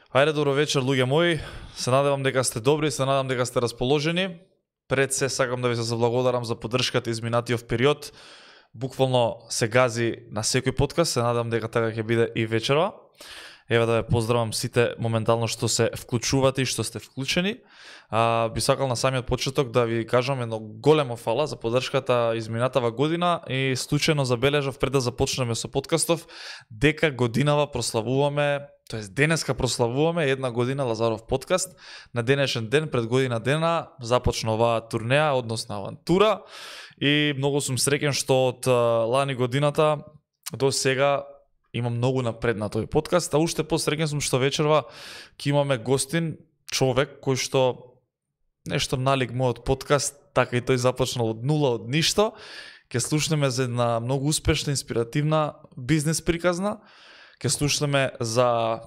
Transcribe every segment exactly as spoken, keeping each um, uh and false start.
Ајде, добро вечер, луѓе мои. Се надевам дека сте добри, се надевам дека сте расположени. Пред се сакам да ви се заблагодарам за поддршката изминатиот период. Буквално се гази на секој подкаст, се надевам дека така ќе биде и вечерва. Еве да ве поздравам сите моментално што се вклучувате и што сте вклучени. А, би сакал на самиот почеток да ви кажам едно големо фала за поддршката изминатава година и случајно забележав пред да започнеме со подкастов дека годинава прославуваме, тоест денеска прославуваме една година Лазаров подкаст. На денешен ден, пред година дена, започна оваа турнеја, односно авантура, и многу сум среќен што од лани годината до сега има многу напред на тој подкаст, а уште посреќен сум што вечерва ќе имаме гостин, човек кој што нешто налик мојот подкаст, така и тој започнал од нула, од ништо. Ќе слушнеме за една многу успешна, инспиративна бизнес приказна. Ќе слушнеме за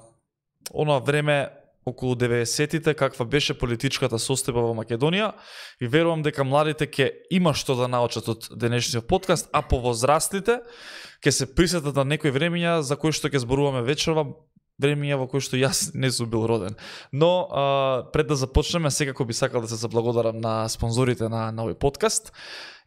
оноа време околу деветдесетите, каква беше политичката состојба во Македонија, и верувам дека младите ќе има што да научат од денешниот подкаст, а повозрастните ќе се присетат на некои времиња за кои што ќе зборуваме вечерва, времиња во кои што јас не сум бил роден. Но а, пред да започнеме, секако би сакал да се заблагодарам на спонзорите на, на овој подкаст.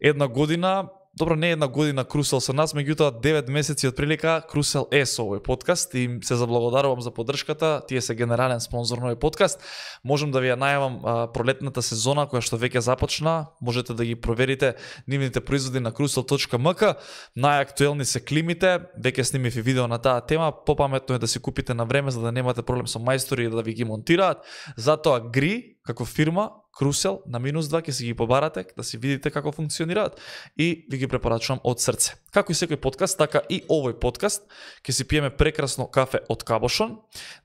Една година, добро, не една година Крусел со нас, меѓутоа девет месеци од прилика Крусел е со овој подкаст и им се заблагодарувам за поддршката. Тие се генерален спонзор на овој подкаст. Можам да ви ја најавам а, пролетната сезона која што веќе започна. Можете да ги проверите нивните производи на крусел точка ем ка. Најактуелни се климите. Веќе снимив и видео на таа тема. Попаметно е да си купите на време за да немате проблем со мајстори и да ви ги монтираат. Затоа Гри како фирма Крусел на минус два ќе си ги побарате, да си видите како функционираат и ви ги препорачувам од срце. Како и секој подкаст, така и овој подкаст ќе си пиеме прекрасно кафе од Кабошон.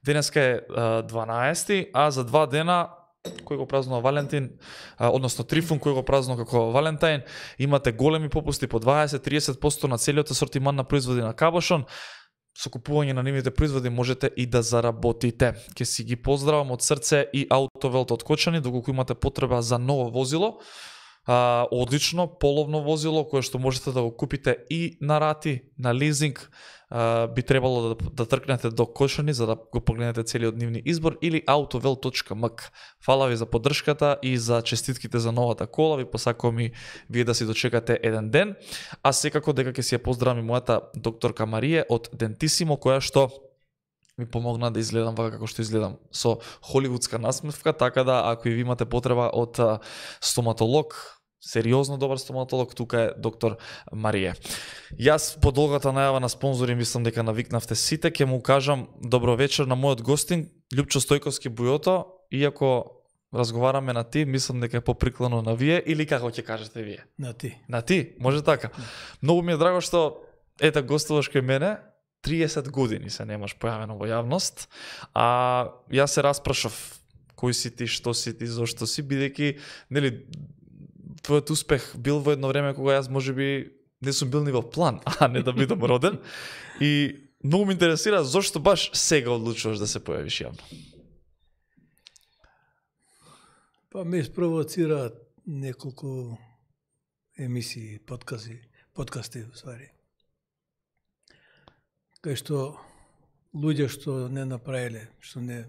Денеска е дванаесети, а за два дена кој го празнува Валентин, а, односно Трифун кој го празнува како Валентайн, имате големи попусти по дваесет до триесет проценти на целиот асортиман на производи на Кабошон. Со купување на нивните производи можете и да заработите. Ке си ги поздравам од срце и Автовелт од Кочани, доколку имате потреба за ново возило. А, одлично, половно возило, кое што можете да го купите и на рати, на лизинг. А, би требало да, да тркнете до Кочани за да го погледнете целиот нивни избор, или автовелт точка ем ка. Фала ви за поддршката и за честитките за новата кола. Ви посакувам и вие да си дочекате еден ден. А секако дека ќе си ја поздравам и мојата докторка Марија од Дентисимо, која што ми помогна да изгледам вака како што изгледам, со холивудска насмевка, така да ако и ви имате потреба од стоматолог, сериозно добар стоматолог, тука е доктор Марија. Јас по долгата најава на спонзори мислам дека навикнавте сите, ќе му кажам добро вечер на мојот гостин Љупчо Стојковски Бујото, иако разговараме на ти, мислам дека е поприкладно на вие, или како ќе кажете вие? На ти. На ти, може така. Многу ми е драго што ета гостуваш кај мене, триесет години се немаш појавено во јавност, а јас се распрашав кој си ти, што си ти, зошто си, бидејќи нели твојот успех бил во едно време кога јас можеби не сум бил ни во план, а не да бидам роден, и многу ме интересира зошто баш сега одлучуваш да се појавиш јавно. Па ме спровоцира неколку емисии, подкасти, подкасти усвари. Кај што луѓе што не направиле, што не,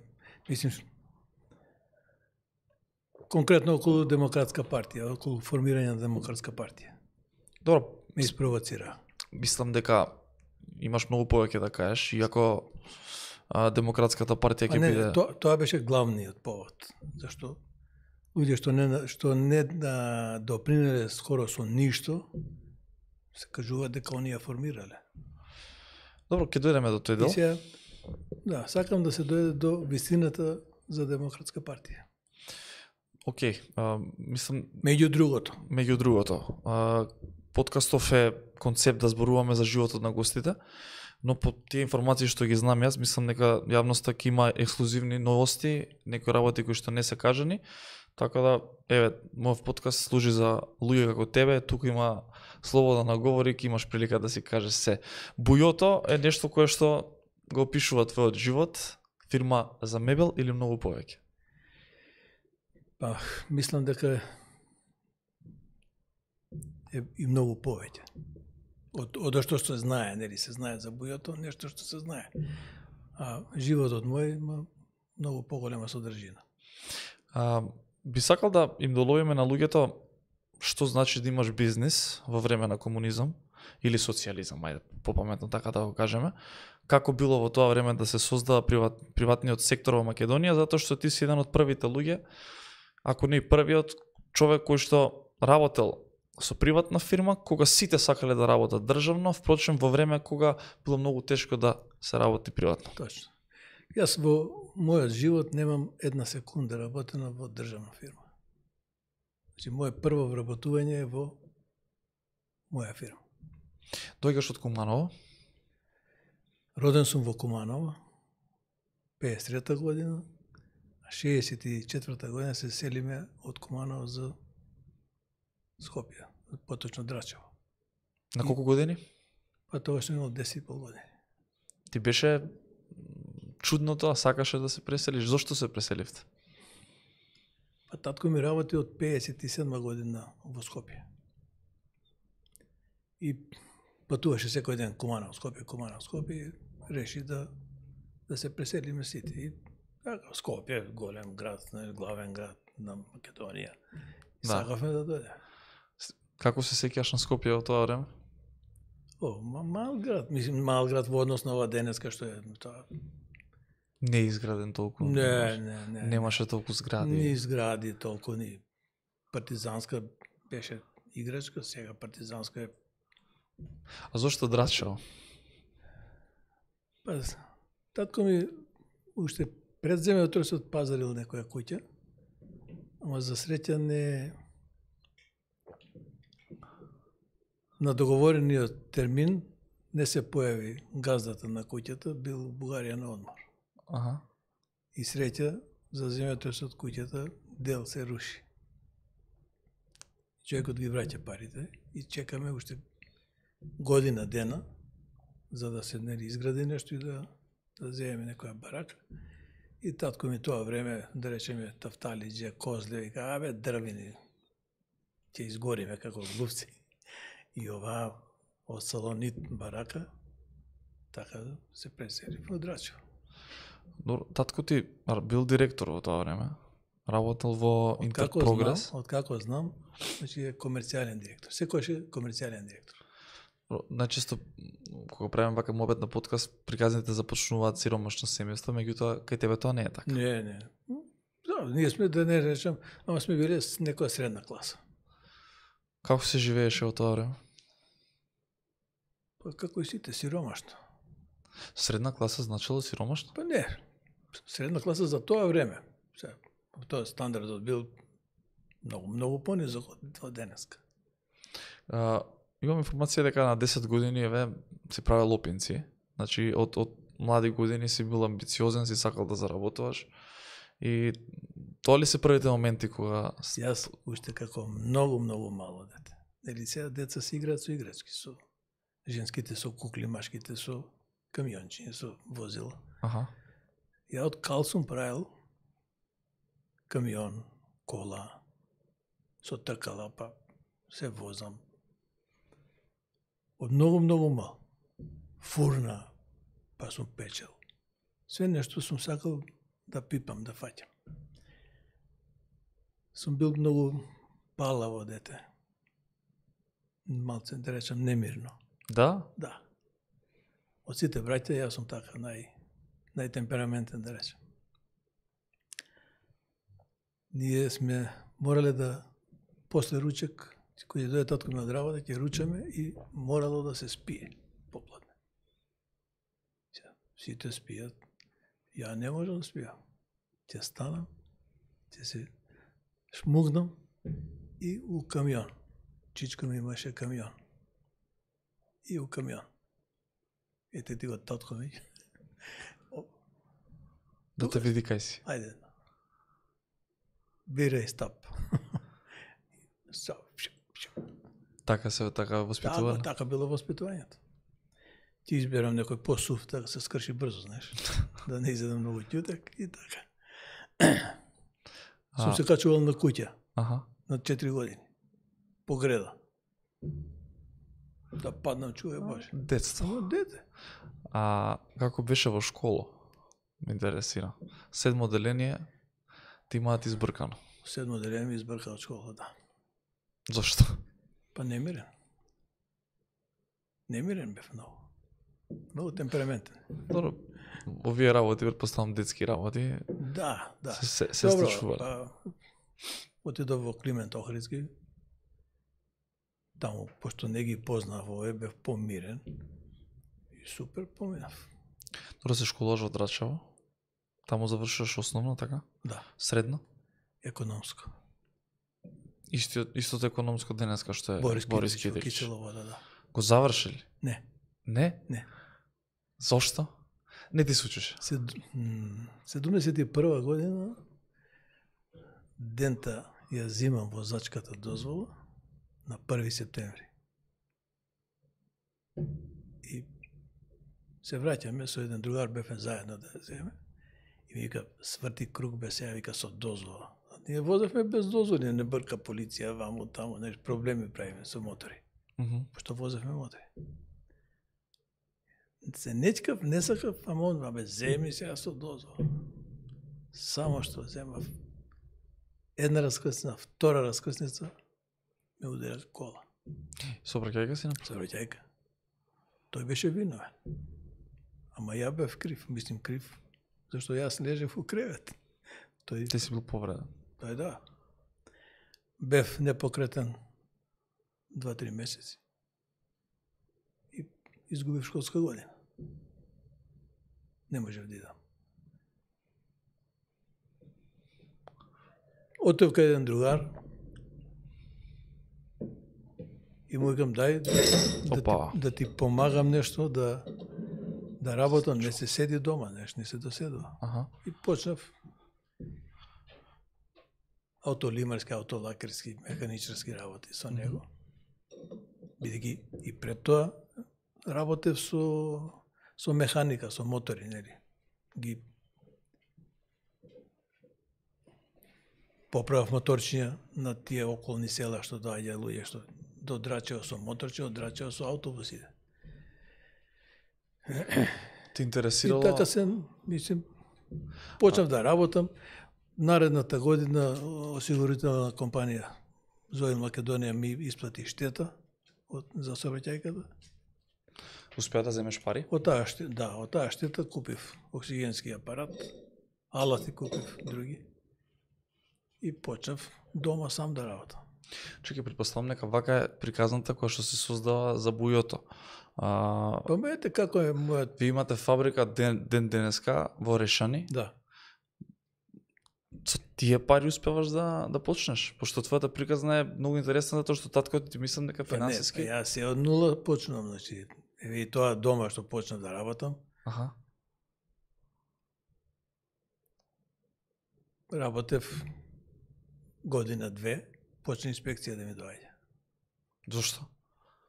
мислим, конкретно околу Демократска партија, околу формирање на Демократска партија. Добро, Ме спровоцира. мислам дека имаш многу повеќе да кажеш, иако а, Демократската партија ќе не, биде... То, тоа беше главниот повод, зашто луѓе што не што не да допринеле скоро со ништо, се кажува дека оние ја формирале. Добро, ќе дојдеме до тој дел. И сега, да, сакам да се дојде до вистината за Демократска партија. Океј, а, мислам, Меѓу другото. меѓу другото, а, подкастов е концепт да зборуваме за животот на гостите, но по тие информации што ги знам јас, мислам дека јавноста ќе има ексклузивни новости, некои работи кои што не се кажани, така да, еве, мојот подкаст служи за луѓе како тебе, тука има слобода на говори, ќе имаш прилика да си кажеш се. Бујото е нешто кое што го опишува твојот живот, фирма за мебел или многу повеќе? Па, мислам дека е и многу повеќе. Од, од што се знае, нели се знае за бујото, нешто што се знае. А животот мој има многу поголема содржина. А, би сакал да им доловиме на луѓето што значи да имаш бизнис во време на комунизам или социјализам, ајде попаметно така да го кажеме. Како било во тоа време да се создава приват, приватниот сектор во Македонија, затоа што ти си еден од првите луѓе, ако не и првиот човек кој што работел со приватна фирма, кога сите сакале да работат државно, впрочем во време кога било многу тешко да се работи приватно. Точно. Јас во мојот живот немам една секунда работена во државна фирма. Значи, моје прво вработување е во моја фирма. Дојгаш од Куманово? Роден сум во Куманово, пеесет и трета година, а шеесет и четврта година се селиме од Куманово за Скопје, поточно Драчево. На колку години? Па тоа што имал десет и пол години. Ти беше чудно тоа, сакаше да се преселиш. Зошто се преселивте? Па татко ми работи од пеесет и седма година во Скопје. И патуваше секој ден Куманово, Скопје, Куманово, Скопје, реши да да се преселиме сите. И така, Скопје, голем град, главен град на Македонија. И Да. сакавме да дојде. Како се сеќаш на Скопје во тоа време? О, ма- мал град, мислим мал град во однос на ова денеска што е тоа. Не е изграден толку. Не, не, не. Немаше толку згради. Ни згради толку, ни партизанска беше играчка, сега партизанска е. А зошто Драчево? Па, татко ми уште пред земјотресот пазарил некоја куќа, ама за среќа не на договорениот термин не се појави газдата на куќата, бил у Бугарија на одмор. Аха. И среќа за земјотресот куќата дел се руши. Човекот ги враќа парите и чекаме уште година дена за да се нели изгради нешто и да да земеме некоја барака. И татко ми тоа време, да речеме, тафталиџе, козле, вика, абе, дрвини, ќе изгориме како глупци. И ова од салонит барака, така се пресели во Драчево. Добро, татко ти ар, бил директор во тоа време. Работел во Интерпрогрес. Знам, од како знам, значи е комерцијален директор. Секојаш е комерцијален директор. Најчесто кога правиме вака мобет на подкаст, приказните започнуваат сиромашно семејство, меѓутоа кај тебе тоа не е така. Не, не. Да, ние сме, да не речем, ама сме биле с некоја средна класа. Како се живееше во тоа време? Па како и сите, сиромашно. Средна класа значило сиромашно? Па не, средна класа за тоа време. Сега, тоа стандардот бил многу, многу понизок од денеска. А, имам информација дека на десет години еве си правел лопинци. Значи од од млади години си бил амбициозен, си сакал да заработуваш. И тоа ли се првите моменти кога Јас уште како многу многу мало дете. Нели сега деца се играат со играчки, со женските со кукли, машките со камиончиња, со возила. Аха. Ја од кал сум правил камион, кола, со тркала, па се возам. Од многу, многу мал. Фурна, па сум печел. Све нешто сум сакал да пипам, да фаќам. Сум бил многу палаво дете. Малце, да речам, немирно. Да? Да. Од сите браќа, јас сум така нај, најтемпераментен, да речем. Ние сме морале да, после ручек, кој дојде татко ми од работа, ќе ручаме и морало да се спие попладне. Сите спијат. Ја не можам да спијам. Ќе станам, ќе се шмугнам и у камион. Чичко ми имаше камион. И у камион. Ете ти го татко ми. Да те види кај си. Ајде. Бирај стап. Стап. Така се така воспитувано. Така, така било воспитувањето. Ти изберам некој посув, така се скрши брзо, знаеш. Да не изедам многу ќутек и така. Сум се качувал на куќа. Аха. На четири години. По греда. Да паднам, чуе Боже. Детство. Само дете. А како беше во школа? Ме интересира. Седмо одделение ти имаат избркано. Седмо одделение ми избрка од школа, да. Зошто? Па немирен. Немирен бев многу. Многу темпераментен. Добро. Овие работи, претпоставам детски работи. Да, да. Се, се, се Добро, случува. па, отидов во Климент Охридски. Таму, пошто не ги познав овој, бев помирен. И супер поминав. Добро, се школуваш во Драчево? Таму завршуваш основно, така? Да, Средно? економско. Исто, истото економско денеска што е Борис, Борис Китич, Китич. Киселово, да, да. Го завршили? Не, Не? не. Зошто? Не ти случеше? Сед, м, седумдесет и прва година дента ја зимам возачката дозвола на први септември. И се враќаме со еден другар, бевме заедно да ја земе. И ми вика, сврти круг бе сега, вика, со дозвола. А ние возевме без дозволи, не брка полиција, ваму, таму, неш, проблеми правиме со мотори. Мгм. Пошто возевме мотори. Се нечкав, не сакав, ама он, бе, земи сега со дозвола. Само што земав една раскрсница, втора раскрсница, ме удара кола. Собраќајка си на Савраќајка. Тој беше виновен. Ама ја бев крив, мислим крив, зашто јас лежев у кревет. Тој, Ти си бил повреден. тој да. Бев непокретен два-три месеци. И изгубив школска година. Не можев да идам. Отев кај еден другар и му викам, дај да Опа. ти, да ти помагам нешто, да да работам, не се седи дома, нешто не се доседува. Аха. И почнав аутолимарски, аутолакерски, механичарски работи со него. Бидејќи и пред тоа работев со со механика, со мотори, нели. Ги поправав моторчиња на тие околни села што доаѓа луѓе што до Драчево со моторче, од Драчево со автобусите. Ти И интересирало? така се, мислим, почнав да работам. Наредната година осигурителна компанија Зоил Македонија ми исплати штета од, за сообраќајката. Успеа да земеш пари? Од таа штета, да, од таа штета купив оксигенски апарат, алати купив други и почнав дома сам да работам. Чекај, предпоставам нека вака е приказната која што се создава за бујото. А, Па ме ете како е мојот, ви имате фабрика ден, ден денеска во Решани. да. Со тие пари успеваш да да почнеш, пошто твојата приказна е многу интересна затоа што таткото ти мислам дека Па не, финансиски. па јас се од нула почнувам, значи, еве и тоа дома што почнав да работам, Аха. работев година-две, почна инспекција да ми доаѓа. Зошто?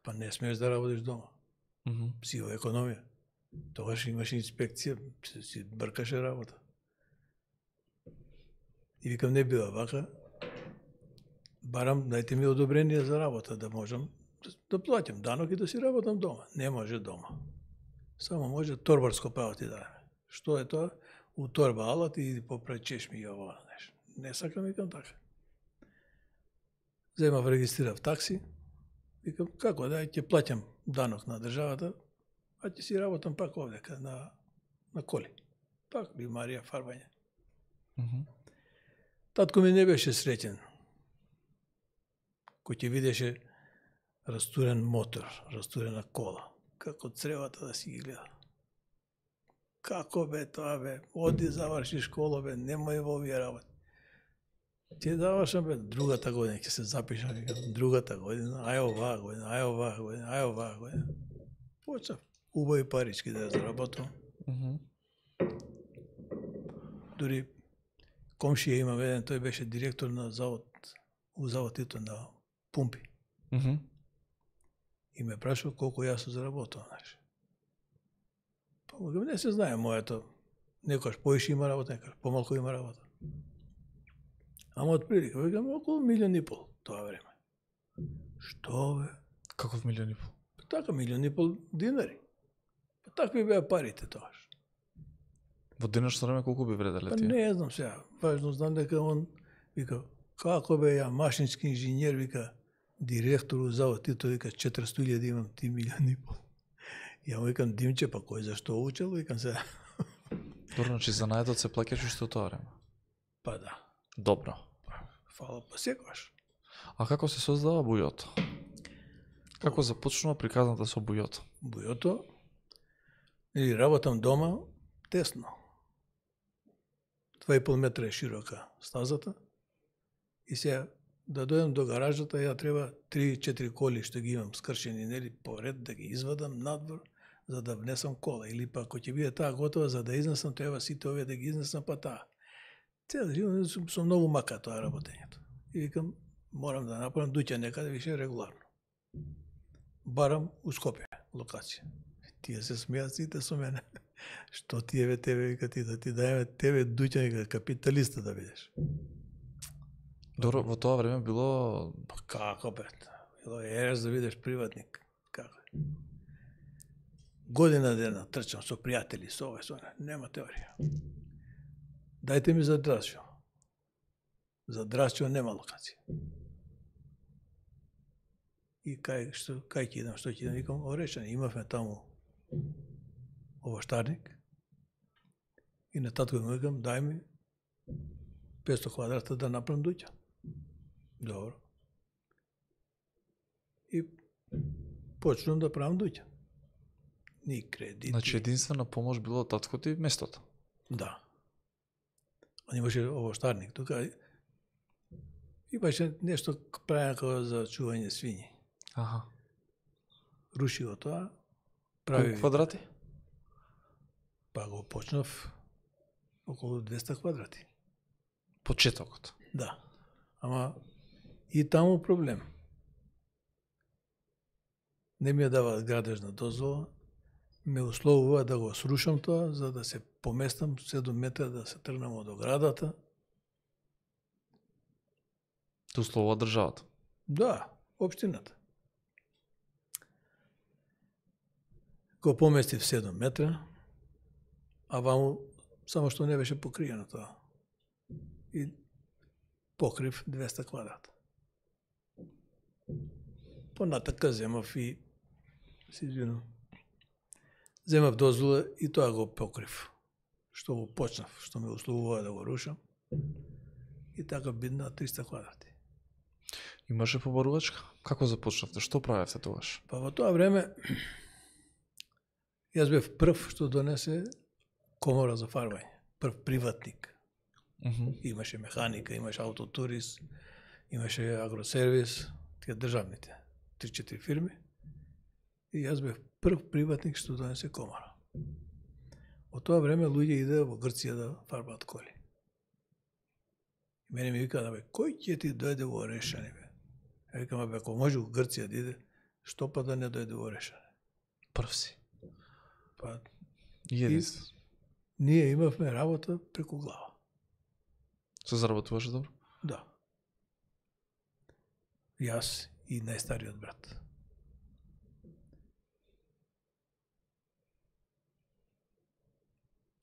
Па не смееш да работиш дома. Мгм. Сива економија. Тогаш имаше инспекција, си, си бркаше работа. И викам, не бива вака. Барам, дајте ми одобрение за работа, да можам да, да платам данок и да си работам дома. Не може дома. Само може торбарско право ти даде. Што е тоа? У торба алат и поправи чешми и ово нешто. Не сакам, викам така. Земав, регистрирав такси. Викам, како да, ќе плаќам данок на државата, а ќе си работам пак овдека на, на коли. Пак бимарија, фарбање. Мгм. Татко ми не беше среќен. Кој ќе видеше растурен мотор, растурена кола. Како цревата да си ги гледа. Како бе тоа бе? Оди заврши школа бе, немој во овие работи. Ќе завршам бе, другата година ќе се запишам, викам, другата година, ај оваа година, ај оваа година, ај оваа година. Почнав убави парички да ја заработам. Мгм. Дури комшија имам еден, тој беше директор на завод, у завод Тито на пумпи. Мгм. И ме прашува колку јас сум заработал, знаеш. Па му кажам, не се знае моето. Некојаш поише има работа, некојаш помалку има работа. Ама од прилика, викам, околу милион и пол тоа време. Што бе? Каков милион и пол? Така, милион и пол динари. Па такви беа парите тогаш. Во денешно време колку би вределе Па тие? не знам сега. Важно знам дека он вика како бе ја машински инженер вика директор у завод и тој вика четиристотини илјади имам ти милиони и пол. Ја му викам Димче па кој зашто учел викам се. Добро, значи за најдот се плаќаш уште од тоа време. Па да. Добро. Фала па секогаш. А како се создава бујото? Како започнува приказната со бујото? Бујото или работам дома тесно. два и пол метра е широка стазата. И сега да дојдам до гаражата, ја треба три-четири коли што ги имам скршени нели поред да ги извадам надвор за да внесам кола или па ако ќе биде таа готова за да изнесам треба сите овие да ги изнесам па таа. Цел живот сум, сум многу мака тоа работењето. И викам морам да направам дуќа некаде више регуларно. Барам у Скопје локација. Тие се смеат сите со мене. Што тие ве тебе вика ти да ти даеме тебе дуќа вика капиталиста да бидеш. Добро, во тоа време било Па како бе? Било ерес да бидеш приватник. Како? Година дена трчам со пријатели, со ова, со она. Нема теорија. Дајте ми за Драчо. За Драчо нема локација. И кај што кај ќе идам, што ќе идам, викам Орешани, имавме таму овоштарник. И на татко му викам дај ми петстотини квадрата да направам дуќа. Добро. И почнам да правам дуќа. Ни кредити. Значи единствена помош било од татко ти местото. Да. Он имаше овоштарник тука. Имаше нешто правено како за чување свињи. Аха. Руши го тоа. Прави Прави квадрати? Па го почнав околу двеста квадрати. Почетокот. Да. Ама и таму проблем. Не ми ја даваат градежна дозвола. Ме условува да го срушам тоа, за да се поместам седум метра да се тргнам од оградата. Те условува државата. Да, општината. Го поместив седум метра, а ваму само што не беше покриено тоа. И покрив двеста квадрата. Понатака земав и се извинувам. Земав дозвола и тоа го покрив. Што го почнав, што ме условува да го рушам. И така бидна триста квадрати. Имаше побарувачка? Како започнавте? Што правевте тогаш? Па во тоа време јас бев прв што донесе комора за фарбање. Прв приватник. Uh -huh. Имаше механика, имаше автотурис, имаше агросервис, тие државните, три-четири фирми. И јас бев прв приватник што донесе комора. Во тоа време луѓе иде во Грција да фарбаат коли. И мене ми вика, да бе, кој ќе ти дојде во Орешани, бе? Ја викам, бе, ако може во Грција да иде, што па да не дојде во Орешани? Прв си. Па, И единствен. ние имавме работа преку глава. Се заработуваше добро? Да. Јас и најстариот брат.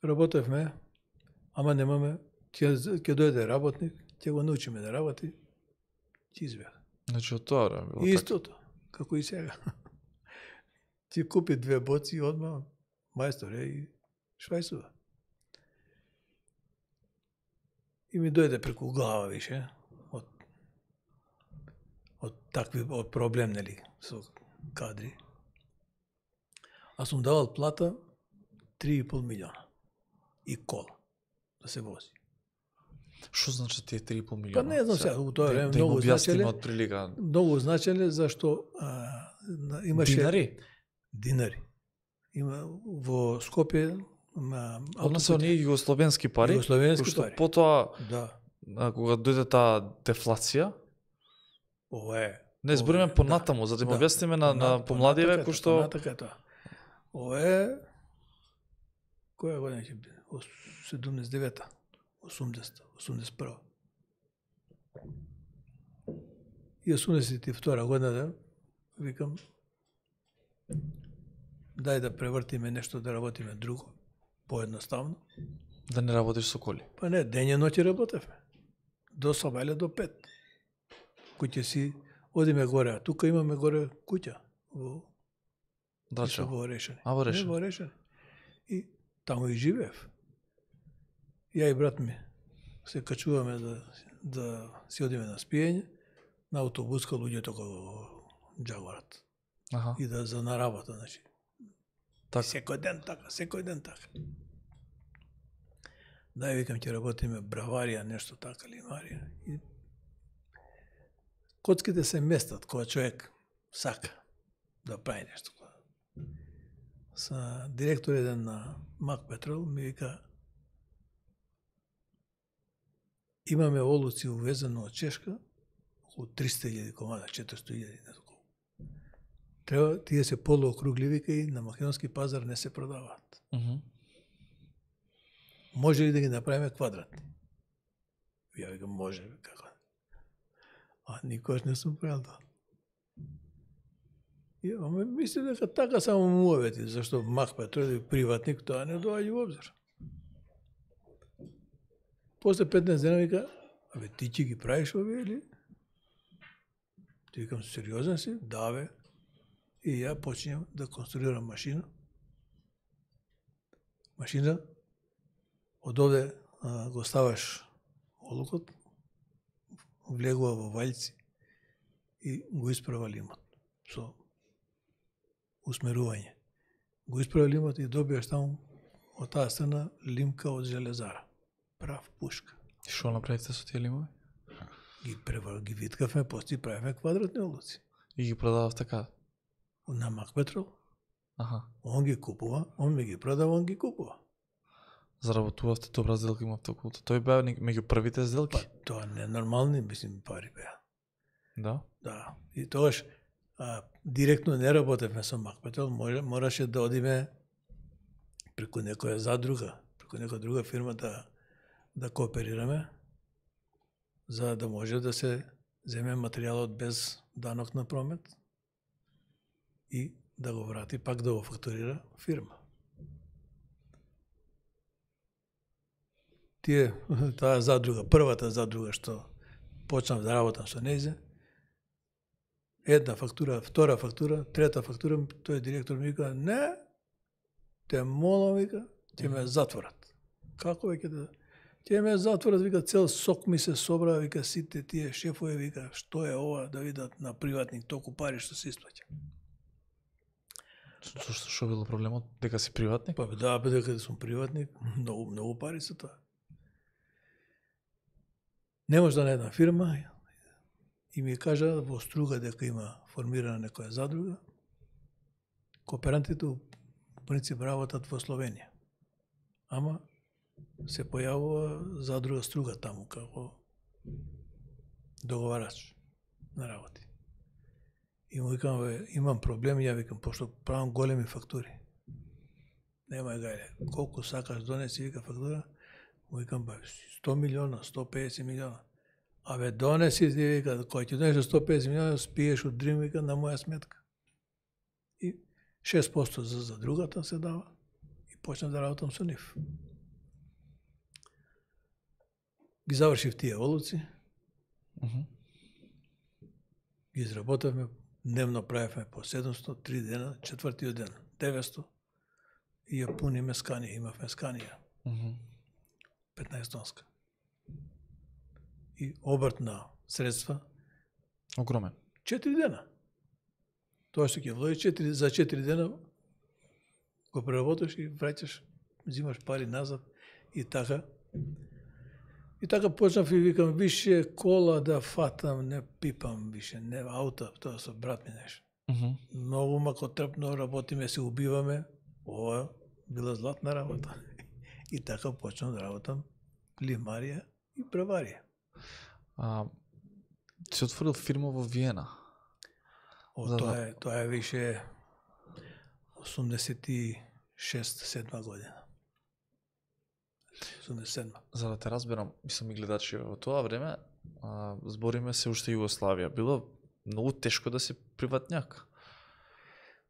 Работевме, ама немаме, ќе ќе дојде работник, ќе го научиме да работи, ќе избега. Значи од тоа време било И така. истото, како и сега. Ти купи две боци и одма мајстор е и швајсува. И ми дојде преку глава више од од такви од проблем нели со кадри. А сум давал плата три и пол милиона и кола да се вози. Што значи тие три и пол Па милиона? не знам сега, у тоа Да- време да им многу објасниме значеле, од прилика. многу значеле зашто а, на- имаше Динари? Динари. Има во Скопје на Односно оние југословенски пари, Југословенски кои што пари. потоа Да, а, кога дојде таа дефлација, ова е. не збориме понатаму, за да им објасниме на, на помладиве кои што Понатака е тоа. Ова е која година ќе биде? Ос- седумдесет и девета, осумдесета, осумдесет и прва. И осумдесет и втора година да викам дај да превртиме нешто да работиме друго, поедноставно. Да не работиш со коли. Па не, дење ноќе работевме. До сабајле до пет. Куќе си, одиме горе, а тука имаме горе куќа. Во Драчево. во Орешани. А во Орешани. Не, во Орешани. И таму и живеев. Ја и брат ми се качуваме да, да си одиме на спиење, на автобуска луѓето како Джагорат. Аха. И да за на работа, значи. Так. Секој ден така, секој ден така. Дај, викам, ќе работиме браварија, нешто така, лимарија. И коцките се местат кога човек сака да прави нешто. Са директор еден на Мак Петрол ми вика, имаме олуци увезено од Чешка, околу триста илјади комада, четиристотини илјади, не толку. Треба, тие се полуокругли, вика, и на македонски пазар не се продаваат. Мгм. Може ли да ги направиме квадратни? Ја викам, може, како. А никош не сум правил тоа. И, ама мислам дека така само муавети, зашто Мак Петрол е приватник, тоа не доаѓа во обзир. После петнаесет дена вика, абе ти ќе ги правиш овие или? Ти викам, сериозен си? Да, бе. И ја почнем да конструирам машина. Машина, од овде а, го ставаш олукот, влегува во вајци и го исправа лимот со усмерување. Го исправа лимот и добиеш таму од таа страна лимка од железара. Прав пушка. И што направите со тие лимови? Ги превар, ги виткавме, после правиме квадратни олуци. И ги продавав така? На Мак Петрол. Аха. Он ги купува, он ми ги продава, он ги купува. Заработувавте добра сделка имавте околу тоа. Тој беа меѓу првите сделки? Па тоа не нормални, мислим, пари беа. Да. Да. И тогаш а, директно не работевме со Мак Петрол, може, мораше да одиме преку некоја задруга, преку некоја друга фирма да да кооперираме, за да може да се земе материјалот без данок на промет и да го врати пак да го фактурира фирма. Тие, таа задруга, првата задруга што почнав да работам со нејзе, една фактура, втора фактура, трета фактура, тој директор ми вика, не, те молам, вика, ќе ме затворат. Како веќе да... Ќе ме затворат, вика, цел сок ми се собра, вика, сите тие шефови, вика, што е ова, да видат на приватник толку пари што се исплаќа. Што што било проблемот? Дека си приватник? Па да, бе, дека сум приватник, многу, многу пари се тоа. Не може да на една фирма и ми кажа во Струга дека има формирана некоја задруга. Кооперантите в принцип работат во Словенија. Ама се појавува задруга Струга таму како договарач на работи. И му викам, бе, имам проблеми, ја викам, пошто правам големи фактури. Нема гајле, колку сакаш донеси, вика фактура, му викам, бе, сто милиона, сто педесет милиона. Абе, донеси, ти вика, кој ќе донесе сто педесет милиона, спиеш од Дрим, вика, на моја сметка. И шест проценти за, за другата се дава и почнав да работам со нив. Ги завршив тие олуци, Uh -huh. ги изработавме, дневно правевме по седумсто, три дена, четвртиот ден, деветсто, и ја пуниме сканија, имавме сканија, Uh -huh. петнаесет тонска. И обрт на средства, Огромен. четири дена. Тоа што ќе вложи четири, за четири дена го преработиш и враќаш, взимаш пари назад и така. И така почнав и викам, више кола да фатам, не пипам више, не аута, тоа со брат ми нешто. Uh -huh. Многу макотрпно работиме, се убиваме. Ова била златна работа. И така почнав да работам лимарија и браварија. А, си отворил фирма во Виена. О, За- тоа е, тоа е више осумдесет и шеста седма година. осумдесет и седма. За да те разберам, мислам и гледачи, во тоа време а, збориме се уште Југославија. Било многу тешко да си приватњак.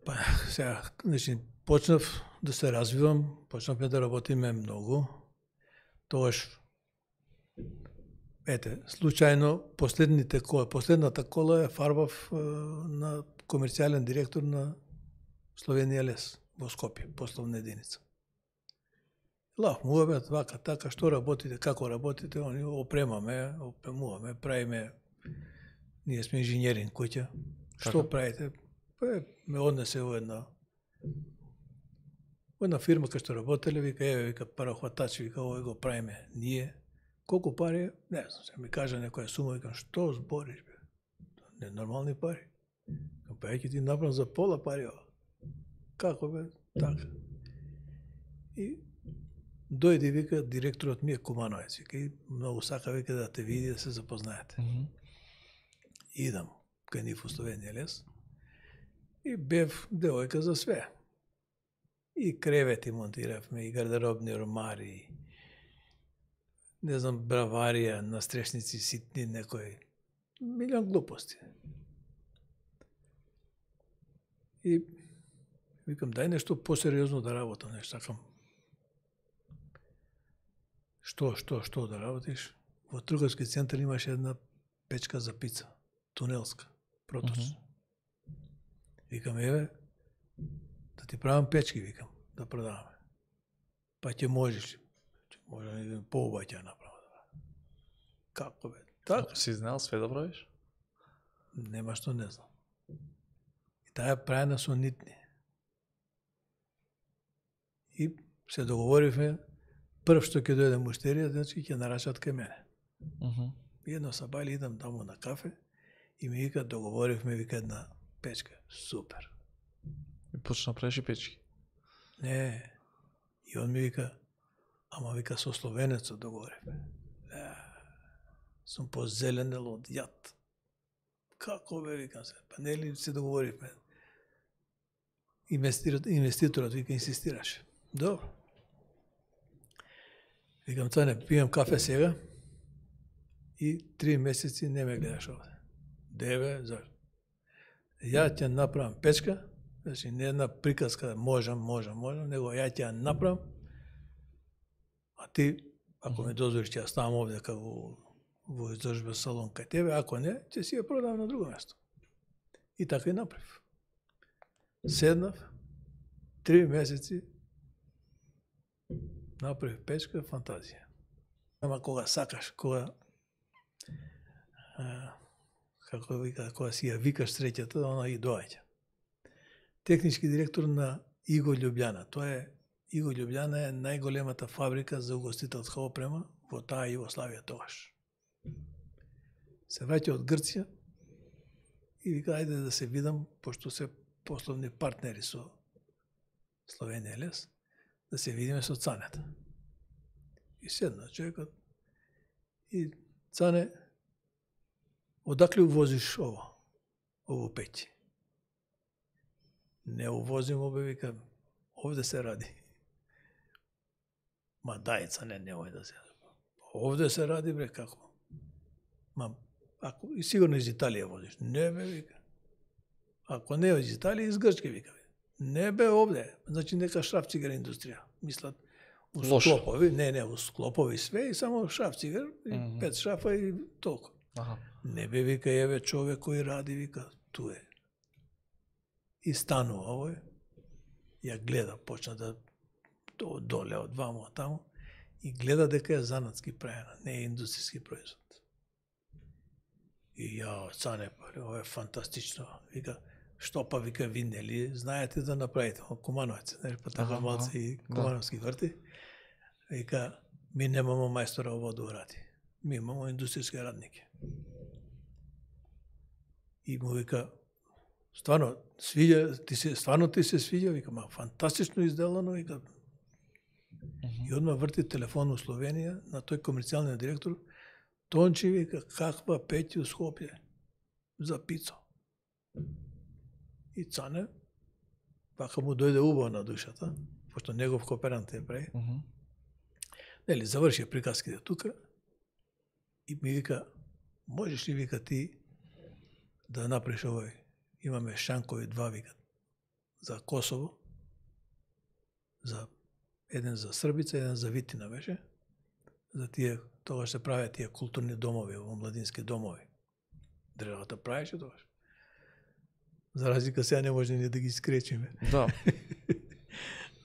Па, сега, значи, почнав да се развивам, почнавме да работиме многу. Тогаш, ете, случајно, последните кола, последната кола е фарбав на комерцијален директор на Словенија лес во Скопје, пословна единица. Лав му обед, вака, така, што работите, како работите, они опремаме, опремуваме, правиме, ние сме инженерин куќа. Што правите? Па ме однесе во една во една фирма кај што работеле, вика, еве, вика, парахватач, вика, овој го правиме ние. Колку пари? Не знам, се ми кажа некоја сума, викам, што збориш, бе? Не нормални пари. Па ќе ти направам за пола пари, ова. Како, бе? Така. И дојде, вика, директорот ми е Кумановец, вика, и многу сака, вика, да те види, да се запознаете. Mm -hmm. Идам кај нив во Словенија лес и бев девојка за све. И кревети монтиравме, и гардеробни ромари, не знам, браварија, настрешници ситни, некои, милион глупости. И викам, дај нешто посериозно да работам, нешто сакам. Што, што, што да работиш? Во трговски центар имаше една печка за пица, тунелска, проточна. Uh -huh. Викам, еве, да ти правам печки, викам, да продаваме. Па ќе можеш ли? Може да поубаво ќе направам. Како бе? Така. Си знал све да правиш? Нема што не знам. И таа е правена со нитни. И се договоривме, прв што ќе дојде муштерија, значи ќе нарачат кај мене. Uh -huh. И едно сабајле идам таму на кафе и ми вика, договоривме, вика, една печка. Супер. И почна правиш и печки? Не. И он ми вика, ама вика со словенецот договоривме. Е, сум позеленел од јад. Како бе, викам се, па нели се договоривме. Инвеститорот, инвеститорот вика инсистираше. Добро. Викам, Цане, пијам кафе сега и три месеци не ме гледаш овде. Деве, зашто? Ја ќе направам печка, значи не една приказка, можам, можам, можам, него ја ќе ја направам, а ти, ако ме дозволиш, ќе ја ставам овде како во изложба салон кај тебе, ако не, ќе си ја продам на друго место. И така и направив. Седнав, три месеци, направив печка, фантазија. Ама кога сакаш, кога а, како вика, кога си ја викаш среќата, она и доаѓа. Технички директор на Иго Љубљана. Тоа е Иго Љубљана е најголемата фабрика за угостителска опрема во таа Југославија тогаш. Се враќа од Грција и вика, ајде да се видам, пошто се пословни партнери со Словенија лес, да се видиме со Цанета. И седна човекот и Цане, одакле увозиш ово, ово пеќе? Не увозим, обе, викам, овде се ради. Ма дај, Цане, немој да се ради. Овде се ради, бре, како? Ма, ако, и сигурно из Италија возиш. Не, бе, вика. Ако не из Италија, из Грчке, вика. Не, бе, овде. Значи, нека шрафцигар индустрија. Мислат, у склопови, не, не, у склопови све, и само шрафцигар, и mm -hmm. пет шрафа и толку. Ага. Не, бе, вика, еве човек кој ради, вика, ту е. И станува овој, ја гледа, почна да доле од вамо таму, и гледа дека е занатски правена, не е индустријски производ. И ја, Цане, ова е фантастично. Вика, што па, вика, ви нели знаете да направите Кумановец, нели, па така малце и Кумановски врти. Вика, ми немамо мајстора ово да уради. Ми имамо индустријски радники. И му вика, стварно, свиѓа, ти се, стварно ти се свиѓа, вика, ма фантастично изделано, вика. И одма врти телефон у Словенија на тој комерцијалниот директор, Тончи, вика, каква пеќа у Скопје за пицо. И Цане, вака му дојде убаво на душата, пошто негов кооперант е прави. Uh -huh. Нели, заврши приказките тука и ми вика, можеш ли, вика, ти да направиш овој, имаме шанкови два, вика, за Косово, за еден за Србица, еден за Витина беше, за тие, тогаш се правеа тие културни домови, младински домови. Државата правеше тогаш. За разлика сега не може ни да ги скречиме. Да.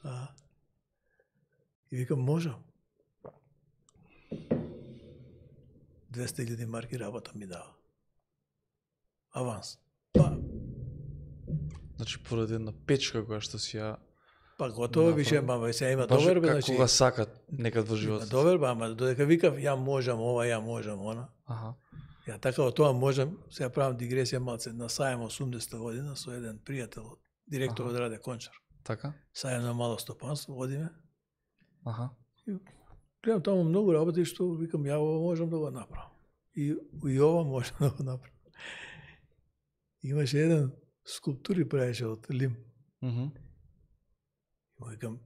а, и викам, можам. двесте илјади марки работа ми дава. Аванс. Па, Значи поради една печка која што си ја па готово више, ама сега има баш доверба, како значи. кога сакат некад во Има животот. доверба, ама додека викав ја можам ова, ја можам она. Аха. Ја така од тоа можам, сега правам дигресија малце, на Сајм осумдесета година со еден пријател, директор од Раде Кончар. Така? Сајм на мало стопанство, одиме. Аха. Гледам таму многу работи што викам ја ова можам да го направам. И, и ова можам да го направам. Имаше еден скулптури правеше од лим. Мгм. И викам,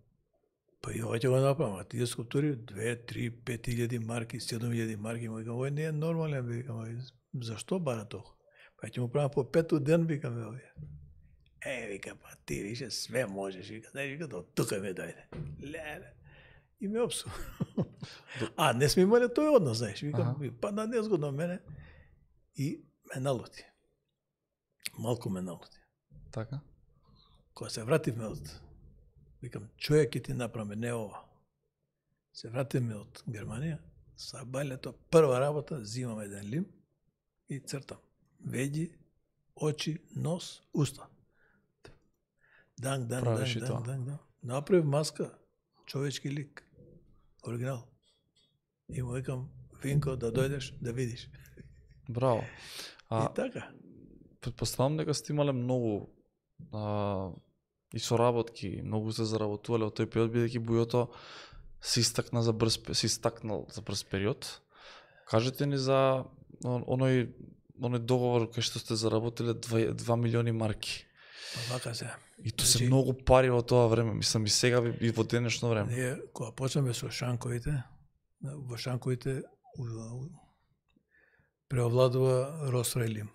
па и ова ќе го направам, а тие скулптури две, три, пет илјади марки, седум илјади марки, викам, ова не е нормален, викам, зашто бара толку? Па ќе му правам по пету ден, викам, овие. Е, вика, па ти више све можеш, вика, не, вика, до тука ме дојде. Леле. И ме опсу. А, не сме имали тој однос, знаеш, викам, Аха. па на незгодно мене. И ме налути. Малку ме налути. Така? Кога се вративме од, викам, човек ќе ти направи, не ова. Се вративме од Германија, са балето, прва работа, зимам еден лим и цртам. Веди, очи, нос, уста. Данг, данг, Правиш и данг, тоа. данг, данг, данг. Направив маска, човечки лик, оригинал. И му викам, Винко, да дојдеш, да видиш. Браво. А И така. предпоставам дека сте имале многу а, и соработки, многу се заработувале од тој период, бидејќи Бујото се истакна за брз се истакнал за брз период. Кажете ни за он- оној оној договор кај што сте заработиле два милиони марки. Па вака се. И тоа се Значи- многу пари во тоа време, мислам и сега и во денешно време. Ние, кога почнеме со шанковите, во шанковите у- у- преовладува Росрај лим.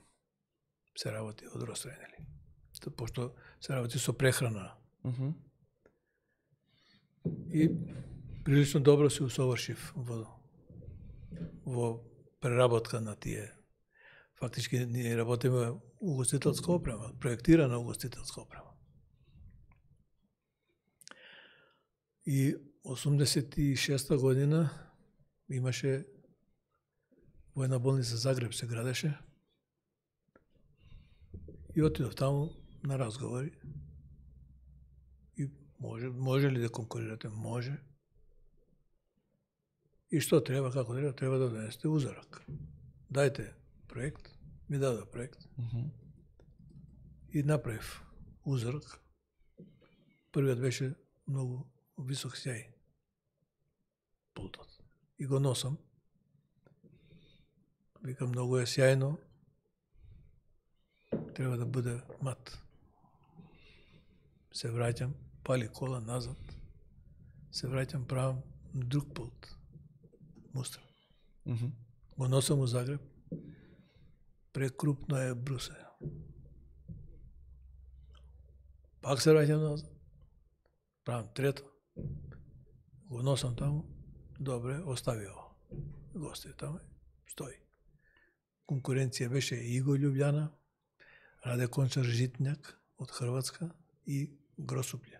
Се работи од Росрај, нели? То- Пошто се работи со прехрана. Мгм. И прилично добро се усовршив во, во преработка на тие. Фактички ние работиме угостителска опрема, проектирана угостителска опрема. И осумдесет и шеста година имаше војна болница Загреб се градеше. И отидов таму на разговори. И може, може ли да конкурирате? Може. И што треба, како треба? Треба да донесете узорак. Дајте проект, ми даде проект. Мгм. И направив узорак. Првиот беше многу висок сјај. Пултот. И го носам. Викам, многу е сјајно. Треба да биде мат. Се враќам, пали кола назад. Се враќам, правам друг пулт. Мустра. Мгм. Го носам у Загреб. Прекрупно е брусе. Пак се враќам назад. Правам трето. Го носам таму. Добре, остави ово. Го остави таму. Стои. Конкуренција беше Иго Љубљана, Раде Кончар Житњак од Хрватска и Гросуплje.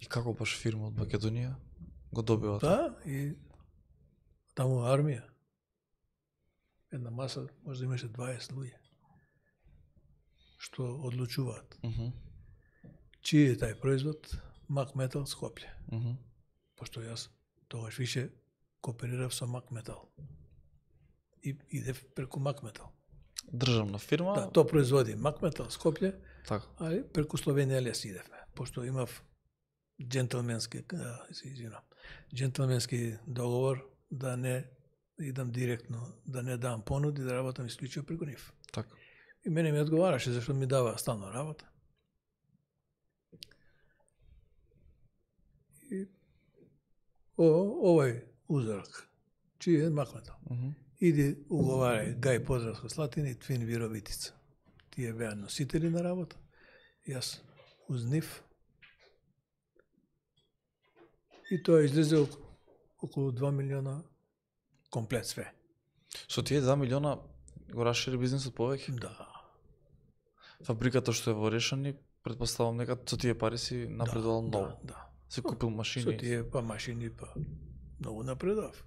И како баш фирма од Македонија го добива тоа? Да, и таму армија. Една маса, може да имаше дваесет луѓе, што одлучуваат. Мгм. Чиј е тај производ? Мак Метал Скопје. Мгм. Пошто јас тогаш више кооперирав со Мак Метал. И идев преку Мак Метал. Државна фирма. Да, тоа производи Мак Метал Скопје, Така. али преку Словенија лес идевме, пошто имав джентлменски, а, се извинам, джентлменски договор да не идам директно, да не дам понуди, да работам исклучиво преку нив. Така. И мене ми одговараше зашто ми дава стално работа. И о, овој узорак, чиј е Мак Метал. Мгм. Иди уговарај Гај Подравска Слатина и Твин Вировитица. Тие беа носители на работа. Јас уз нив. И тоа излезе околу два милиона комплет све. Со тие два милиона го расшири бизнисот повеќе? Да. Фабриката што е во Решани, предпоставам нека со тие пари си напредувал да, многу. Да, да. Си купил машини. Со тие па машини па многу напредав.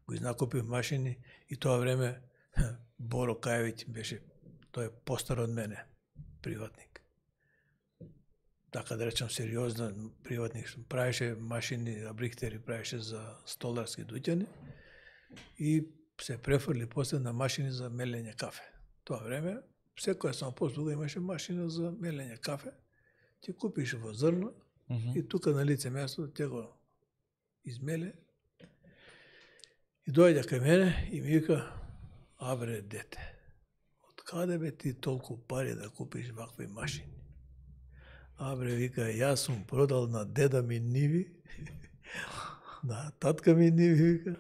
Го изнакупив машини и тоа време Боро Кајевиќ беше, тој е постар од мене, приватник. Така да речам сериозно приватник, правеше машини, абрихтери правеше за столарски дуќани и се префрли после на машини за мелење кафе. Тоа време секоја самопослуга имаше машина за мелење кафе. Ти купиш во зрно Mm -hmm. и тука на лице место те го измеле. И дојде кај мене и ми вика: "А бре, дете, од каде бе ти толку пари да купиш вакви машини?" А бре, вика, јас сум продал на деда ми ниви, на татка ми ниви, вика,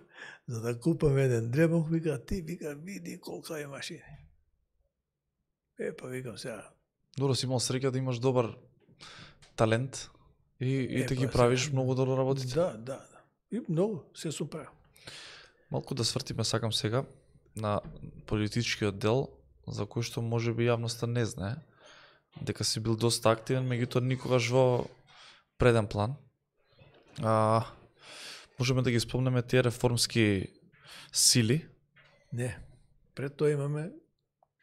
за да купам еден дребок, вика, ти, вика, види колка е машини. Е, па викам сега. Добро, си имал среќа да имаш добар талент и, и Е, те па, ги правиш сега, многу добро работите. Да, да, да. И многу, се сум правил. Малку да свртиме сакам сега на политичкиот дел, за кој што можеби јавноста не знае, дека си бил доста активен, меѓутоа никогаш во преден план. А, можеме да ги спомнеме тие реформски сили. Не, пред тоа имаме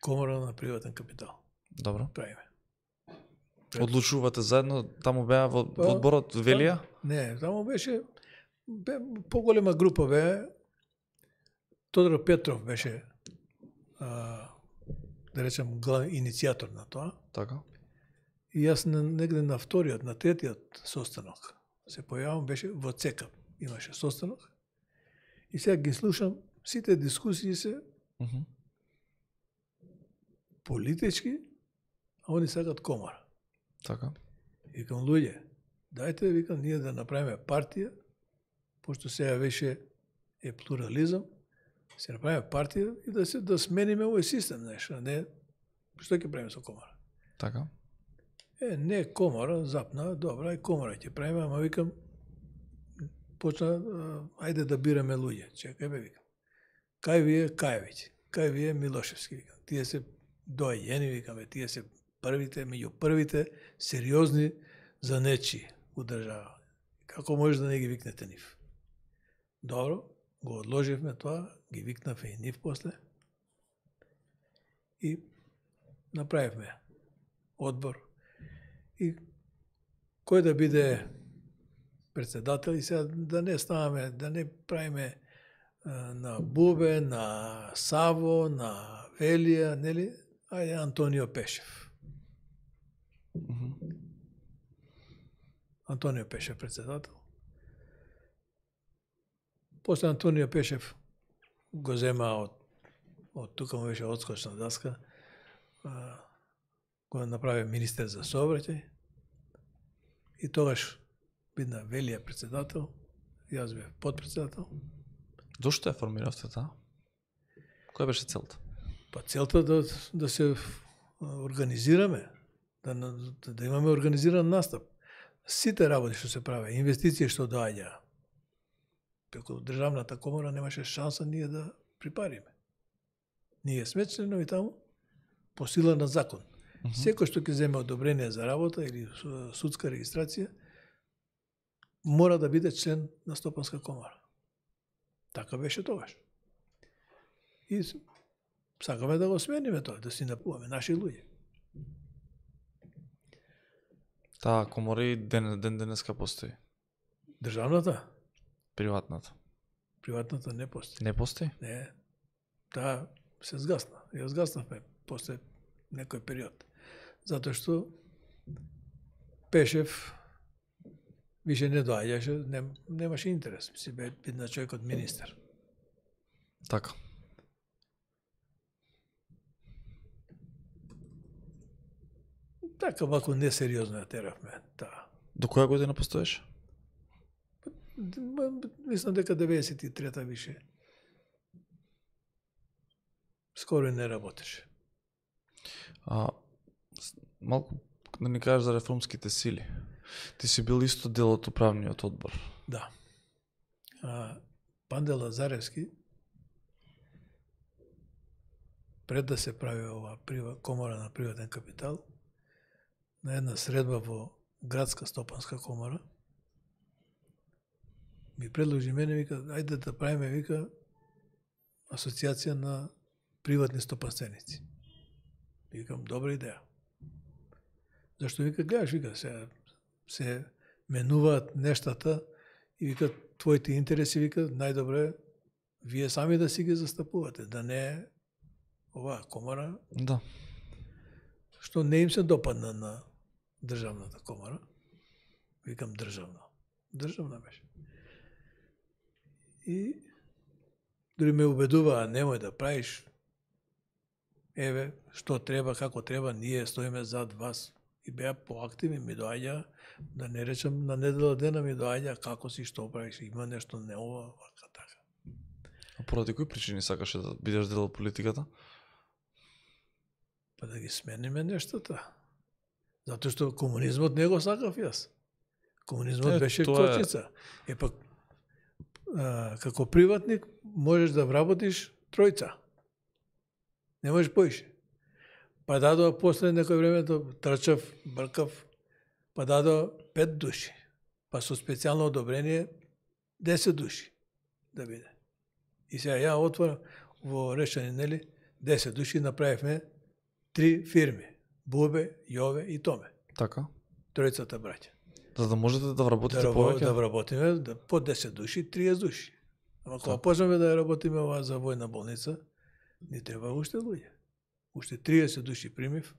Комора на приватен капитал. Добро. Правиме. Одлучувате заедно, таму беа во, Па, во одборот Велија? Не, таму беше бе, поголема група бе. Тодор Петров беше, а, да речем, главен иницијатор на тоа. Така. И јас негде на вториот, на третиот состанок се појавам, беше во ЦЕКАП. Имаше состанок. И сега ги слушам, сите дискусии се Mm -hmm. политички, а они сакат комора. Така. Викам, луѓе, дајте, викам, ние да направиме партија, пошто сега веше е плурализам, се направиме партија и да се да смениме овој систем, знаеш, а не што ќе правиме со комора. Така. Е, не комора, запна, добра, и комора ќе правиме, ама викам, почна, а, ајде да бираме луѓе. Чекај бе, викам. Кај ви е Кајевиќ, кај ви е Милошевски, викам. Тие се доаѓени, викаме, тие се првите, меѓу првите сериозни за нечи у држава. Како може да не ги викнете нив? Добро, го одложивме тоа, ги викнавме и нив после и направивме одбор. И кој да биде председател и сега да не ставаме, да не правиме а, на Бубе, на Саво, на Велија, нели? Ајде Антонио Пешев. Mm -hmm. Антонио Пешев председател. После Антонио Пешев го зема од, од тука му беше одскочна даска, а, го направи министер за сообраќај и тогаш бидна Велија председател, јас бев подпредседател. Зошто ја формиравте таа? Која беше целта? Па целта да, да се организираме, да, да, да имаме организиран настап. Сите работи што се прави, инвестиции што доаѓа, преку државната комора немаше шанса ние да припариме. Ние сме членови таму по сила на закон. Mm -hmm. Секој што ќе земе одобрение за работа или судска регистрација мора да биде член на Стопанска комора. Така беше тогаш. И сакаме да го смениме тоа, да си напуваме наши луѓе. Таа комора и ден, ден денеска постои. Државната? Приватната? Приватната не постои. Не постои? Не. Таа се згасна. Ја згаснавме после некој период. Затоа што Пешев више не доаѓаше, нем, немаше интерес. Си бе бидна човекот министер. Така. Така малку несериозно ја теравме таа. До која година постоеше? Мислам дека деветдесет и трета више. Скоро и не работеше. А, малку да ни кажеш за реформските сили. Ти си бил исто дел од управниот одбор. Да. А, Панде Лазаревски, пред да се прави ова комора на приватен капитал, на една средба во градска стопанска комора, ми предложи мене, вика, ајде да правиме, вика, асоциација на приватни стопанственици. Викам, добра идеја. Зашто, вика, гледаш, вика, се, се менуваат нештата и вика, твоите интереси, вика, најдобре вие сами да си ги застапувате, да не оваа комора, Да. што не им се допадна на државната комора. Викам државна. Државна беше. И дори ме убедуваа, немој да правиш, еве, што треба, како треба, ние стоиме зад вас. И беа поактивни, ми доаѓа, да не речем, на недела дена ми доаѓа, како си, што правиш, има нешто не ова, вака, така. А поради кои причини сакаше да бидеш дел од политиката? Па да ги смениме нештата. Затоа што комунизмот не го сакав јас. Комунизмот е, беше тоа е... кочица. Е пак, а, како приватник можеш да вработиш тројца. Не можеш поише. Па дадоа после некој време трчав, бркав, па дадоа пет души. Па со специјално одобрение десет души да биде. И сега ја отворам во Решани, нели, десет души направивме три фирми. Бубе, Јове и Томе. Така. Тројцата браќа. За да можете да вработите да, повеќе? Да вработиме да, по десет души, триесет души. Ама кога почнеме да ја работиме оваа за војна болница, ни треба уште луѓе. Уште триесет души примив,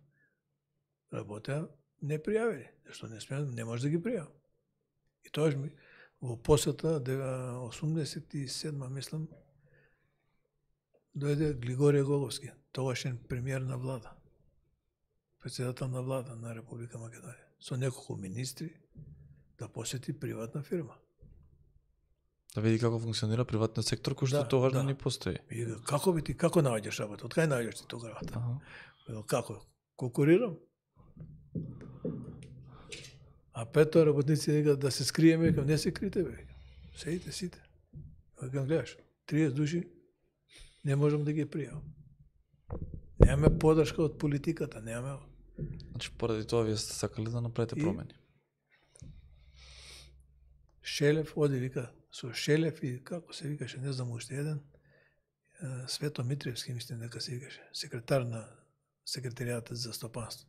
работеа не пријавили. Зашто не смеам, не може да ги пријавам. И тоа ми во посета осумдесет и седма, мислам, дојде Глигорија Головски, тогашен премиер на влада, председател на влада на Република Македонија, со неколку министри да посети приватна фирма. Да види како функционира приватниот сектор, кој што Да, тогаш да. не постои. И како би ти, како наоѓаш работа? Од кај наоѓаш ти тога работа? Ага. Како? Конкурирам? А пето работници викаат да се скриеме, викам не се крите бе. Седите сите. Викам гледаш, триесет души не можам да ги пријавам. Немаме подршка од политиката, немаме. Значи поради тоа вие сте сакали да направите И... промени. Шелев оди, вика, со Шелев и како се викаше, не знам уште еден, Свето Митревски, мислам дека се викаше, секретар на секретаријатот за стопанство.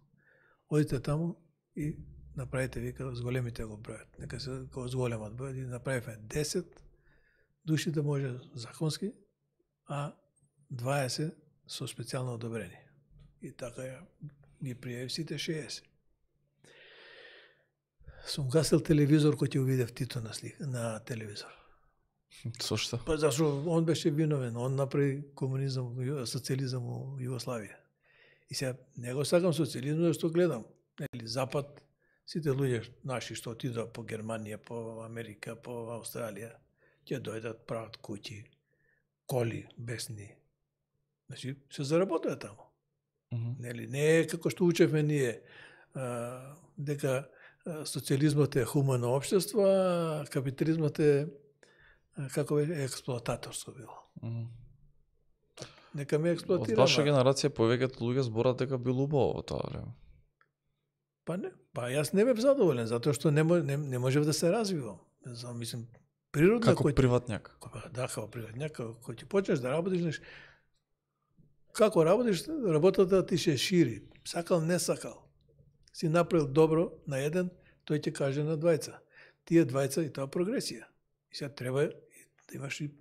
Одите таму и направите, вика, зголемите го бројат. Нека се зголемат бројат и направивме десет души да може законски, а дваесет со специјално одобрение. И така ја ги пријави сите шеесет. Сум гасил телевизор кој ќе увидев Тито на слика, на телевизор. Со што? Па зашто он беше виновен, он направи комунизам, социализам во Југославија. И сега не го сакам социализмот, зашто гледам, нели Запад, сите луѓе наши што отидоа по Германија, по Америка, по Австралија, ќе дојдат, прават куќи, коли, бесни. Значи, се заработува таму. Mm -hmm. Нели, не е како што учевме ние, а, дека социализмот е хумано општество, а капитализмот е, како е, експлоататорско било. Mm -hmm. Нека ме експлоатира. Од ваша генерација повеќето луѓе зборат дека било убаво во тоа време. Па не, па јас не бев задоволен, затоа што не, не, не можев да се развивам. За, мислим, природно... Како кој... приватњак? Да, како приватњак, кој ти почнеш да работиш, неш... како работиш, работата ти се шири. Сакал, не сакал. Си направил добро на еден, тој ќе каже на двајца. Тие двајца и тоа прогресија. И сега треба да имаш и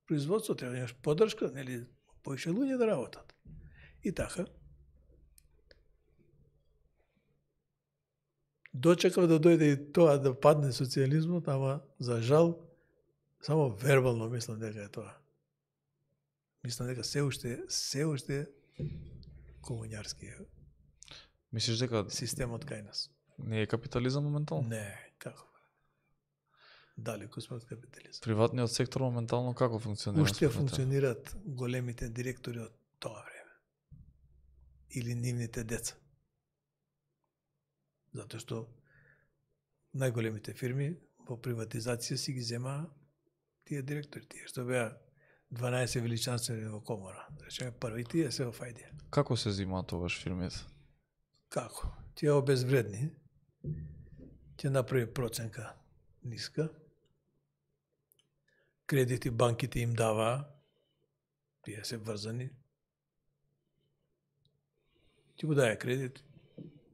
производство, треба да имаш поддршка, нели, поише луѓе да работат. И така, дочекав да дојде и тоа да падне социализмот, ама за жал само вербално мислам дека е тоа. Мислам дека се уште се уште комуњарски е. Мислиш дека системот кај нас не е капитализам моментално? Не, како? Далеко сме од капитализам. Приватниот сектор моментално како функционира? Уште функционираат големите директори од тоа време. Или нивните деца. Затоа што најголемите фирми во приватизација си ги зема тие директори, тие што беа дванаесет величанствени во комора. Да речеме први тие се во фајдија. Како се земаат тогаш фирмите? Како? Тие обезвредни, ќе направи проценка ниска, кредити банките им даваа, тие се врзани, ќе го даде кредит,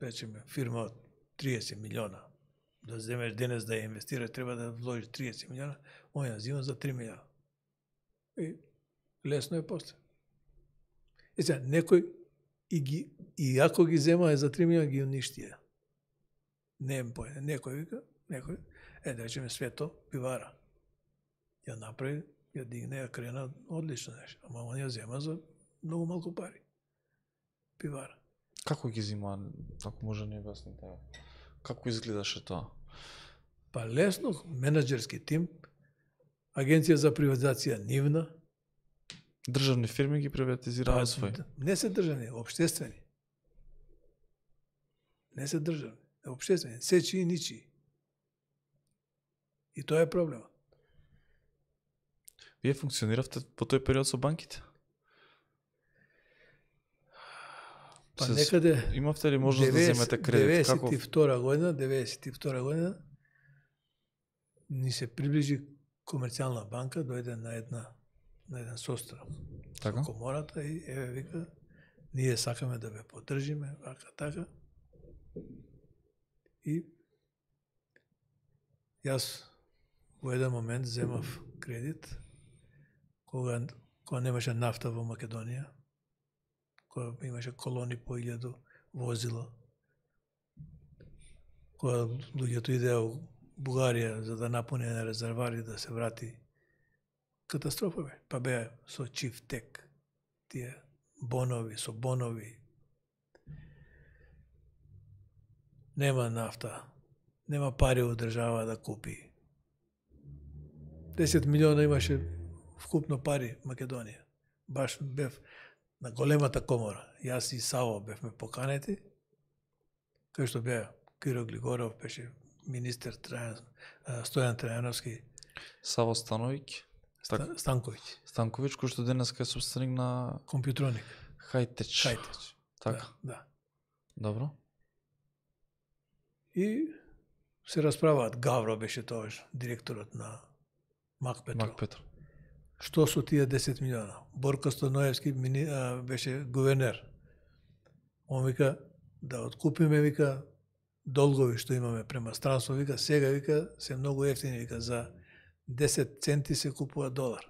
речеме фирма од триесет милиона, да земеш денес да ја инвестираш, треба да вложиш триесет милиона, он ја зима за три милиона. И лесно е после. И сега, некој и, ги, и ако ги зема е за три милиона, ги уништија. Не е појде. Некој вика, некој, е да речеме Свето, пивара. Ја направи, ја дигне, ја крена одлично нешто. Ама он ја зема за многу малку пари. Пивара. Како ги зима, ако може не објасните? Како изгледаше тоа? Па лесно, менеджерски тим, агенција за приватизација нивна. Државни фирми ги приватизираат свој. Не се државни, општествени. Не се државни, општествени, се чии ничии. И тоа е проблемот. Вие функциониравте по тој период со банките? Па Се- некаде Имавте ли можност да земете кредит? Како? деветдесет и втора година, деветдесет и втора година ни се приближи Комерцијална банка, дојде на една на еден состран Така? со комората и еве вика ние сакаме да ве поддржиме, вака така. И јас во еден момент земав кредит кога кога немаше нафта во Македонија, кога имаше колони по илјаду возила, кога луѓето идеа во Бугарија за да напуни на резервари да се врати, катастрофа бе. Па беа со Чифтек, тие бонови, со бонови. Нема нафта, нема пари во држава да купи. десет милиона имаше вкупно пари Македонија. Баш бев на големата комора. Јас и Саво бевме поканети, кај што беа Киро Глигоров, беше министер Трајан, Стојан Трајановски, Саво Становиќ, Ста- Станковиќ, Станковиќ, кој што денеска е собственик на компјутроник, Хајтеч. Хајтеч. Така, Да, да. добро. И се расправаат. Гавро беше тоаш директорот на Мак Петро. Мак Петро. Што со тие десет милиона? Борко Стоноевски мини, а, беше гувернер. Он вика да откупиме, вика, долгови што имаме према странство, вика, сега вика се многу ефтини, вика за десет центи се купува долар.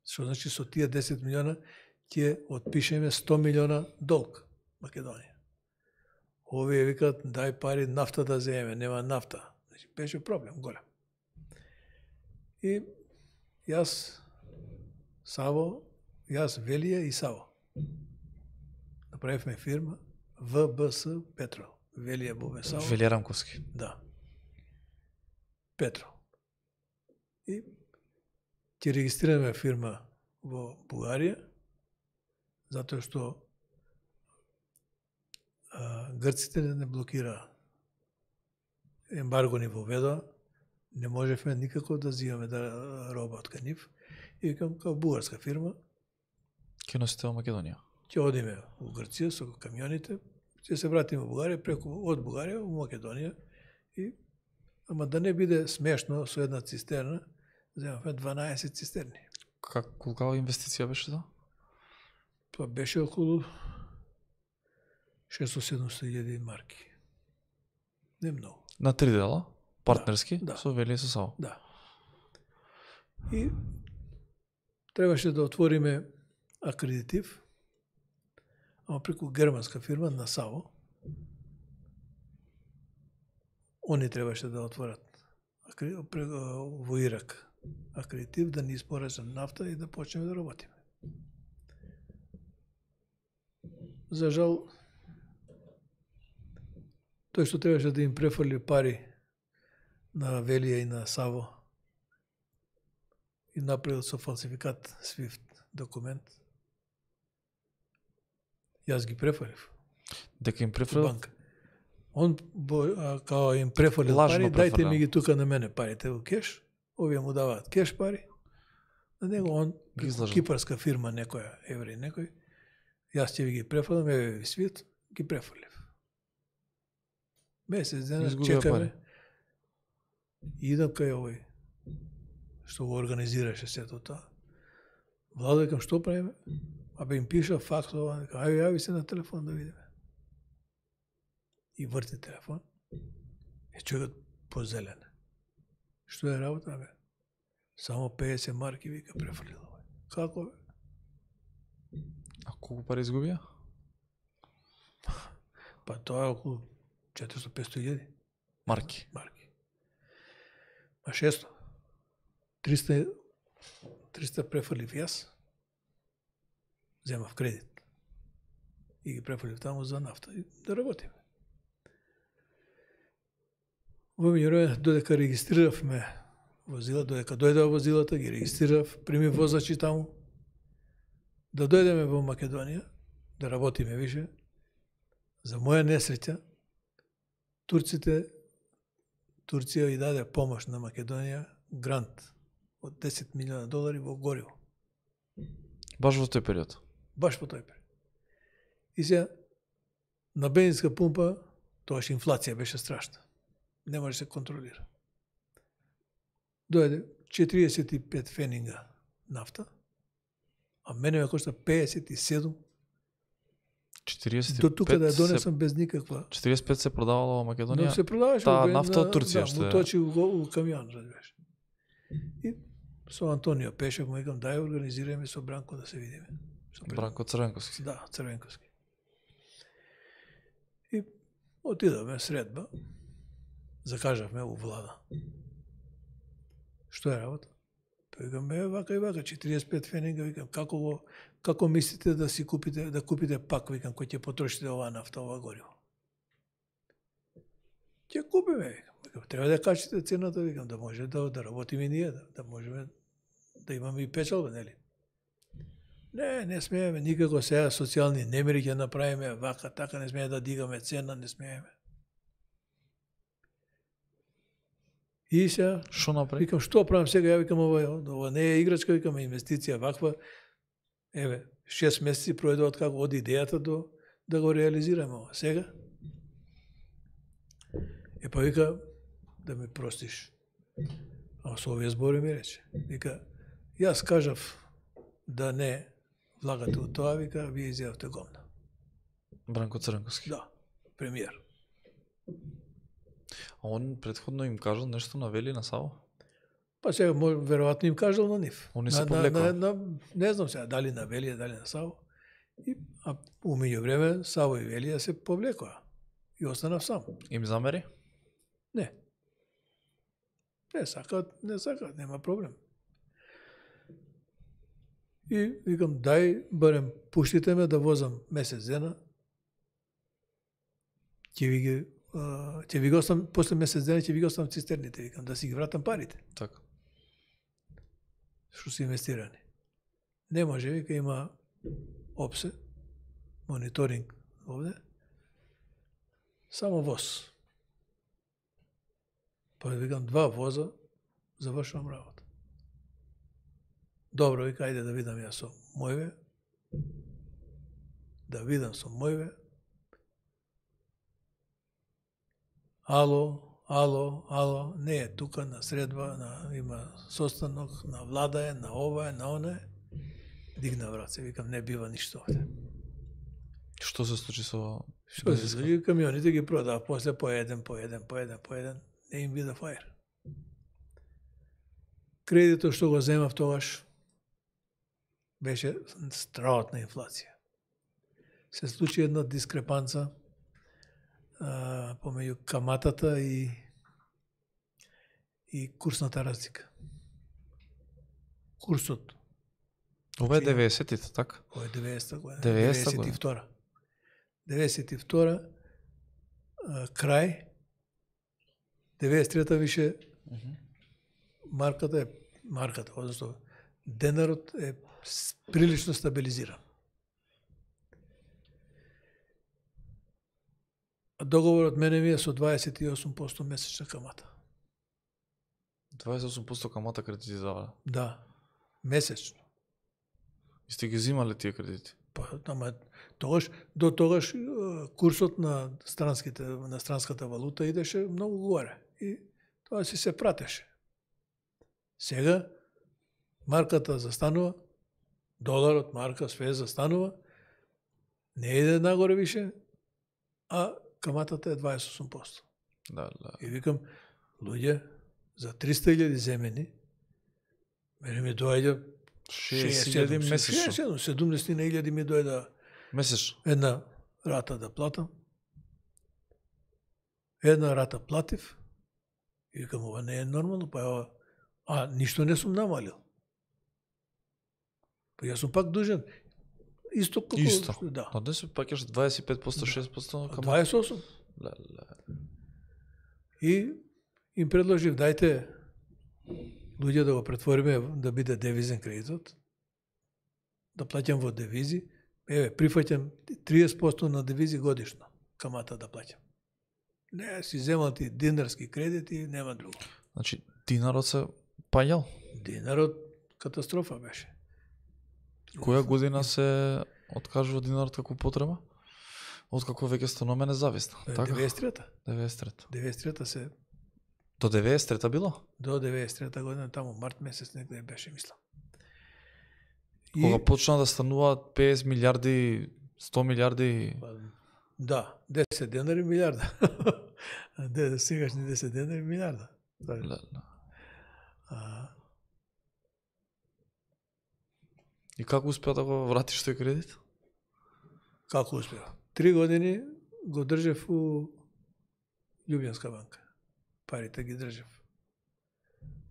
Што значи со тие десет милиона ќе отпишеме сто милиона долг Македонија. Овие викаат дај пари нафта да земеме, нема нафта. Значи беше проблем голем. И јас Саво, јас Велија и Саво направивме фирма В Б С Петро. Велија Бубе Саво. Велија Рамковски. Да. Петро. И ќе регистрираме фирма во Бугарија, затоа што а, грците не блокира ембарго ни воведоа, не можевме никако да зимаме да роба од кај нив. И викам, као бугарска фирма, Ке носите во Македонија. ќе одиме во Грција со камионите, ќе се вратиме во Бугарија, преку од Бугарија во Македонија. И ама да не биде смешно со една цистерна, земавме дванаесет цистерни. Как колкава инвестиција беше тоа? Тоа беше околу шест до седумстотини илјади марки. Не многу. На три дела, партнерски, да. со Велија и со Саво. Да. И требаше да отвориме акредитив, ама преку германска фирма на Саво. Они требаше да отворат акре- пре- во Ирак акредитив, да ни испорачат нафта и да почнеме да работиме. За жал, тој што требаше да им префрли пари на Велија и на Саво и направил со фалсификат Свифт документ. Јас ги префрлив Дека им во префрел банка. Он бо, а, као им префрлил Лажно пари, дајте префрлил. ми ги тука на мене парите во кеш, овие му даваат кеш пари, на него он, Излажат. кипарска фирма, некоја, евреј некој, јас ќе ви ги префрлам, еве ви свит, ги префрлив. Месец дена Изгубија чекаме, пари. и идам кај овој, што го организираше сето тоа. Владо, викам, што правиме? Абе им пиша факс, ова, викам, ајде јави се на телефон да видиме. И врти телефон. Е човекот позелен. Што е работа, бе? Само педесет марки, вика, префрлил овој. Како, бе? А колку пари изгубија? Па тоа е околу четиристо до петстотини илјади Марки. марки. Па шесто. триста триста префрлив јас. Земав кредит. И ги префрлив таму за нафта и да работиме. Во меѓувреме, додека регистриравме возила, додека дојдеа возилата, ги регистрирав, прими возачи таму, да дојдеме во Македонија, да работиме више. За моја несреќа, турците, Турција и даде помош на Македонија, грант од десет милиона долари во гориво. Баш во тој период. Баш по тој период. И сега, на бензинска пумпа, тоаш инфлација беше страшна. Не може да се контролира. Дојде четириесет и пет фенинга нафта, а мене ме кошта педесет и седум. четириесет и пет До тука да ја се- донесам без никаква. четириесет и пет се продавало во Македонија. Но се продаваше таа во бен- нафта од на- Турција, да, што му е. точи во, во камион, разбираш. И со Антонио Пешев му викам, дај организираме со Бранко да се видиме. Со пред- Бранко Црвенковски. Да, Црвенковски. И отидовме средба, закажавме у влада. Што е работа? Па викам, е, вака и вака, четириесет и пет фенинга, викам, како го, како мислите да си купите, да купите пак, викам, кој ќе потрошите оваа нафта, ова гориво? Ќе купиме, викам. Викам, треба да качите цената, викам, да може да, да работиме и ние, да, да можеме да имаме и печалба, нели? Не, не смееме никако сега социјални немири ќе направиме, вака, така, не смееме да дигаме цена, не смееме. И сега, Што направи? викам, што правам сега, ја викам, ова, ова не е играчка, викам, инвестиција ваква. Еве, шест месеци пројде од како од идејата до да го реализираме ова. Сега, е па вика, да ми простиш. А со овие збори ми рече. Вика, јас кажав да не влагате у тоа, вика, вие изјавте гомна. Бранко Црвенковски. Да, премиер. А он претходно им кажал нешто на Вели на Саво? Па сега, мож- веројатно им кажал на нив. Они се на, на, повлекоа. на, на, не знам сега, дали на Велија, дали на Саво. И, а умеѓу време, Саво и Велија се повлекоа. И останав сам. Им замери? Не. Не сакаат, не сакаат, нема проблем. И викам, дај, барем, пуштите ме да возам месец дена. Ќе ви ги, а, ќе ви го оставам, после месец дена ќе ви ги оставам цистерните, викам, да си ги вратам парите, Така. што се инвестирани. Не може, вика, има опсе, мониторинг овде, само воз. Па викам, два воза, завршувам работа. Добро, вика, ајде да видам јас со мојве, да видам со мојве. Ало, ало, ало, не е тука на средба, на, има состанок, на влада е, на ова е, на она е. Дигна враце, викам, не бива ништо овде. Што се случи со Што се случи? Камионите ги продава после по еден, по еден, по еден, по еден. Не им вида фајер. Кредитот што го земав тогаш беше страотна инфлација. Се случи една дискрепанца а, помеѓу каматата и и курсната разлика. Курсот, Ова е деветдесетите, така? кој е деветдесета година, деветдесета деветдесет и втора. деветдесет и втора а, крај, деветдесет и трета више марката е марката, односно денарот е с- прилично стабилизиран. А договорот мене ми е со дваесет и осум проценти месечна камата. дваесет и осум проценти камата кредити дава. Да, месечно. И сте ги взимале тие кредити? Па, ама тогаш, до тогаш е, курсот на странските на странската валута идеше многу горе и тоа си се пратеше. Сега марката застанува, доларот, марка, све застанува, не иде нагоре више, а каматата е дваесет и осум проценти. Да, да. И викам, луѓе, за триста илјади земени, мене ми доаѓа шеесет илјади месечно. седумдесет илјади ми дојда Месечно. една рата да платам. Една рата платив. И викам, ова не е нормално, па ова, а ништо не сум намалил. Па јас сум пак дужен. Исто како Исто. што- да. На днес пакеш дваесет и пет проценти, шест проценти камата. дваесет и осум. Да, да. И им предложив, дајте луѓе да го претвориме да биде девизен кредитот, да плаќам во девизи, еве, прифаќам триесет проценти на девизи годишно, камата да плаќам. Не, си земал ти динарски кредити, нема друго. Значи, динарот се паѓал. Динарот катастрофа беше. Која година се откажува динарот како потреба? Откако веќе стануваме независна. Така? деветдесет и трета. деветдесет и трета. деветдесет и трета се До деветдесет и трета било? до деветдесет и трета година, таму март месец некаде беше, мислам. И, Кога почна да стануваат петдесет милиарди, сто милиарди, па, да, десет денари милиарда. Де, сегашни десет денари милиарда. Тоа е. да, да. А, И како успеа да го вратиш тој кредит? како успеа? Три години го држев у Љубљанска банка. Парите ги држев.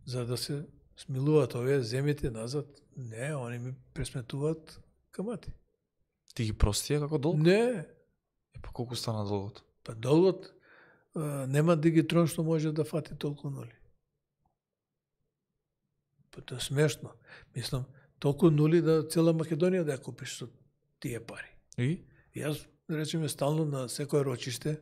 За да се смилуваат овие земите назад, не, они ми пресметуваат камати. Ти ги простија како долг? Не, И па колку стана долгот? па долгот а, нема дигитрон што може да фати толку нули. Па тоа е смешно. Мислам, толку нули да цела Македонија да ја купиш со тие пари. И? Јас, да речеме, стално на секој рочиште,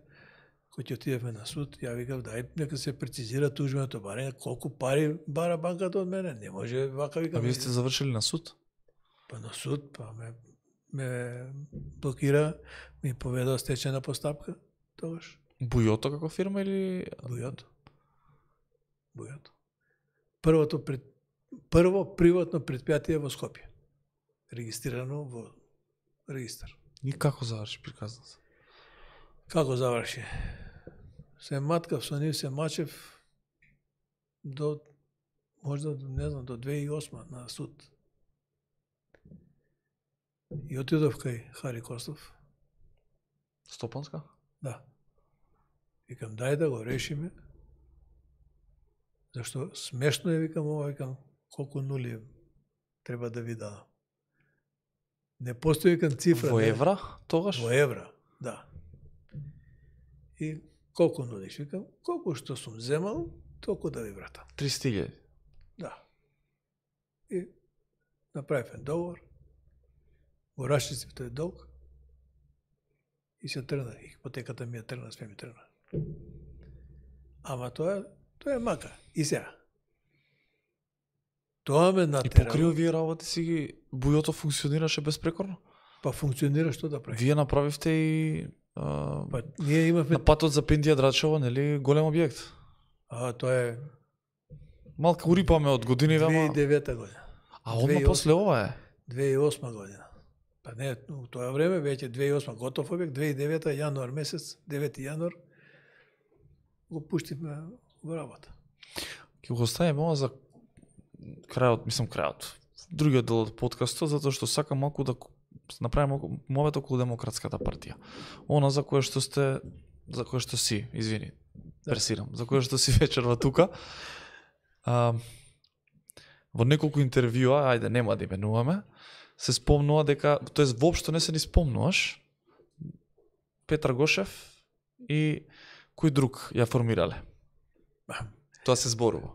кој ќе отидеме на суд, ја викав, дај, нека се прецизира тужбеното барање, колку пари бара банката од мене, не може вака, А викам. вие сте завршили на суд? Па на суд, па ме, ме блокира, ми поведа стечена постапка, тогаш. Бујото како фирма или... Бујото. Бујото. Првото пред, прво приватно предпријатие во Скопје. Регистрирано во регистар. И како заврши приказната? Како заврши? Се маткав со нив, се мачев до, можда, не знам, до две илјади и осма на суд. И отидов кај Хари Костов. Стопанска? Да. Викам, дај да го решиме. Зашто смешно е, викам, ова, викам, колку нули треба да ви дадам. Не постои, викам, цифра. Во не. евра тогаш? Во евра, да. И колку нулиш? Викам, колку што сум земал, толку да ви вратам. триста илјади. Да. И направив договор, го расчистив тој долг и се тргна. И ипотеката ми ја тргна, све ми тргна. Ама тоа, тоа е мака. И сега. Тоа ме И натера. покри овие работи си ги... Бујото функционираше безпрекорно? Па функционира, што да прави? Вие направивте и... А, Па ние имавме... на патот за Пиндија Драчево, нели, голем објект? А, тоа е Малка урипаме од години, две илјади и ама... девета година. А одма две илјади и после ова е? две илјади и осма година. Па не, у тоа време веќе две илјади и осма готов објект, две илјади и девета јануар месец, девети јануар го пуштивме во работа. Ќе го оставиме ова за крајот, мислам крајот. Другиот дел од подкастот, затоа што сакам малку да направиме момент околу Демократската партија. Она за кое што сте, за кое што си, извини, персирам, за кое што си вечерва тука. А, во неколку интервјуа, ајде нема да именуваме, се спомнува дека, тоест воопшто не се ни спомнуваш, Петар Гошев и кој друг ја формирале. Тоа се зборува.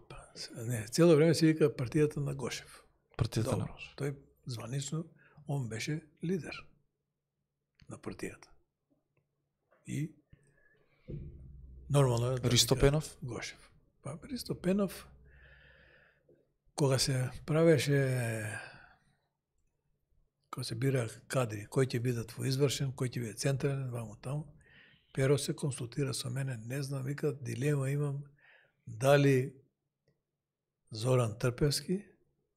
Не, цело време се вика партијата на Гошев. Партијата на Добро, тој званично, он беше лидер на партијата. И нормално е да Ристо вика Пенов? Гошев. Па Ристо Пенов кога се правеше, кога се бира кадри, кој ќе бидат во извршен, кој ќе биде централен, вамо таму, Перо се консултира со мене, не знам, вика, дилема имам, дали Зоран Трпевски,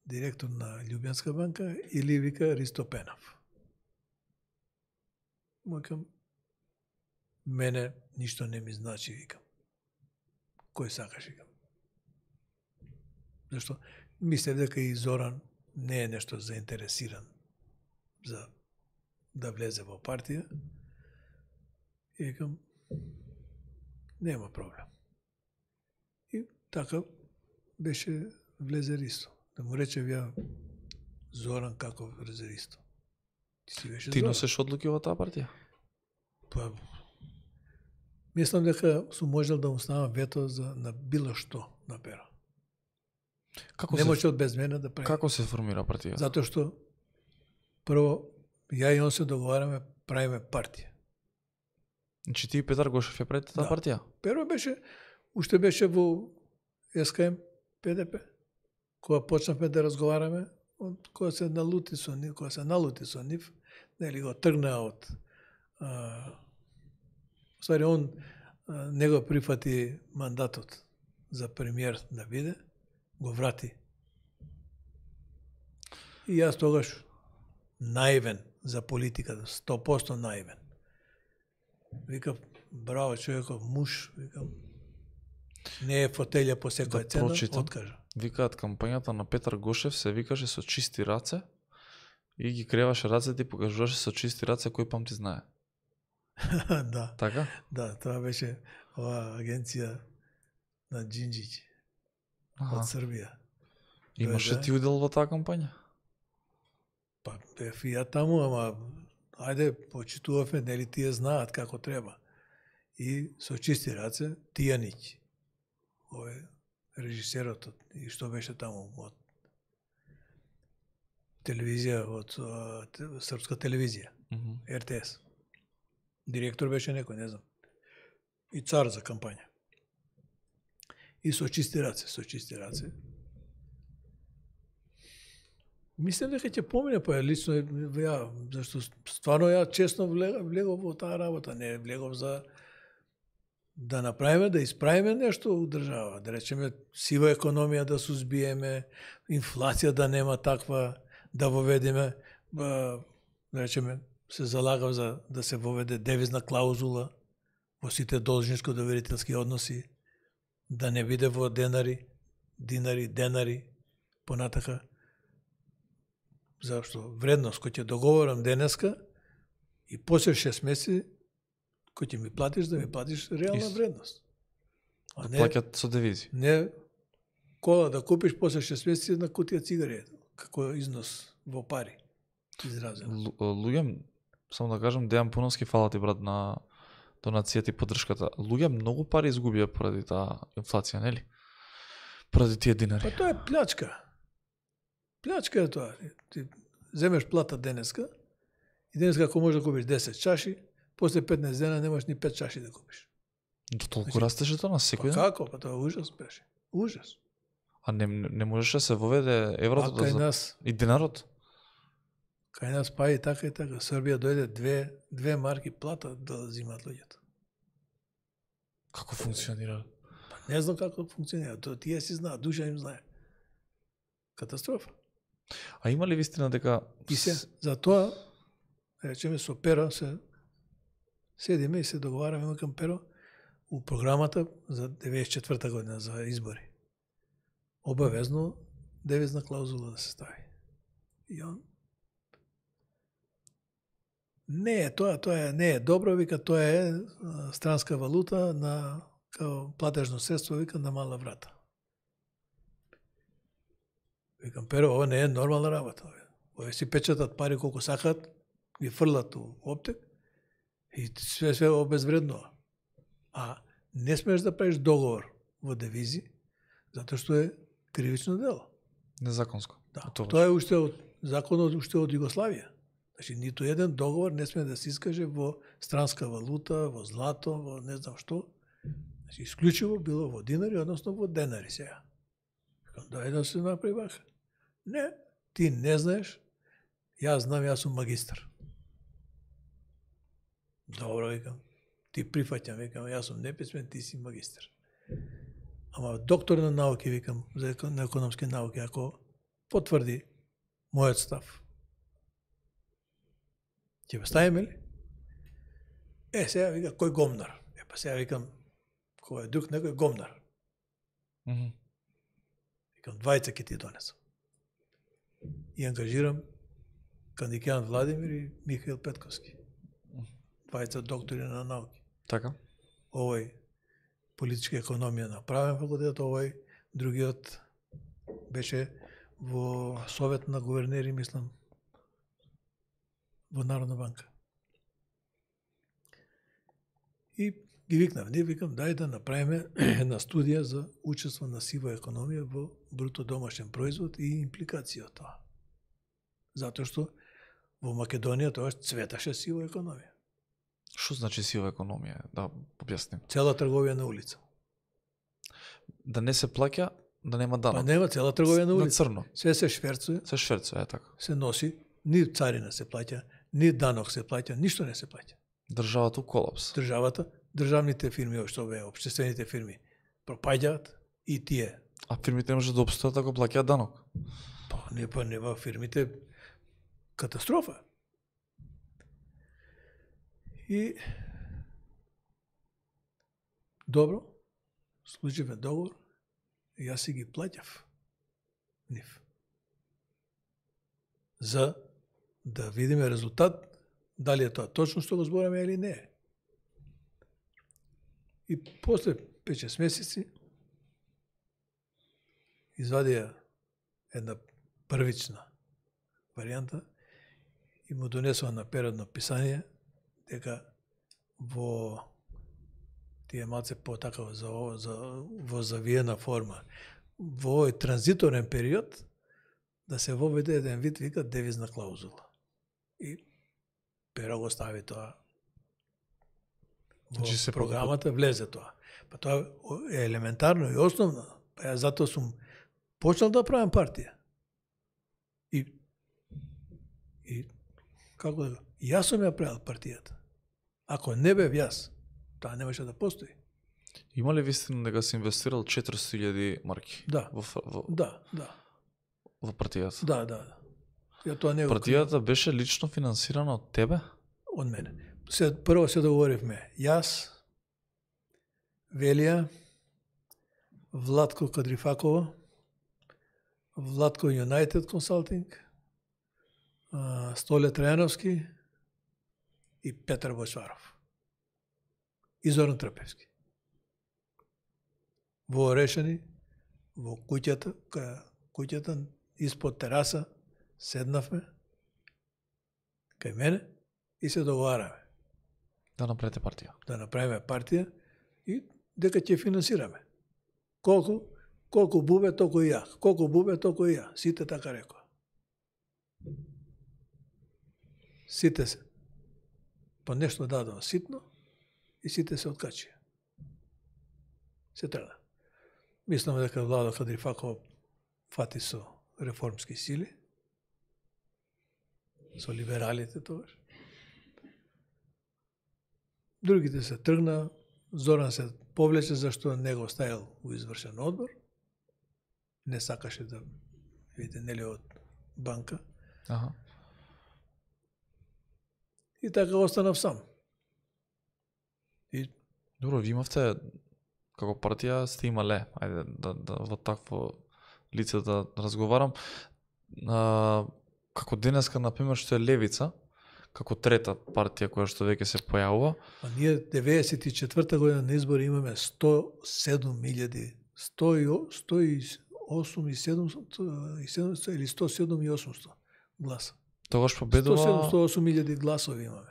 директор на Љубенска банка, или вика Ристо Пенов. Викам, мене ништо не ми значи, викам. Кој сакаш, викам. Зашто мислев дека и Зоран не е нешто заинтересиран за да влезе во партија. И викам, нема проблем. И така беше влезе Ристо. Да му рече ја, Зоран како влезе Ристо. Ти си беше Ти Зоран. носиш одлуки во таа партија? Па, мислам дека сум можел да му ставам вето за, на било што на Перо. Како Не се може од без мене да прави. како се формира партија? Затоа што прво ја и он се договараме, правиме партија. Значи ти и Петар Гошев ја правите таа Да. партија? Перо беше, уште беше во Ес Ка Ем Пе Де Пе. Кога почнавме да разговараме, од кога се налути со нив, кога се налути со нив, нели го тргна од а, ствари он а, не го прифати мандатот за премиер да биде, го врати. И јас тогаш наивен за политиката, сто проценти наивен. Викав, браво човеков, муж, викам, не е фотелја по секоја Да цена, прочитам. откажа. Викаат кампањата на Петар Гошев се викаше со чисти раце и ги креваше рацете и покажуваше со чисти раце кој памти знае. Да, Така? да, тоа беше ова агенција на Джинджиќ Аха. од Србија. Имаше да. ти удел во таа кампања? Па бев и ја таму, ама ајде, почитувавме, нели тие знаат како треба. И со чисти раце, Тијанич, овој режисерот, од- и што беше таму, од телевизија, од а, те- српска телевизија, Мгм. Ер Те Ес. Директор беше некој, не знам. И цар за кампања. И со чисти раце, со чисти раце. Мислам дека ќе помине, па лично ја, зашто стварно ја честно влегов, влегов во таа работа, не влегов за да направиме, да исправиме нешто у држава, да речеме сива економија да сузбиеме, инфлација да нема таква, да воведеме, ба, да речеме, се залагав за да се воведе девизна клаузула во сите должничко-доверителски односи, да не биде во денари, динари, денари, понатака, зашто вредност кој ќе договорам денеска и после шест месеци кој ќе ми платиш, да ми платиш реална Исто. вредност. А не, Плаќат со девизи. не кола да купиш после шест месеци една кутија цигари, како износ во пари изразено. Лу- Луѓе, само да кажам, Дејан Пуновски, фала ти брат на донацијата и поддршката. Луѓе многу пари изгубија поради таа инфлација, нели? Поради тие Па динари. тоа е плячка. Плячка е тоа. Ти земеш плата денеска и денеска ако можеш да купиш десет чаши, после петнаесет дена немаш ни пет чаши да купиш. До толку растеше тоа на Па секој ден? како? Па тоа е ужас беше. Ужас. А не, не можеше да се воведе А еврото да кај за... нас, и динарот? кај нас па и така и така. Србија дојде две, две марки плата да зимат луѓето. Како функционира? Па не знам како функционира. Тоа тие си знаат, душа им знае. Катастрофа. А има ли вистина дека И се, за тоа, речеме, со Перо се седиме и се договараме кон Перо у програмата за деветдесет и четврта година за избори. Обавезно девизна клаузула да се стави. И он не е тоа, тоа е, не е добро, вика, тоа е а, странска валута на као платежно средство, вика, на мала врата. Викам, Перо, ова не е нормална работа. Овие си печатат пари колку сакат, ги фрлат у оптек и све све обезвреднува. А не смеш да правиш договор во девизи, затоа што е кривично дело. незаконско? Да, Тоа тоа е уште од законот уште од Југославија. Значи ниту еден договор не сме да се искаже во странска валута, во злато, во не знам што. Значи исклучиво било во динари, односно во денари сега. дај да се направи вака. Не, ти не знаеш, јас знам, јас сум магистар. Добро, викам, ти прифаќам, викам, јас сум неписмен, ти си магистар. Ама доктор на науки, викам, за на економски науки, ако потврди мојот став, ќе ме ставиме ли? Е, сега вика, кој гомнар? Е, па сега викам, кој е друг некој гомнар. Mm -hmm. Викам, двајца ќе ти донесам. И ангажирам Кандикјан Владимир и Михаил Петковски. Двајца доктори на науки. Така. Овој политичка економија на правен факултет, овој другиот беше во Совет на гувернери, мислам, во Народна банка. И ги викнав, не викам, дај да направиме една студија за учество на сива економија во бруто домашен производ и импликација од тоа. Затоа што во Македонија тоа цветаше сива економија. Што значи сива економија? Да објасним. Цела трговија на улица. Да не се плаќа, да нема данок. Па нема цела трговија на улица. На црно. Се се шверцуе. Се шверцуе, е така. Се носи, ни царина се плаќа, ни данок се плаќа, ништо не се плаќа. Државата у колапс. Државата, државните фирми, што бе, општествените фирми, пропаѓаат и тие. А фирмите не може да обстојат ако плаќаат данок. Па не, па нема фирмите катастрофа. И добро, случивме договор, и јас си ги плаќав нив. За да видиме резултат, дали е тоа точно што го збораме или не. И после пет-шест месеци извадија една првична варијанта и му донесува на перодно писание дека во тие малце потака за, за, во завиена форма, во овој транзиторен период, да се воведе еден вид, вика, девизна клаузула. И Перо го стави тоа во се програмата, влезе тоа. Па тоа е елементарно и основно. Па ја затоа сум почнал да правам партија. И, и како да, јас сум ја правил партијата. Ако не бев јас, таа немаше да постои. Има ли вистина дека се инвестирал четиристотини илјади марки? Да. Во, во, Да, да. во партијата? Да, да, да. Ја тоа не го партијата беше лично финансирана од тебе? Од мене. Се, прво се договоривме. Јас, Велија, Владко Кадрифакова, Владко United Consulting, Столе Трајановски и Петар Бојсваров. И Зоран Трпевски. Во Орешани, во куќата, куќата испод тераса, седнавме кај мене и се договараме. Да направите партија. Да направиме партија и дека ќе финансираме. Колку, колку бубе, толку и ја. Колку бубе, толку и ја. Сите така рекоа. Сите се. По нешто дадоа ситно и сите се откачија. Се тргна. Мислам дека Владо Кадрифаков фати со реформски сили, со либералите тогаш. Другите се тргна, Зоран се повлече зашто не го ставил во извршен одбор. Не сакаше да види нели од банка. Аха. И така останав сам. И добро, ви имавте како партија сте имале, ајде да, да во такво лице да разговарам. А, како денеска, например, што е Левица, како трета партија која што веќе се појавува. А ние деветдесет и четврта година на избори имаме сто и седум илјади, сто и осум и седумстото или сто и седум и осумстото гласа. Тогаш победува сто и седум, сто и осум илјади гласови имаме.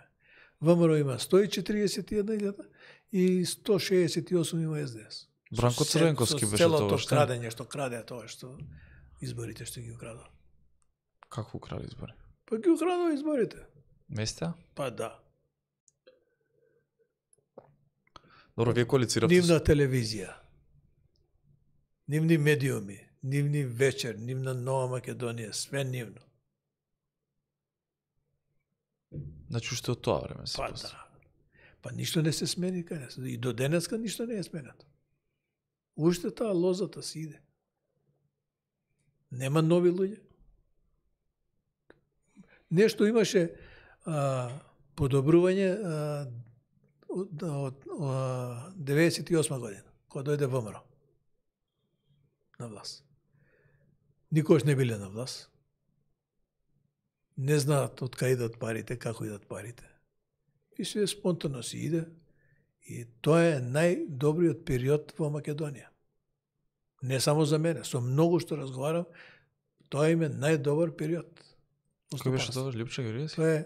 ВМРО има сто и четириесет и една илјада и сто шеесет и осум има Ес Де Ес. Бранко Црвенковски беше целото тогаш. крадење што краде тоа што изборите што ги украдува. Како украде избори? Па ги украдува изборите. Места? Па да. Добро, вие коалициравте. Нивна телевизија, нивни медиуми, нивни вечер, нивна Нова Македонија, све нивно. Значи уште од тоа време се Па постои. да. Па ништо не се смени кај нас. И до денеска ништо не е сменето. Уште таа лозата си иде. Нема нови луѓе. Нешто имаше а, подобрување а, од, од, од деветдесет и осма година, кога дојде ВМРО на власт. Никош не биле на власт. Не знаат од кај идат парите, како идат парите. И све спонтано си иде. И тоа е најдобриот период во Македонија. Не само за мене, со многу што разговарам, тоа им е најдобар период. Кој беше тоа, Лјупче Георгиевски? Тоа е,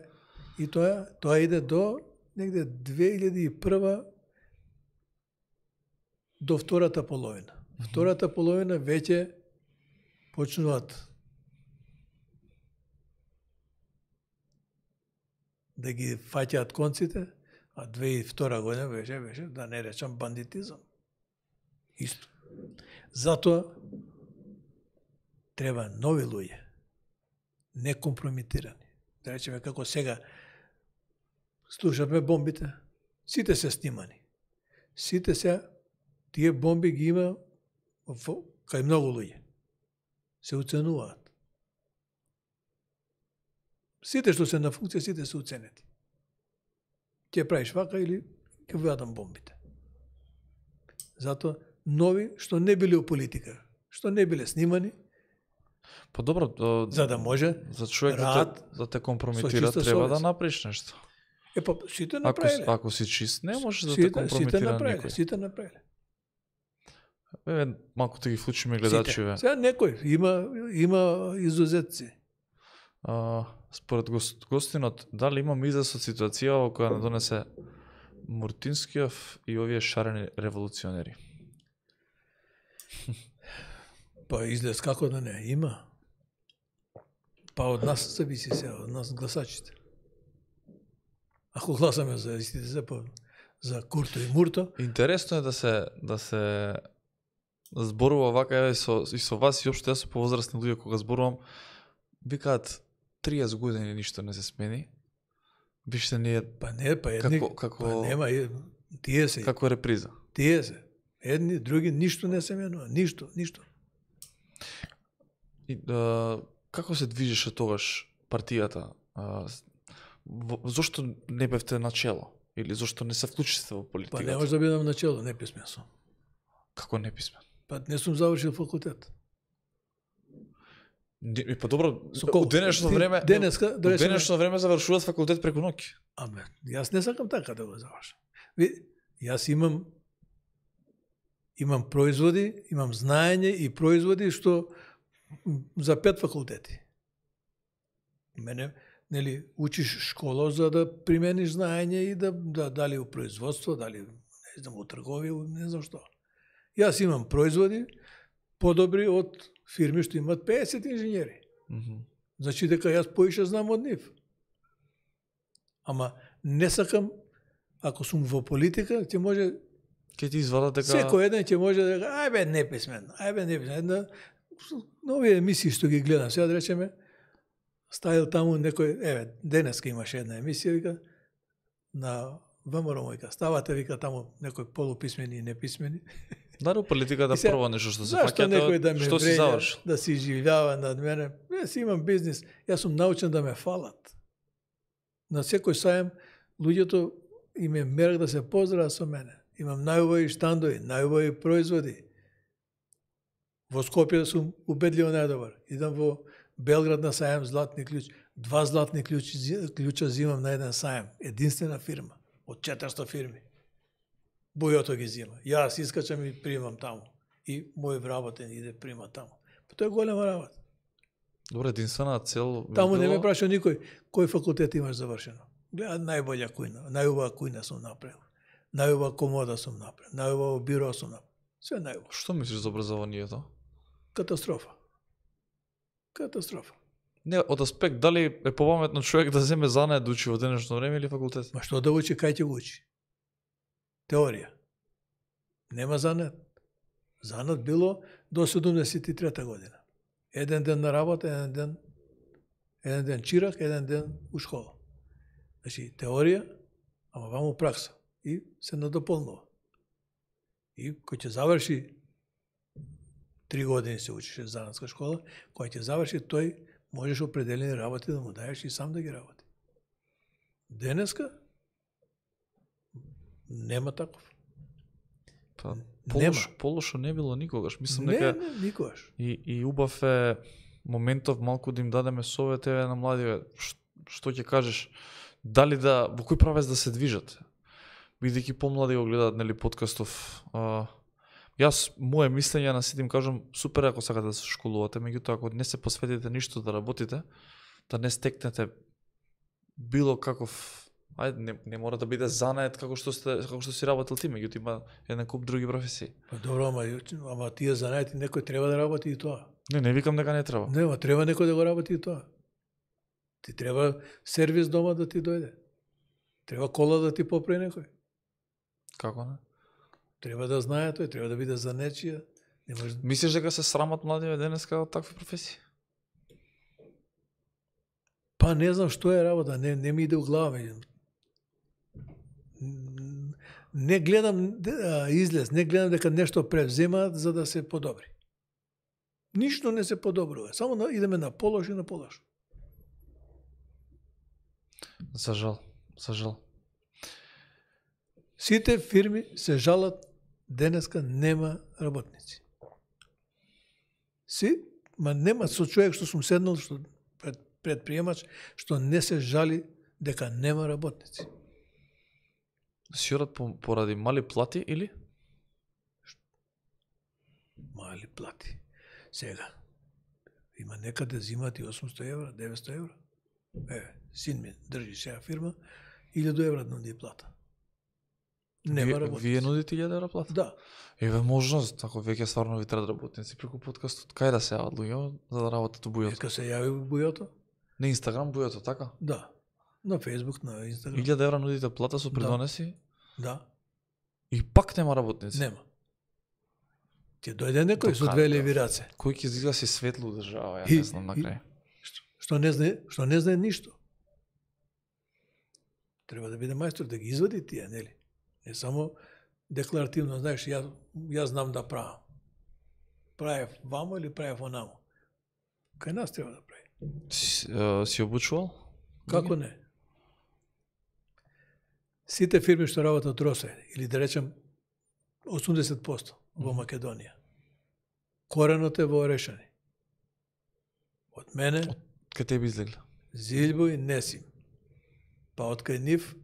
и тоа, тоа иде до негде две илјади и прва до втората половина. Втората половина веќе почнуваат да ги фаќаат конците, а две и втора година беше, беше, да не речам, бандитизам. Исто. Затоа треба нови луѓе, не компромитирани. Да речеме како сега слушаме бомбите, сите се снимани. Сите се, тие бомби ги има во, кај многу луѓе. Се уценуваат. Сите што се на функција, сите се уценети. Ќе правиш вака или ќе вадам бомбите. Затоа нови што не биле у политика, што не биле снимани, Па добро, до, за да може за човек да рад те, да те компрометира, чиста треба совест. да направиш нешто. е па сите Ако, направиле. ако си чист, не можеш да те сите, сите компрометира направиле, никој. сите направиле. Еве, малку да ги вклучиме Сите. гледачиве. Сега некој има има изузетци. А, според гост, гостинот, дали имам излез од ситуација во која не донесе Муртинскиов и овие шарени револуционери? Па излез како да не, има. Па од нас зависи сега, од нас гласачите. Ако гласаме за истите за, за Курто и Мурто, Интересно е да се да се зборува вака еве со и со вас и општо јас со повозрастни луѓе кога зборувам, викаат триесет години ништо не се смени. Виште ние па не, па едни, како како па нема, е, тие се, како реприза. тие се. Едни, други, ништо не се менува, ништо, ништо. И, а, како се движеше тогаш партијата? А, во, зошто не бевте начело? Или зошто не се вклучите во Па политиката? не може да бидам начело, не писмен сум. Како не писмен? Па не сум завршил факултет. Не, па добро, Со колку? од денешно Ти- време, денеска, да од речеме- денешно време завршуваат факултет преку ноќ. Аме, јас не сакам така да го завршам. Ви, јас имам имам производи, имам знаење и производи што м, за пет факултети. Мене, нели, учиш школа за да примениш знаење и да, да дали у производство, дали не знам у трговија, не знам што. Јас имам производи подобри од фирми што имат педесет инженери. Мгм. Значи дека јас поише знам од нив. Ама не сакам, ако сум во политика, ќе може, Ке ти извадат дека секој еден ќе може да каже, ајбе неписмен, ајбе неписмен. Една, на овие емисии што ги гледам, сега да речеме, ставил таму некој, еве, денеска имаше една емисија, вика, на ВМРО мојка, ставате, вика, таму некој полуписмени и неписмени. Дали политиката И сега, прво нешто што се Зашто фаќате, некој да ме што си вреѓа, завршил? да си живјава над мене? Јас имам бизнис, јас сум научен да ме фалат. На секој сајм, луѓето им е мерак да се поздрават со мене. Имам најубави штандови, најубави производи. Во Скопје сум убедливо најдобар. Идам во Белград на сајм златни клjuč. Два златни клjuči, клjučа зимам на еден сајм. Единствена фирма. Од четиристо фирми. Бојото ги зима. Јас искачам и примам таму. И мој вработен иде прима таму. Па тоа е голема работа. Добре, единствена цел би Таму не ме било- праша никој кој факултет имаш завршено. Гледа најбоља кујна, најубава кујна сум направил. Најубава комода сум направил. Најубаво биро сум направил. Све најубаво. Што мислиш за образованието? Катастрофа. Катастрофа. Не, од аспект дали е попаметно човек да земе занае да учи во денешно време или факултет? Ма што да учи, кај ќе го учи? Теорија. Нема занет. Занат било до седумдесет и трета година. Еден ден на работа, еден ден еден ден чирак, еден ден у школа. Значи, теорија, ама ваму пракса. И се надополнува. И кој ќе заврши три години се учише занатска школа, кој ќе заврши, тој можеш определени работи да му даеш и сам да ги работи. Денеска нема таков. Па, полошо, полошо не било никогаш. Мислам дека не, не, никогаш. И, и убав е моментов малку да им дадеме совет еве на младиве, што ќе кажеш, дали да, во кој правец да се движат? Бидејќи помлади го гледаат, нели, подкастов. А, јас, моje мислење на сите им кажам, супер ако сакате да се школувате, меѓутоа ако не се посветите ништо да работите, да не стекнете било каков, ајде, не, не мора да биде занает како што сте, како што си работел ти, меѓутоа има еден куп други професии. Па добро, ама, ама тие занаети некој треба да работи и тоа. Не, не викам дека не треба. Не, ама треба некој да го работи и тоа. Ти треба сервис дома да ти дојде. Треба кола да ти поправи некој. Како не? Треба да знае тој, треба да биде за нечија. Не може... Мислиш дека се срамат младиве денеска од такви професии? Па не знам што е работа, не, не ми иде у глава. Не гледам а, излез, не гледам дека нешто превземаат за да се подобри. Ништо не се подобрува, само на, идеме на полош и на полош. За жал, за жал. Сите фирми се жалат, денеска нема работници. Си, ма нема со човек што сум седнал, што пред, предприемач, што не се жали дека нема работници. Си одат по, поради мали плати или? Мали плати. Сега, има некаде зимати осумсто евра, деветсто евра. Е, син ми држи сега фирма, илјаду евра нуди плата. Нема работници. Вие нудите илјада евра плата? Да. Еве можност, ако веќе стварно ви треба работници преку подкастот, кај да се јават луѓе за да работат у бујото? Нека се јави у бујото? На Инстаграм бујото, така? Да. На Фејсбук, на Инстаграм. илјада евра нудите плата со придонеси? Да. И пак нема работници? Нема. Ќе дојде некој со две леви раце. Кој ќе изгласи светло држава, ја И- не знам на крај. Што не знае, што не знае ништо. Треба да биде мајстор да ги извади тие, нели? Не само декларативно, знаеш, ја, ја знам да правам. Правев вамо или правев онамо. Кај нас треба да прави. Си, е, си обучувал? Како не? Сите фирми што работат Росе, или да речем осумдесет проценти во Македонија, коренот е во Орешани. Од мене, Кај тебе излегли? Зилбо и Несим. Па од кај нив,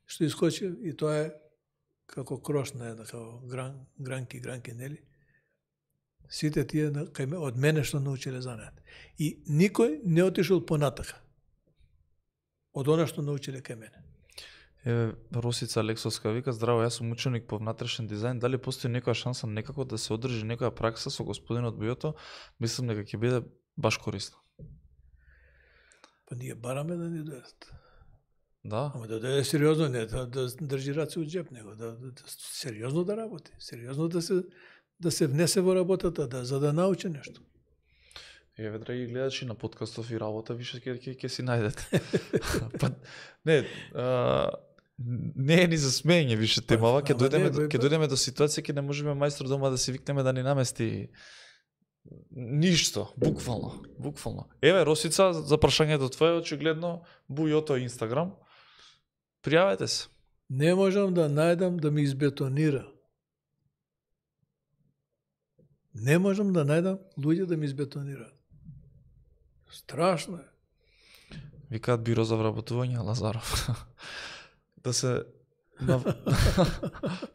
што искочи, и тоа е како крош на една, како гран, гранки, гранки, нели? Сите тие на- кај ме, од мене што научиле занаат. И никој не отишол понатака од она што научиле кај мене. Еве, Росица Алексовска вика, здраво, јас сум ученик по внатрешен дизајн, дали постои некоја шанса некако да се одржи некоја пракса со господинот Бујото? Мислам дека ќе биде баш корисно. Па ние бараме да ни дојдат. Да? Ама да дојде сериозно, не да, да држи раце од джеп, него да, да, да сериозно да работи, сериозно да се да се внесе во работата, да за да научи нешто. Еве, драги гледачи, на подкастов и работа више ќе ќе ќе си најдете. Па не, а, не е ни за смење више темава, ќе ама дојдеме не, до- бе, ќе па- дојдеме до ситуација ќе не можеме мајстор дома да си викнеме да ни намести ништо, буквално, буквално. Еве, Росица, за прашањето твое, очигледно, Бујото Инстаграм, пријавете се. Не можам да најдам да ми избетонира. Не можам да најдам луѓе да ми избетонираат. Страшно е. Викаат биро за вработување, Лазаров. Да се на...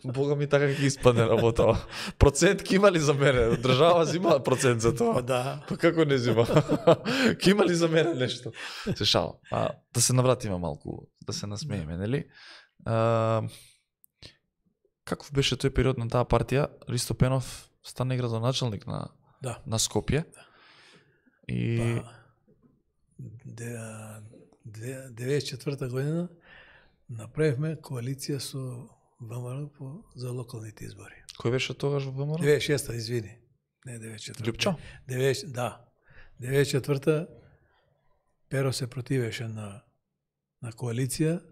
Бога ми така ќе испадне работава. Процент ќе има ли за мене? Држава зима процент за Па тоа. да. Па како не зима? Ќе има ли за мене нешто? Се шал. А, да се навратиме малку, да се насмееме, нели? А, каков беше тој период на таа партија? Ристо Пенов стане градоначалник на, Да. на Скопје. И... Па, де, де, деветдесет и четврта година направивме коалиција со ВМРО по, за локалните избори. Кој беше тогаш во ВМРО? деветдесет и шеста, извини. Не, деветдесет и четврта. Љупчо? деветдесет, да. деветдесет и четврта Перо се противеше на, на коалиција.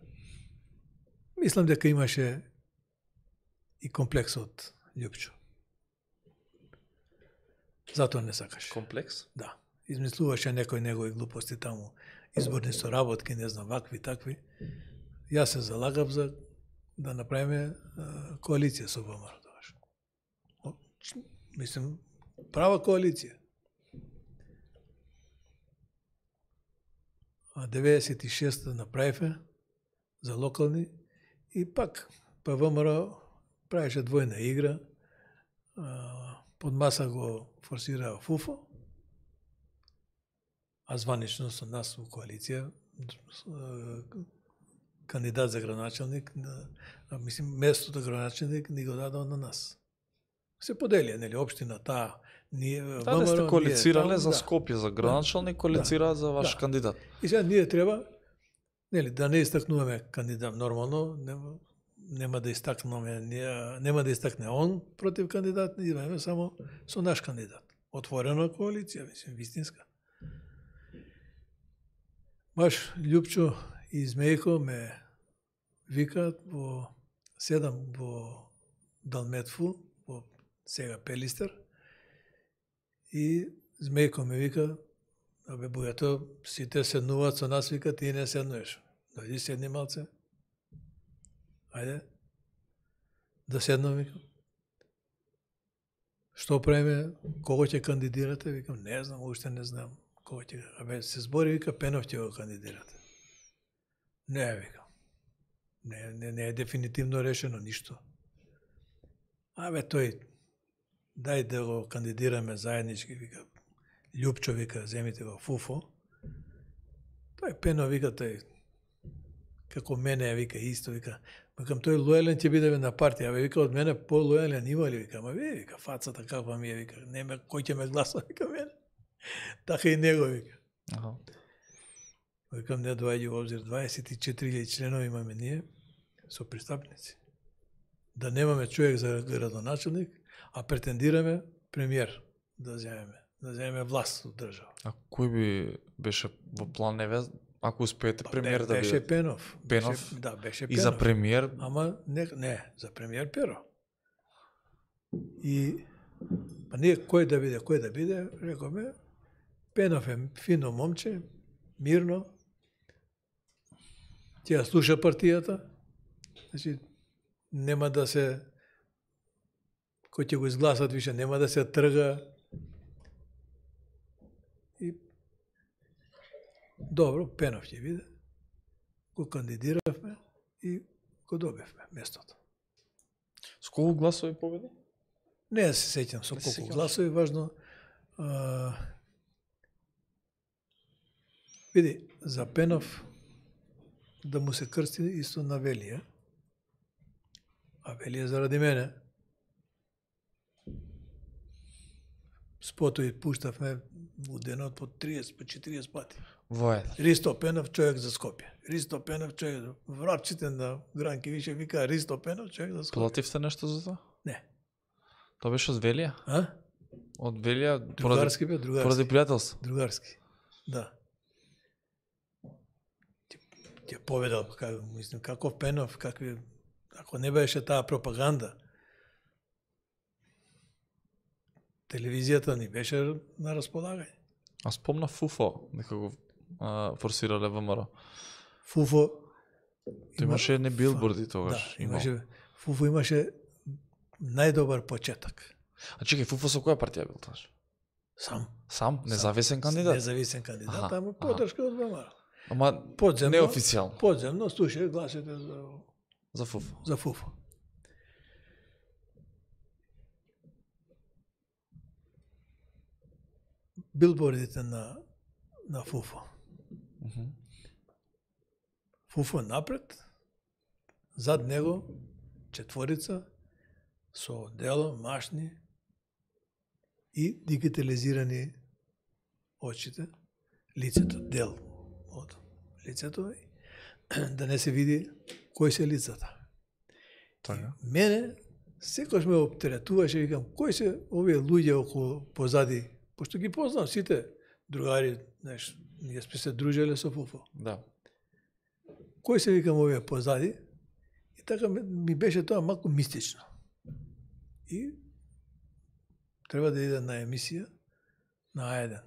Мислам дека имаше и комплекс од Љупчо. Затоа не сакаше. Комплекс? Да. Измислуваше некои негови глупости таму, изборни соработки, не знам, вакви, такви. Јас се залагав за да направиме а, коалиција со ВМРО тогаш. О, Мислим, права коалиција. А деветдесет и шеста направиве за локални и пак па ВМРО правеше двојна игра. А, под маса го форсираа ФУФО, а званично со нас во коалиција кандидат за градоначалник, а, мислим, местото градоначалник ни го дадоа на нас. Се поделија, нели, општина таа, ние Да, да сте коалицирале за да. Скопје, за градоначалник, коалицираат за ваш Да. кандидат. И сега ние треба, нели, да не истакнуваме кандидат нормално, нема, нема да истакнеме, нема да истакне он против кандидат, ние имаме само со наш кандидат. Отворена коалиција, мислим, вистинска. Баш Љупчо и Змејко ме викаат во седам во Далметфу, во сега Пелистер, и Змејко ме вика, абе бујато, сите седнуваат со нас, вика, ти не седнуеш. Дојди седни малце. Ајде, да седнам, викам. Што правиме, кого ќе кандидирате? Викам, не знам, уште не знам. Кого ќе, абе, се збори, вика, Пенов ќе го кандидирате. Не, викам. Не, не, не е дефинитивно решено ништо. Абе, тој, дај да го кандидираме заеднички, вика, Љупчо, вика, земите го ФУФО. Тој Пенов, вика, тој, како мене, вика, исто, вика, викам, тој лојален ќе биде на партија, абе, вика, од мене по-лојален има ли, вика, ама ви, вика, фацата каква ми е, вика, нема кој ќе ме гласа, вика, мене. Така и него, вика. Аха. Викам, не доаѓа во обзир, дваесет и четири членови имаме ние, со пристапници. Да немаме човек за градоначалник, а претендираме премиер да земеме, да земеме власт од држава. А кој би беше во план, неве, ако успеете премиер да Беше биде? Пенов. Пенов? Беше, да, беше И Пенов. за премиер, Ама не, не, за премиер Перо. И па ние кој да биде, кој да биде, рековме, Пенов е фино момче, мирно, ќе ја слуша партијата, значи нема да се, кој ќе го изгласат више, нема да се трга. И добро, Пенов ќе биде, го кандидиравме и го добивме местото. с колку гласови победи? Не се сеќам со Не се колку сеќаваш? гласови, важно. А, види, за Пенов да му се крсти исто на Велија, а Велија заради мене. Спото и пуштавме у денот по триесет, по четириесет пати. Во еден. Ристо Пенов, човек за Скопје. Ристо Пенов, човек за... Врапчите на Гранки више вика Ристо Пенов, човек за Скопје. Плативте нешто за тоа? Не. Тоа беше од Велија? А? Од Велија, поради, Другарски бе, другарски. поради пријателство. Другарски. Да. Ќе, ќе поведал, как, мислим, каков Пенов, какви... Ако не беше таа пропаганда, телевизијата ни беше на располагање. А спомна ФУФО, дека го а, форсирале ВМРО. ФУФО... Тоа имаше едни билборди тогаш. Да, имаше... ФУФО имаше најдобар почеток. А чекај, ФУФО со која партија бил тогаш? Сам. Сам? Независен кандидат? Независен кандидат, Аха, ама подршка од ВМРО. Ама Подземно, неофицијално. подземно слушај гласите за, За ФУФО. за ФУФО. Билбордите на, на ФУФО. Мгм. ФУФО напред, зад него четворица со дело, машни и дигитализирани очите, лицето, дел од лицето, да не се види кои се лицата. Така. Мене секојаш ме оптеретуваше, викам, кои се овие луѓе околу позади, пошто ги познам сите другари, знаеш, ние сме се дружеле со Фуфо. Да. Кои се, викам, овие позади? И така ми беше тоа малку мистично. И треба да иде на емисија на А еден.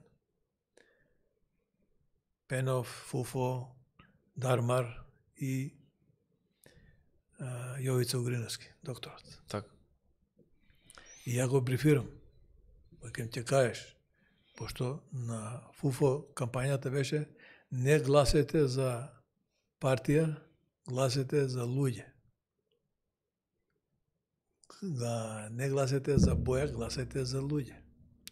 Пенов, Фуфо, Дармар и а, Јовица Угриновски, докторот. Така. И ја го брифирам. Викам, ќе кажеш, пошто на Фуфо кампањата беше не гласете за партија, гласете за луѓе. Да, не гласете за боја, гласете за луѓе.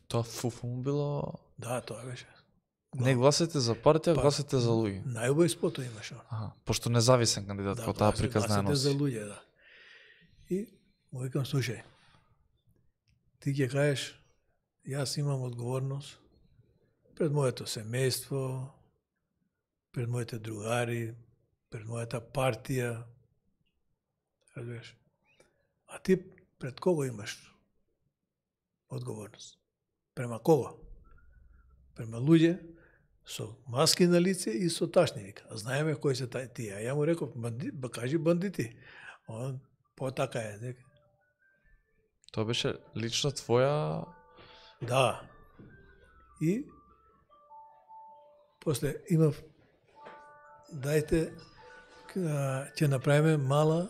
Тоа Фуфо му било... Да, тоа беше. Не гласете за партија, Па, гласете за луѓе. Најубави спото имаше. Аха, пошто независен кандидат, Да, кој таа гласете- приказна ја гласете за носи. луѓе, да. И му викам, слушај, ти ќе кажеш, јас имам одговорност пред моето семејство, пред моите другари, пред мојата партија, разбираш. А ти пред кого имаш одговорност? Према кого? Према луѓе со маски на лице и со ташни, вика. А знаеме кои се тај тие. А ја му реков, банди, ба кажи бандити. Он потака е, дека. Тоа беше лично твоја... Да. И после имав, дајте, а, ќе направиме мала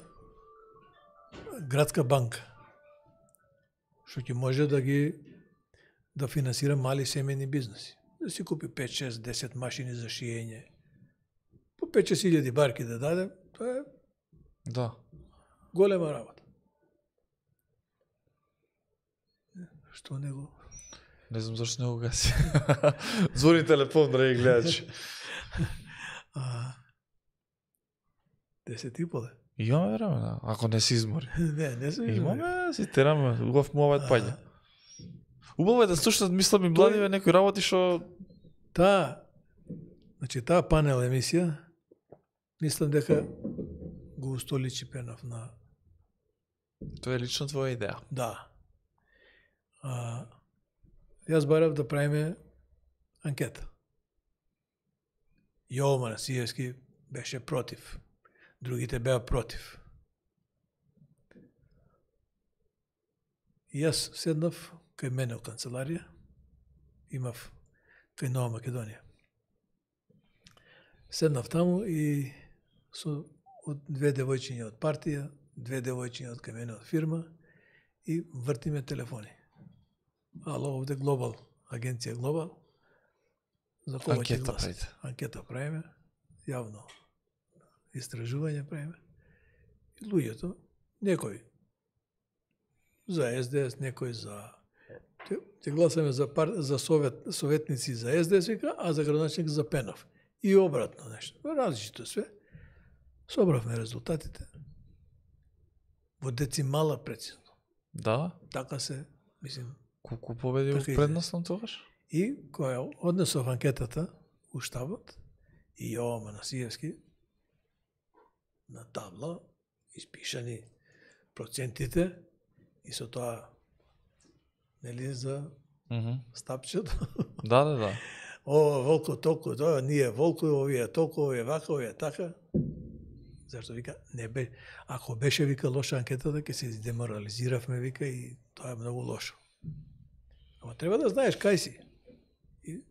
градска банка, што ќе може да ги да финансира мали семејни бизнеси. Да си купи пет, шест, десет машини за шиење. По пет шест илјади барки да даде, тоа е Да. голема работа. Што не го... Не знам зашто не го гаси. Звони телефон, драги гледачи. А, десет и поле. Имаме време, да. Ако не се измори. Не, не се Имаме, си тераме, убав муавет паѓа. Убаво е да слушнат, мислам и младиве некои работи што... Таа, значи таа панел емисија, мислам дека го устоличи Пенов на... Тоа е лично твоја идеја. Да. А, јас барав да правиме анкета. Јово Манасиевски беше против. Другите беа против. И јас седнав кај мене во канцеларија, имав кај Нова Македонија. Седнав таму и со од две девојчиња од партија, две девојчиња од кај мене од фирма и вртиме телефони. Ало, овде Глобал, агенција Глобал. За кого ќе Анкета гласат? правите. Анкета правиме, јавно истражување правиме. И луѓето, некој за Ес Де Ес, некој за... Ќе, ќе гласаме за, пар... за совет... советници за Ес Де Ес, вика, а за градоначелник за Пенов. И обратно нешто. Различито све. Собравме резултатите. Во децимала прецизно. Да? Така се, мислим. Колку победи Така во иде. предносно тогаш? И која однесов анкетата у штабот и Јово Манасиевски на табла испишани процентите и со тоа нели за Мгм. стапчето. Да, да, да. Ова волко толку, тоа ние волко, овие толку, овие вака, овие така. Зашто вика не бе, ако беше вика лоша анкетата, ќе се деморализиравме вика и тоа е многу лошо. Ама треба да знаеш кај си. И...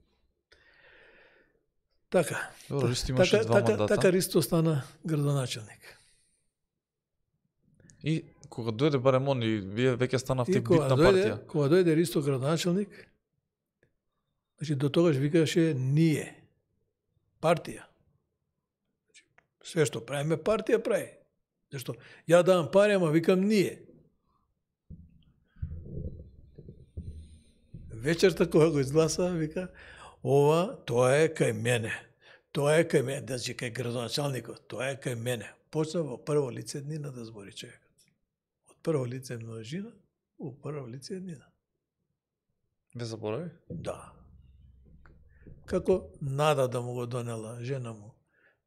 Така. Добро, Ристо имаше така, два така, мандата. така Ристо стана градоначелник. И кога дојде барем он и вие веќе станавте И кога битна дојде, партија. кога дојде Ристо градоначелник, значи до тогаш викаше ние, партија. Значи, све што правиме партија прави. Зашто ја давам пари, ама викам ние. Вечерта кога го изгласа, вика, ова, тоа е кај мене. Тоа е кај мене, значи кај градоначалникот, тоа е кај мене. Почна во прво лице еднина да збори човекот. Од прво лице множина, во прво лице еднина. Не заборави? Да. Како нада да му го донела жена му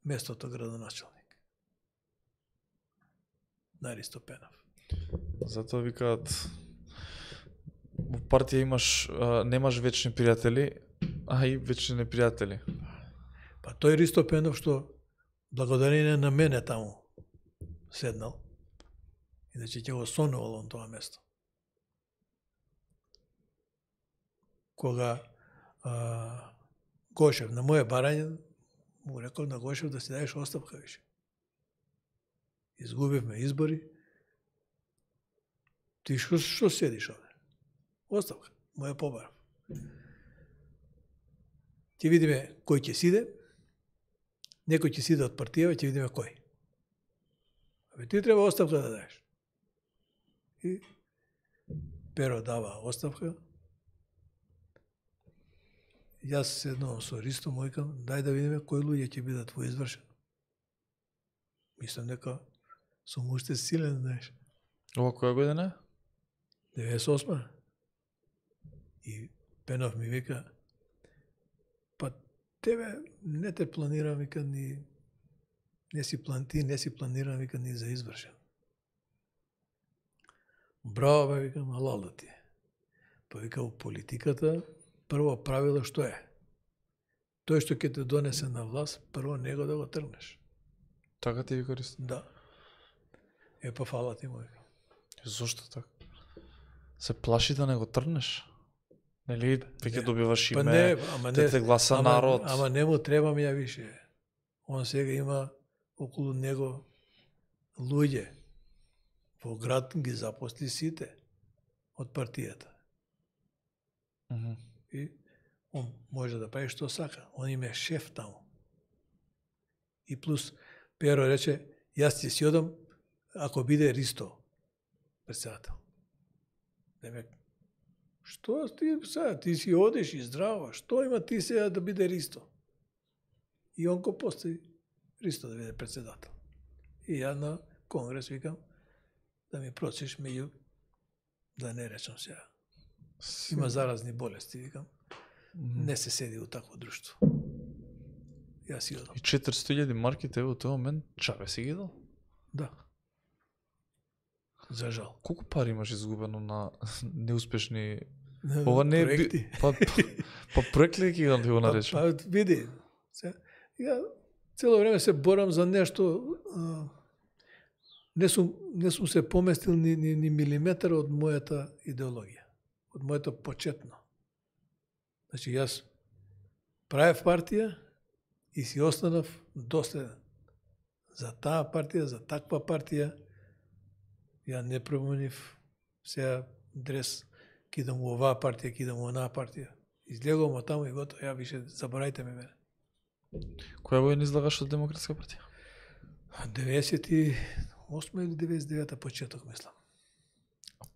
местото градоначалник. На Ристо Пенов. Затоа викаат во партија имаш а, немаш вечни пријатели, а и вечни непријатели. Па тој Ристо Пенов што благодарение на мене таму седнал, иначе ќе го сонувал он тоа место. Кога а, Гошев на моје барање му рекол на Гошев да си даеш оставка више. Изгубивме избори. Ти што што седиш овде? Оставка, моја побарав. Ќе видиме кој ќе сиде. Некој ќе сиде од партија, ќе видиме кој. Абе ти треба оставка да даеш. И Перо дава оставка. Јас седнувам со Ристо, му викам, дај да видиме кои луѓе ќе бидат во извршен. Мислам дека сум уште силен, знаеш. Ова која година е? деветдесет и осма. И Пенов ми вика, па тебе не те планирам, вика, ни не си план, ти не си планирам, вика, ни за извршен. Браво, бе, викам, алал да ти е. Па вика, у политиката прво правило што е? Тој што ќе те донесе на власт, прво него да го тргнеш. Така ти вика Ристо? Да. Е, па фала ти му вика. Зошто така? Се плаши да не го тргнеш? Нели, веќе добиваш Па име, не, ама те не, те гласа ама, народ. Ама не му требам ја више. Он сега има околу него луѓе. Во град ги запосли сите од партијата. Mm -hmm. И он може да прави што сака. Он им е шеф таму. И плюс Перо рече, јас ќе си одам ако биде Ристо председател. Демек, што ти сега, ти си одиш и здраво, што има ти сега да биде Ристо? И он го постави Ристо да биде председател. И ја на конгрес викам да ми проциш меѓу, да не речам сега. Има заразни болести, викам. Mm-hmm. Не се седи у такво друштво. Јас си одам. И четиристотини илјади марки тебе во тој момент чабе си ги дал? Да. За жал. Колку пари имаш изгубено на неуспешни... На Ова не е... проекти. Би... Па, па, па проект ли ќе го наречем? Па, па види, ја цело време се борам за нешто, а, не сум, не сум се поместил ни, ни, ни милиметар од мојата идеологија, од моето почетно. Значи, јас правев партија и си останав доследен. За таа партија, за таква партија, ја не променив сега дрес, кидам у оваа партија, кидам у онаа партија. Излегувам од таму и готово, ја више заборајте ме мене. Која година излагаш од Демократска партија? деветдесет и осма или деветдесет и девета почеток, мислам.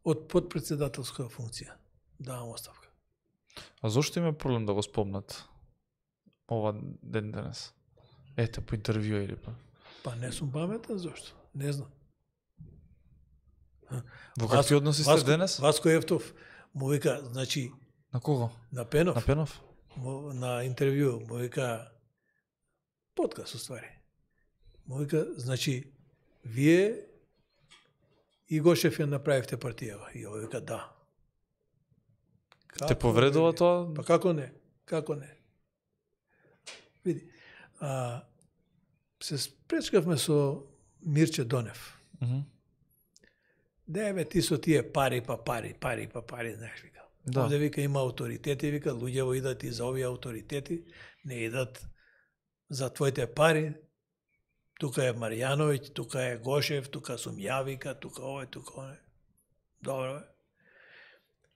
Од подпредседателска функција. Давам оставка. А зошто има проблем да го спомнат ова ден денес? Ете, по интервју или па? Па не сум паметен, зошто? Не знам. Во какви односи сте денес? Васко Ефтов му вика, значи... На кого? На Пенов. На Пенов? Му, на интервју му вика... Подкаст, уствари. Му вика, значи, вие и Гошев ја направивте партијава. И овој вика, да. Како те повредува тоа? Па како не? Како не? Види, а, се спречкавме со Мирче Донев. Mm -hmm. Да, бе, ти со тие пари, па пари, пари, па пари, знаеш, вика. Да. Овде, вика, има авторитети, вика, луѓево идат и за овие авторитети, не идат за твоите пари. Тука е Марјановиќ, тука е Гошев, тука сум ја, вика, тука овој, тука овој. Добро, бе.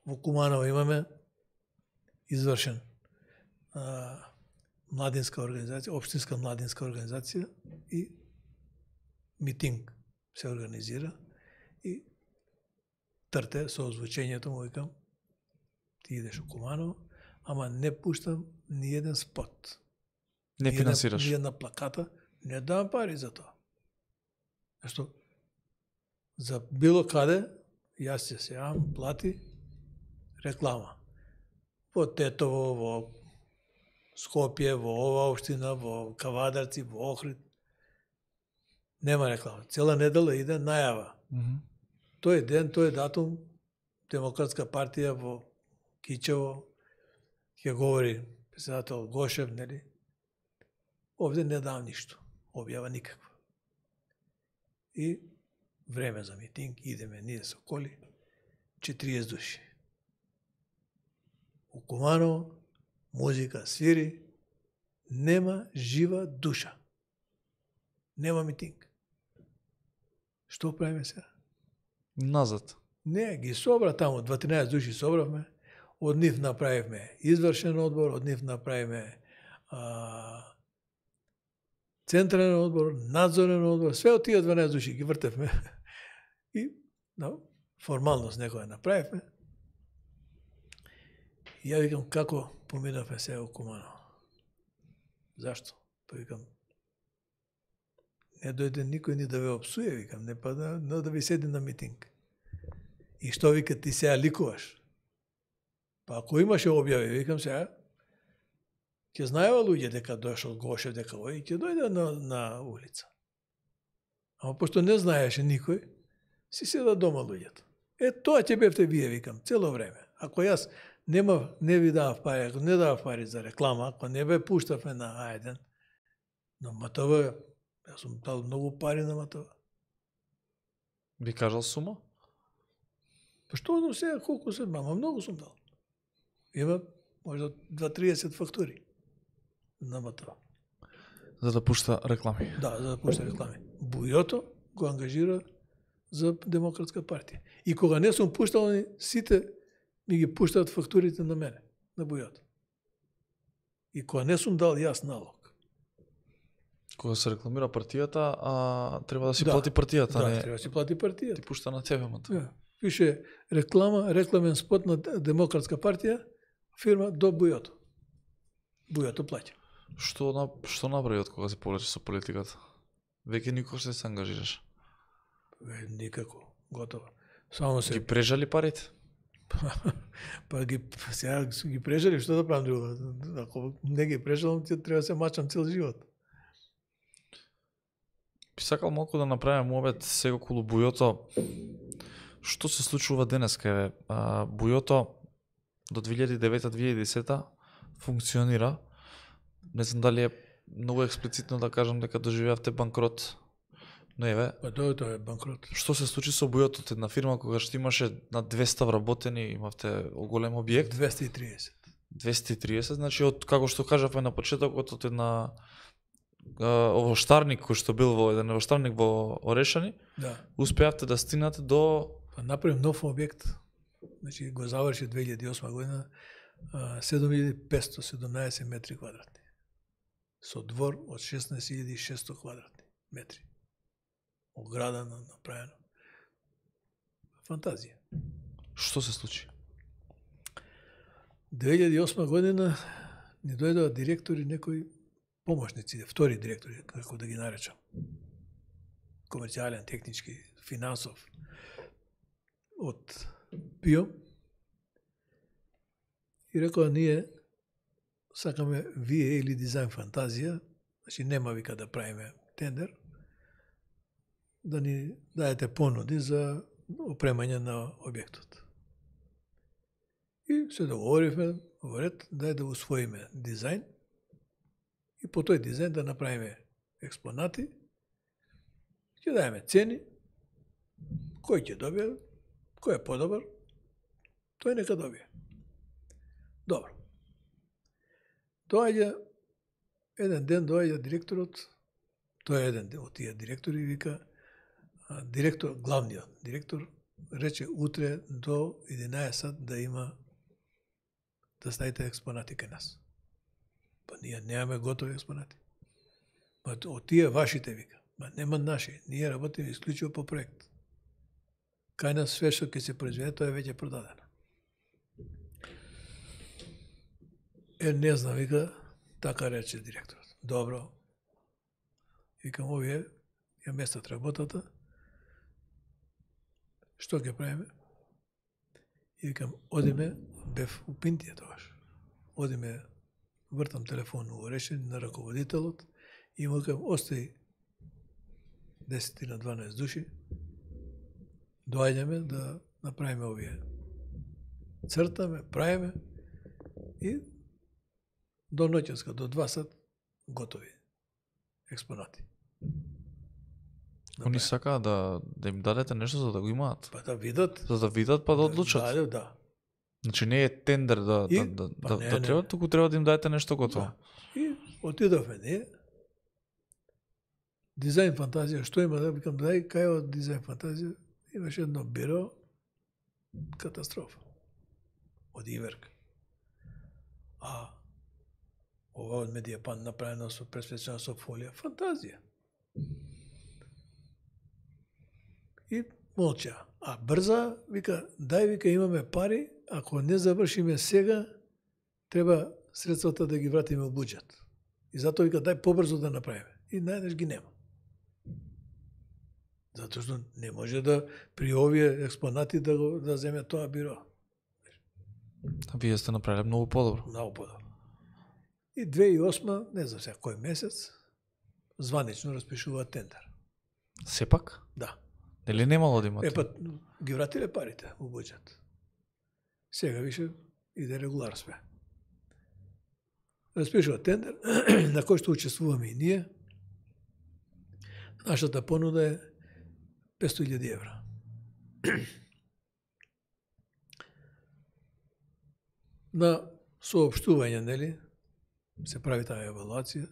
Во Куманово имаме извршен а, младинска организација, општинска младинска организација и митинг се организира и трте со озвучењето му викам ти идеш у Куманово, ама не пуштам ни еден спот. Не ни финансираш. Една, ни една плаката, не давам пари за тоа. Зашто за било каде јас се сеам, плати реклама. Во Тетово, во Скопје, во ова општина, во Кавадарци, во Охрид. Нема реклама. Цела недела иде најава. Mm -hmm. тој ден, тој датум, Демократска партија во Кичево ќе говори председател Гошев, нели? Овде не дава ништо, објава никаква. И време за митинг, идеме ние со коли, четириесет души. У Куманово, музика свири, нема жива душа. Нема митинг. Што правиме сега? Назад. Не, ги собра таму, дванаесет души собравме, од нив направивме извршен одбор, од нив направивме а, централен одбор, надзорен одбор, све од тие дванаесет души ги вртевме и да, формалност некоја направивме. И ја викам, како поминавме сега у Куманово? Зашто? Па викам, не дојде никој ни да ве опсуе, викам, не па да, да, да ви седи на митинг. И што вика ти сега ликуваш? Па ако имаше објави, викам сега, ќе знаева луѓе дека дошол Гошев, дека ој, ќе дојде на, на улица. Ама пошто не знаеше никој, си седа дома луѓето. Е, тоа ќе бевте вие, викам, цело време. Ако јас нема, не ви давав пари, ако не давав пари за реклама, ако не бе пуштавме на Ајден, на МТВ, јас сум дал многу пари на МТВ. Би кажал сума? Па што до сега, колку се, мама, многу сум дал. Има можда дваесет фактури на МТВ. За да пушта реклами. Да, за да пушта реклами. Бујото го ангажира за Демократска партија. И кога не сум пуштал, сите ми ги пуштаат фактурите на мене, на Бујото. И кога не сум дал јас налог. Кога се рекламира партијата, а треба да си Да, плати партијата, Да, не треба да си плати партијата. ти пушта на тебе, мата. Да. Пише реклама, рекламен спот на Демократска партија, фирма до Бујото. Бујото плаќа. Што на што направи од кога се повлече со политиката? Веќе никогаш не се ангажираш. Е, никако, готово. Само се Ги прежали парите? па ги сега ги прежали, што да правам друго? Ако не ги прежалам, ќе треба да се мачам цел живот. Би сакал малку да направим обед сега околу Бујото. Што се случува денеска? Еве, а, Бујото до две илјади и девета - две илјади и десета функционира. Не знам дали е многу експлицитно да кажам дека доживеавте банкрот. Но еве, Па тоа тоа е банкрот. што се случи со Бујото, од една фирма кога што имаше на двеста вработени, имавте голем објект, двесте и триесет. двесте и триесет, значи од како што кажавме на почетокот, од една а, овоштарник кој што бил во еден овоштарник во Орешани, Да. успеавте да стигнате до Па направим нов објект. Значи го заврши две илјади и осма година, седум илјади петстотини и седумнаесет метри квадратни. Со двор од шеснаесет илјади и шестстотини квадратни метри. Оградано, направено. Фантазија. што се случи? две илјади и осма година ни дојдоа директори, некои помошници, втори директори, како да ги наречам. Комерцијален, технички, финансов, од ПИО. И рекоа, ние сакаме вие или дизајн фантазија, значи нема вика да правиме тендер, да ни даете понуди за опремање на објектот. И се договоривме во ред, дај да усвоиме дизајн и по тој дизајн да направиме експонати, ќе даеме цени, кој ќе добие, кој е подобар, тој нека добие. Добро. Доаѓа, еден ден доаѓа директорот, тој е еден од тие директори и вика, директор, главниот директор, рече утре до единаесет да има да ставите експонати кај нас. Па ние немаме готови експонати. Па од тие вашите вика. Па нема наши. Ние работиме исклучиво по проект. Кај нас све што ќе се произведе, тоа е веќе продадено. Е, не знам, вика, така рече директорот. Добро. Викам, овие ја местат работата. Што ќе правиме? И викам, одиме, бев у Пинтија тогаш. Одиме, вртам телефон у Орешен на раководителот и му викам, остај десет на дванаесет души доаѓаме да направиме овие. Цртаме, правиме и до ноќеска, до два сат, готови експонати. Они сакаат да, да им дадете нешто за да го имаат. Па да видат. За да видат, па да одлучат. Да, да. Значи не е тендер да, И, да, да, па да, не, да не. треба, туку треба да им дадете нешто готово. Да. И отидовме ние. Дизајн фантазија, што има да викам, дај, кај од дизајн фантазија имаше едно биро, катастрофа. Од Иверк. А ова од Медијапан направено со пресвечена со фолија, фантазија. И молча. А брза, вика, дај, вика, имаме пари, ако не завршиме сега, треба средствата да ги вратиме во буџет. И затоа вика, дај побрзо да направиме. И најдеш ги нема. Затоа што не може да при овие експонати да го да земе тоа биро. А вие сте направиле многу подобро. Многу подобро. И две тисячи и осма, не знам сега кој месец, званично распишува тендер. Сепак? Да. Нели немало да имате? Е, па, ги вратиле парите во буџет. Сега више иде регулар све. Распишува тендер, на кој што учествуваме и ние. Нашата понуда е петстотини илјади евра. На соопштување, нели, се прави таа евалуација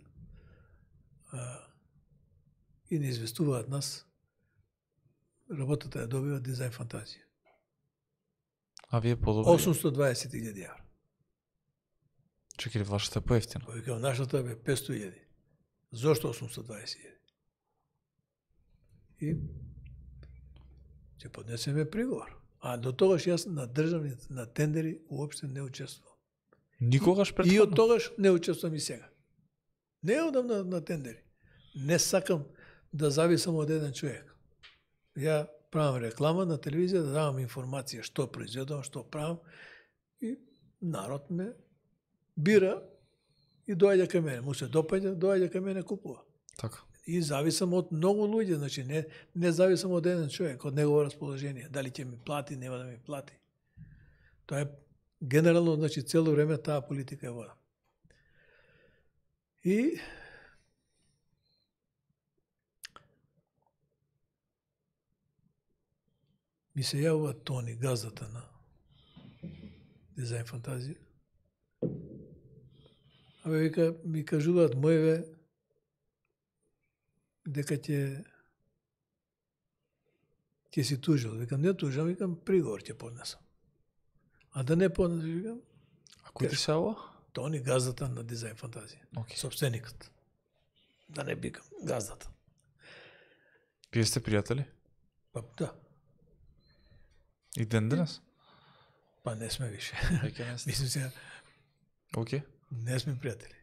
а, и не известуваат нас. Работата ја добива дизајн фантазија. А вие подобро? осумстотини и дваесет илјади евра. Чекајте, вашата е поевтина. Викам, нашата е петстотини илјади. Зошто осумстотини и дваесет илјади? И ќе поднесеме приговор. А до тогаш јас на државни на тендери уопште не учествувам. Никогаш претходно? И од тогаш не учествувам и сега. Не одам на, на тендери. Не сакам да зависам од еден човек. Ја правам реклама на телевизија, да давам информација што произведувам, што правам и народ ме бира и доаѓа кај мене. Му се допаѓа, доаѓа кај мене, купува. Така. И зависам од многу луѓе, значи не, не зависам од еден човек, од негово расположение. Дали ќе ми плати, нема да ми плати. Тоа е генерално, значи цело време таа политика е вода. И ми се јавува Тони, газдата на дизајн фантазија. Абе, вика, ми кажуваат моеве дека ќе ќе си тужил. Викам, не тужам, викам, приговор ќе поднесам. А да не поднесам, викам, А кој ти се ова? Тони, газдата на дизајн фантазија. Okay. Собственикот. Да не викам, газдата. Вие сте пријатели? Па, да. И ден денес? Па не сме више. Веќе не сте. Мислим се, Океј. не сме пријатели.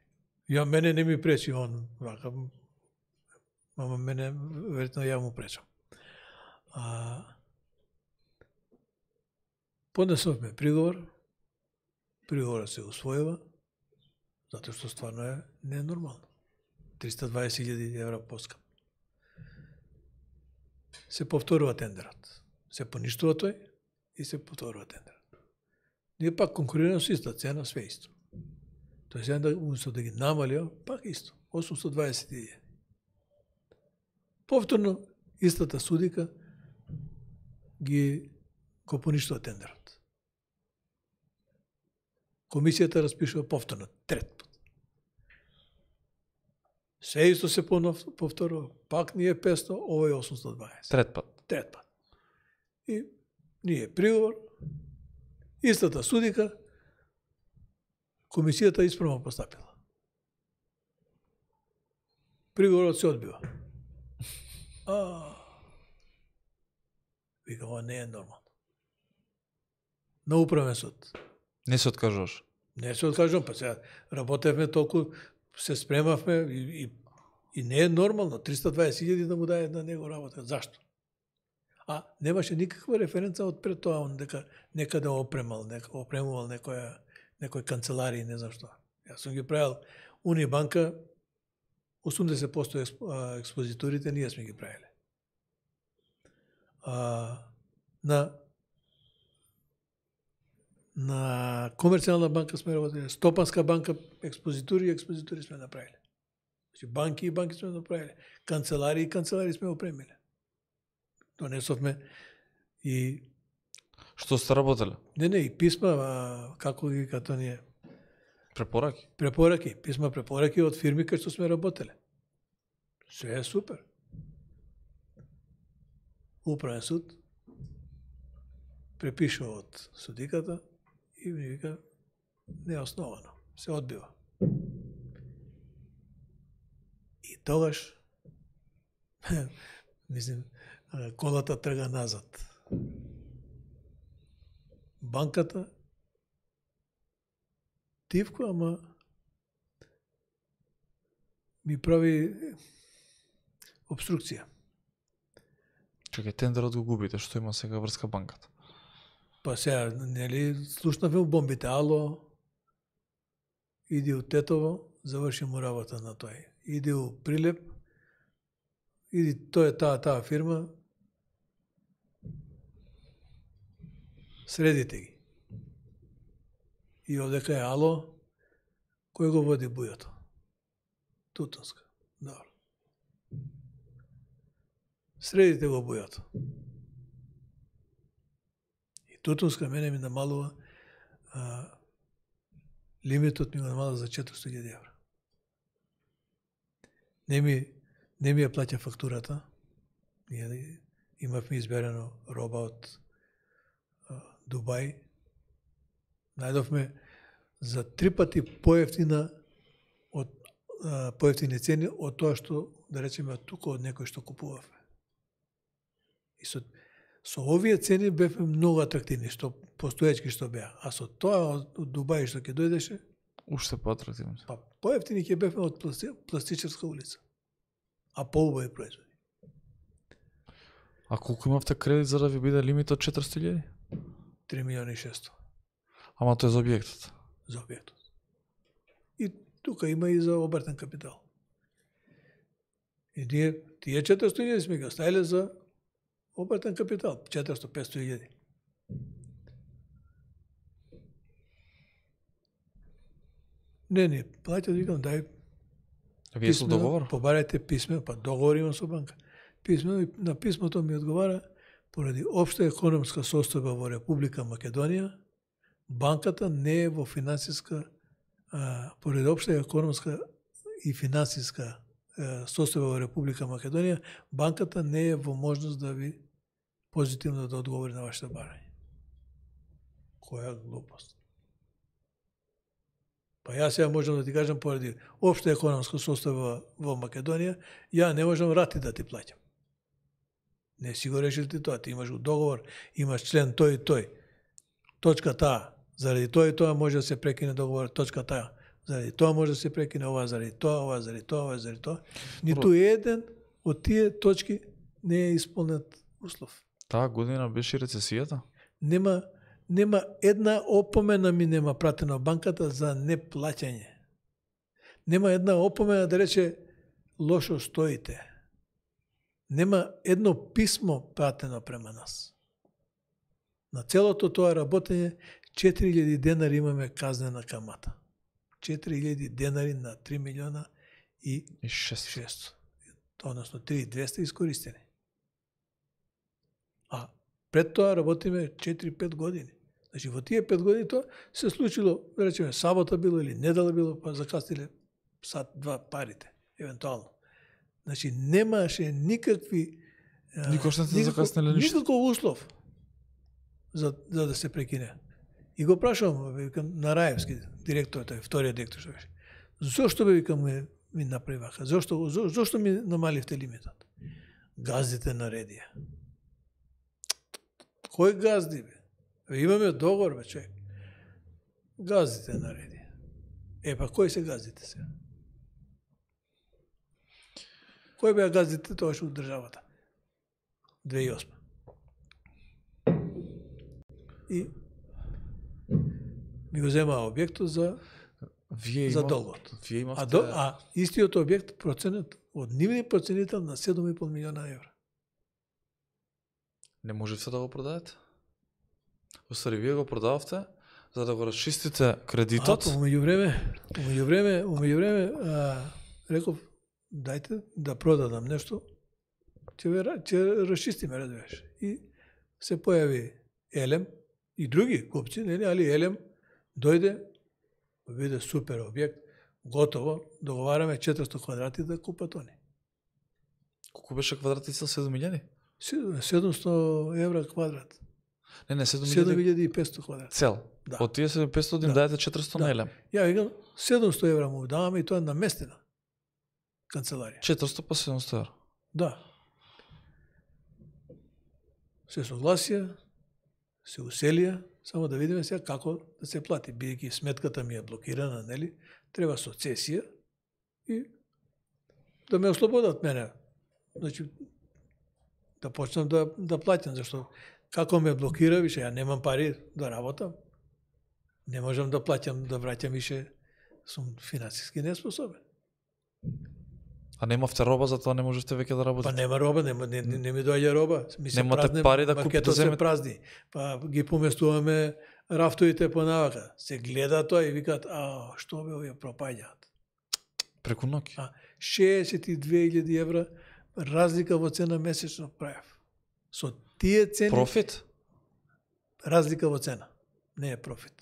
Ја мене не ми пречи он, вака, мама мене, веројатно ја му пречам. А, поднесовме приговор, приговорот се усвојува, затоа што стварно е ненормално. триста и дваесет илјади евра поскап. Се повторува тендерот. Се поништува тој и се повторува тендерот. Ние пак конкурираме со иста цена, све исто. Тој сега да, уместо да ги намалио, пак исто, осумстотини и дваесет илјади. Повторно, истата судика ги го поништува тендерот. Комисијата распишува повторно, трет пат. Се исто се повторува, пак ние петсто, ово е осумстотини и дваесет. Трет пат. Трет пат. И ние приговор, истата судика, комисијата исправно постапила. Приговорот се одбива. А, вика, ова не е нормално. На управен суд. Не се откажуваш? Не се откажувам, па сега работевме толку, се спремавме и, и, и не е нормално. триста и дваесет илјади да му даде на него работа. Зашто? А немаше никаква референца од пред тоа, он дека некаде опремал, нека, опремувал некоја, некој канцеларија, не знам што. Јас сум ги правил Унибанка, осумдесет проценти експозиторите ние сме ги правиле. А, на на комерцијална банка сме работили, стопанска банка, експозитури и експозитури сме направили. Значи банки и банки сме направили, канцелари и канцелари сме опремили. Донесовме и Што сте работеле? Не, не, и писма, а, како ги като ние Препораки? препораки, писма препораки од фирми кај што сме работеле. Се е супер. Управен суд препишува од судиката и ми вика неосновано, се одбива. И тогаш мислим колата трга назад. Банката тивко, ама ми прави обструкција. Чекај, тендерот го губите, што има сега врска банката? Па сега, нели, слушнавме у бомбите, ало, иди у Тетово, заврши му работа на тој. Иди у Прилеп, иди тој е таа, таа фирма, средите ги. И одека е ало, кој го води бујото? Тутунска. Добро. Средите го бујото. И Тутунска мене ми намалува, а, лимитот ми го намалува за четиристотини илјади евра. Не ми, не ми ја плаќа фактурата. Ние имавме изберено роба од а, Дубај. Најдовме за три пати поевтина од а, поевтини цени од тоа што, да речеме, од тука од некој што купувавме. И со, со овие цени бевме многу атрактивни, што постоечки што беа. А со тоа од, од Дубај што ќе дојдеше, Уште поатрактивно. па поевтини ќе бевме од пласти, пластичарска улица. А поубави производи. А колку имавте кредит за да ви биде лимит од четиристотини илјади? три милиони и шестоста Ама тоа е за објектот. за објектот. И тука има и за обртен капитал. И ние тие четиристотини илјади сме ги оставиле за обртен капитал, четиристотини до петстотини илјади. Не, не, плаќат, викам, дај Вие со договор? побарајте писмено, па договор имам со банка. Писмено, и на писмото ми одговара, поради општа економска состојба во Република Македонија, банката не е во финансиска, а, поради општа економска и финансиска а, состојба во Република Македонија, банката не е во можност да ви позитивно да одговори на вашето барање. Која глупост. Па јас сега можам да ти кажам, поради општа економска состојба во Македонија, ја не можам рати да ти плаќам. Не си го решил ти тоа, ти имаш договор, имаш член тој и тој. Точка таа, заради тоа и тоа може да се прекине договор, точка таа. Заради тоа може да се прекине ова, заради тоа, ова, заради тоа, ова, заради тоа. Ниту еден од тие точки не е исполнет услов. Таа година беше рецесијата? Нема нема една опомена ми нема пратена од банката за неплаќање. Нема една опомена да рече лошо стоите. Нема едно писмо пратено према нас. На целото тоа работење четири илјади денари имаме казнена камата. четири илјади денари на три милиона и И шест. шест. Односно три илјади и двесте искористени. А пред тоа работиме четири-пет години. Значи во тие пет години тоа се случило, да речеме, сабота било или недела било, па закасниле сат два парите, евентуално. Значи немаше никакви Никош не сте закаснеле ништо. Никаков услов за, за да се прекине. И го прашувам, викам, на Раевски, директор, тој вториот директор што беше. Зошто бе, викам, ми, ми направи вака? Зошто, за, зошто ми намаливте лимитот? Газдите наредија. Кој газди, бе? Имаме договор, бе, човек. Газдите наредија. Е, па кој се газдите сега? Кој беа газдите тогаш од државата? две илјади и осма. И ми го земаа објектот за Вие за имав... долгот. Вие имавте... А, до, а истиот објект проценет од нивни проценител на седум и пол милиона евра. Не можевте да го продадете? Оствари, вие го продававте за да го расчистите кредитот. А, умеѓу време, умеѓу време, умеѓу време, а, реков, дајте да продадам нешто, ќе ве ќе расчистиме, разбираш. И се појави Елем и други купци, нели, али Елем дојде, виде супер објект, готово, договараме четиристо квадрати да купат они. Колку беше квадратни цел? седум илјади? седумсто евра квадрат. Не, не, седум седум илјади илјади и петсто квадрат. цел. Да. Од тие седум петсто им Да. дајате четиристо Да. на Елем. Ја викам, седумсто евра му даваме и тоа наместена канцеларија. четиристо па седумсто евра. Да. Се согласија, се уселија, само да видиме сега како да се плати. Бидејќи сметката ми е блокирана, нели? Треба соцесија и да ме ослободат мене. Значи, да почнам да, да платам, зашто како ме блокира, више, ја немам пари да работам. Не можам да платам, да враќам више, сум финансиски неспособен. А немавте роба, затоа не можете веќе да Па работите. нема роба, нема, не, не, не ми доаѓа роба. Ми се Немате празни, пари да купите, маркетот се земете. празни. Па ги поместуваме рафтовите по навака. Се гледа тоа и викаат, а, што бе овие пропаѓаат. Преку ноќ. А, шеесет и две илјади евра разлика во цена месечно правев. Со тие цени, Профит? разлика во цена. Не е профит.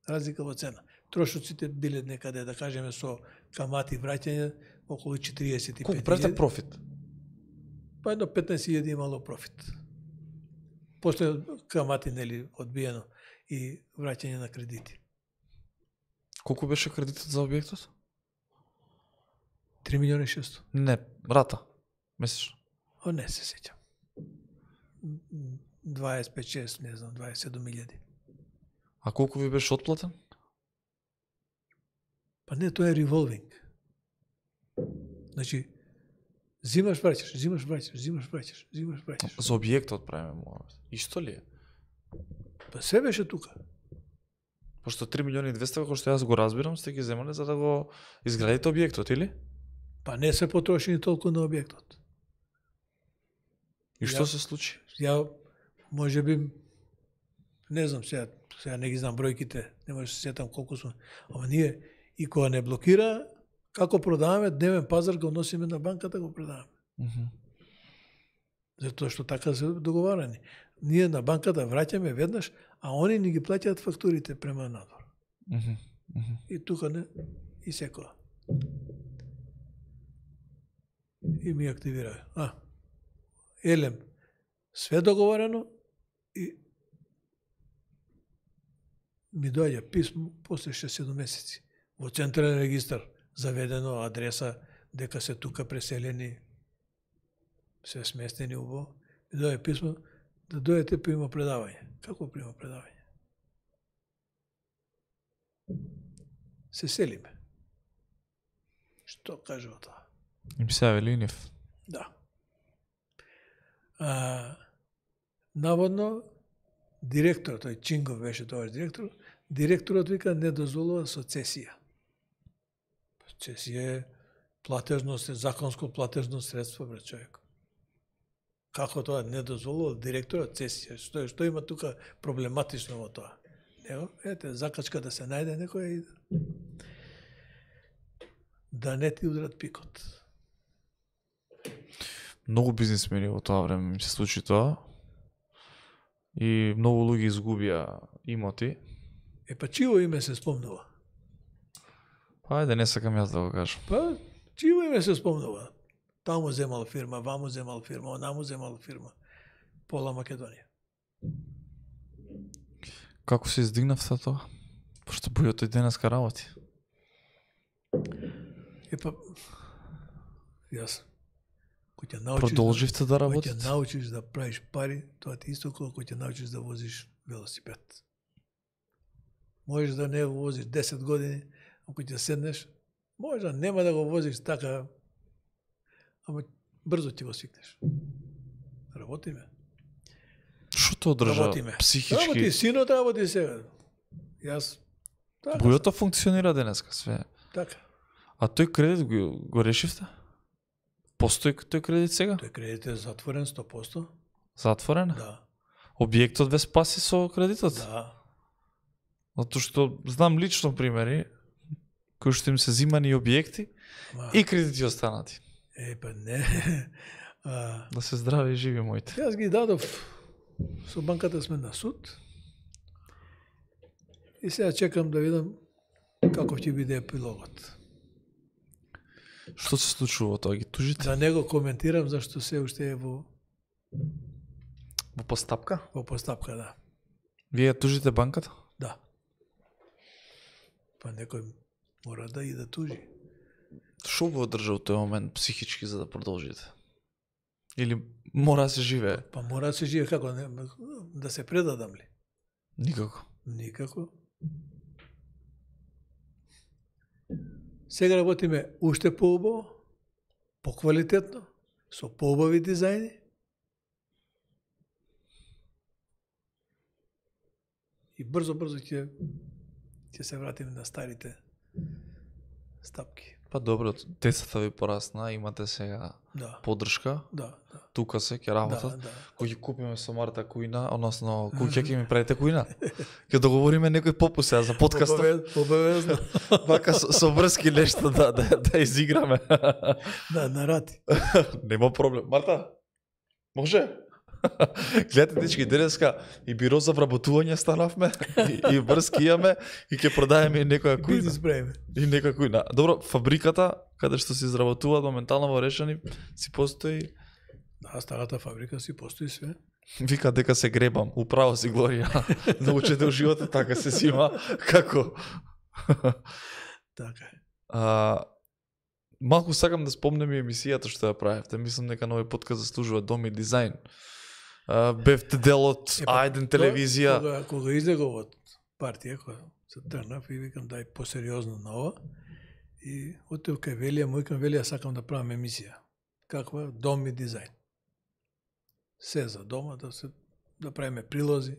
Разлика во цена. Трошоците биле некаде, да кажеме, со камати враќање, околу четириесет и Колку пет правите илјади. профит? Па едно петнаесет илјади имало профит. После камати, нели, одбиено и враќање на кредити. Колку беше кредитот за објектот? три милиони и шесто. Не, рата. Месечно. О, не се сеќам. дваесет и пет шест, не знам, дваесет и седум илјади. А колку ви беше отплатен? Па не, тоа е револвинг. Значи, зимаш, враќаш, зимаш, враќаш, зимаш, враќаш, зимаш, враќаш. За објектот правиме муавет. Исто ли е? Па се беше тука. Пошто три милиони и двесте, како што јас го разбирам, сте ги земале за да го изградите објектот, или? Па не се потрошени толку на објектот. И што Ја- се случи? Ја, може би, не знам сега, сега не ги знам бројките, не може да се сетам колку сум, ама ние и кога не блокира, како продаваме, дневен пазар го носиме на банката, го продаваме. Мгм. Затоа што така се договарани. Ние на банката враќаме веднаш, а они ни ги плаќаат фактурите према надвор. Мгм. Мгм. И тука не, и секоја. И ми активира. А, Елем, све договорено и ми доаѓа писмо после шест седум месеци. Во централен регистар заведено адреса дека се тука преселени, се сместени убаво. Ми доаѓа писмо да дојдете прима предавање. Како прима предавање? Се селиме. Што кажува тоа? Им се јави Линев. Да. А, наводно, директорот, тој Чингов беше тоа директор, директорот вика не дозволува соцесија. Соцесија е платежно, законско платежно средство, брат човек. Како тоа не дозволува директорот цесија? Што, што има тука проблематично во тоа? Него, ете, закачка да се најде некој и да не ти удрат пикот. Многу бизнисмени во тоа време ми се случи тоа. И многу луѓе изгубија имоти. Е, па чиво име се спомнува? Па ајде, не сакам јас да го кажам. Па, чиво име се спомнува? Таму земал фирма, ваму земал фирма, онаму земал фирма. Пола Македонија. Како се издигнавте тоа? Пошто бујот и денеска работи. Е, па, јас, кој ќе научиш, Продолживте да кој ќе работите? научиш да правиш пари, тоа ти исто колку ќе научиш да возиш велосипед. Можеш да не го возиш десет години, ако ќе седнеш, може да нема да го возиш така, ама брзо ќе го свикнеш. Работиме. Што те одржа Работиме. Работи, психички? синот работи сега. Јас, така, Бујото функционира денеска све. така. А тој кредит го, го решивте? Постои тој кредит сега? Тој кредит е затворен сто проценти. Затворена? Да. Објектот ве спаси со кредитот? Да. Затоа што знам лично примери кои што им се зимани објекти Ама, и кредити останати. Е, па не. А, Да се здрави и живи моите. Јас ги дадов, со банката сме на суд. И сега чекам да видам каков ќе биде епилогот. Што се случува тоа? Ги тужите? За него коментирам зашто се уште е во, Во постапка? во постапка, да. Вие ја тужите банката? Да. Па некој мора да и да тужи. Што го одржа во тој момент психички за да продолжите? Или мора да се живее? Па мора да се живее како, не, да се предадам ли? Никако. Никако. Сега работиме уште поубаво, поквалитетно, со поубави дизајни. И брзо-брзо ќе ќе се вратиме на старите стапки. Па добро, децата ви порасна, имате сега Да. поддршка, Да, да. тука се ќе Да, работат. да. Кој ќе купиме со Марта кујна, односно кој ќе ми правите кујна? Ќе договориме некој попус сега за подкастот. Обавез- Обавезно. Вака со, со врски нешто да, да, да изиграме. Да, на рати. Нема проблем. Марта, може? Гледате, дечки, денеска и биро за вработување станавме, и, и врски имаме, и ќе продаеме и некоја кујна. Бизнес правиме. И некоја кујна. Добро, фабриката, каде што се изработуваат моментално во Решани, си постои. Да, старата фабрика си постои све. Вика дека се гребам, управо си Глорија. Научете у животот така се сима. Како? Така е. А, малку сакам да спомнем и емисијата што ја правевте. Мислам дека нови подкаст заслужува дом и дизајн. А, бевте дел од Е, па, Ајден телевизија. Кога, кога излегов од партија, кога се трнав и викам дај посериозно на ова. И отидов кај Велија, му викам Велија, сакам да правам емисија. Каква? Дом и дизајн. Се за дома, да се да правиме прилози.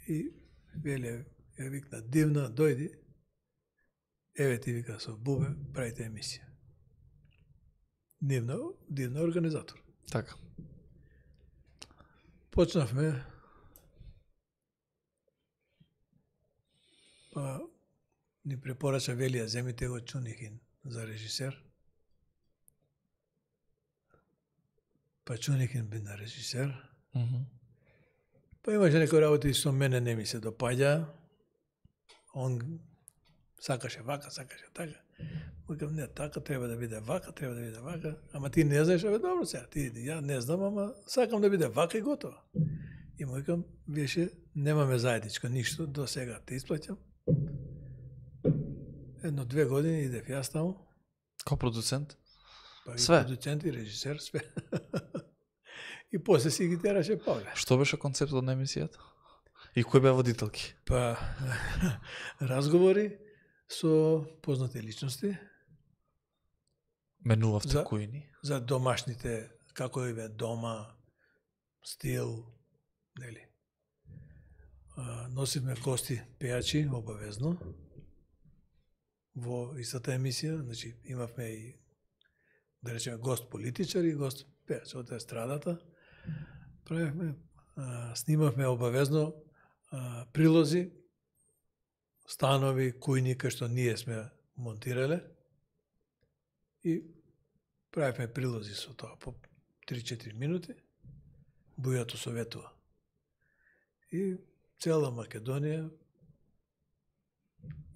И Велија ја викна дивна, дојди. Еве ти вика со Бубе, правите емисија. Дивна, дивна организатор. Така. Почнавме, па ни препорача Велија, земите го Чунихин за режисер. Па Чунихин би на режисер. Мгм. Па имаше некои работи со мене не ми се допаѓа. Он сакаше вака, сакаше така. Викам, не, така треба да биде вака, треба да биде вака. Ама ти не знаеш, абе добро сега, ти, ја не знам, ама сакам да биде вака и готово. И му викам, више, немаме заедничко ништо, до сега те исплаќам. Едно, две години идев јас таму. Као продуцент? Па Све. и продуцент и режисер, све. И после си ги тераше Павле. Што беше концептот на емисијата? И кој беа водителки? Па, разговори со познати личности Менувавте За- кујни? за домашните, како е дома, стил, нели. А, носивме гости пејачи, обавезно, во истата емисија, значи имавме и, да речеме, гост политичар и гост пејач од естрадата. Правевме, а, снимавме обавезно а, прилози, станови, кујни, кај што ние сме монтирале и правевме прилози со тоа по три-четири минути. Бујато советува. И цела Македонија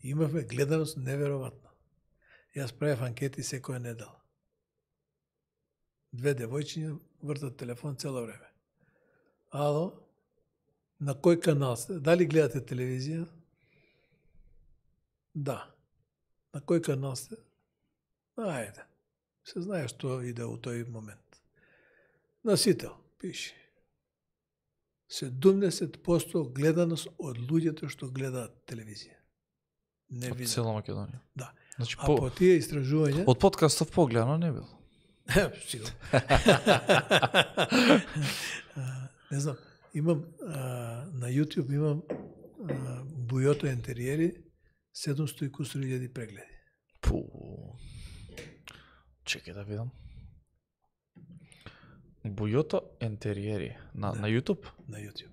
имавме гледаност неверојатна. Јас правев анкети секоја недела. Две девојчиња вртат телефон цело време. Ало, на кој канал сте? Дали гледате телевизија? Да. На кој канал сте? Ајде. Се знае што иде у тој момент. Носител, пише. седумдесет проценти гледаност од луѓето што гледаат телевизија. Не Од видам. цела Македонија. Да. Значи, А по, по тие истражувања... од подкастов погледано не бил. Сигурно. А, не знам, имам а, на YouTube имам а, Бујото интериери седумсто и кусур илјади прегледи. Пу. Чекај да видам. Бујото ентериери на Да. на YouTube. на YouTube.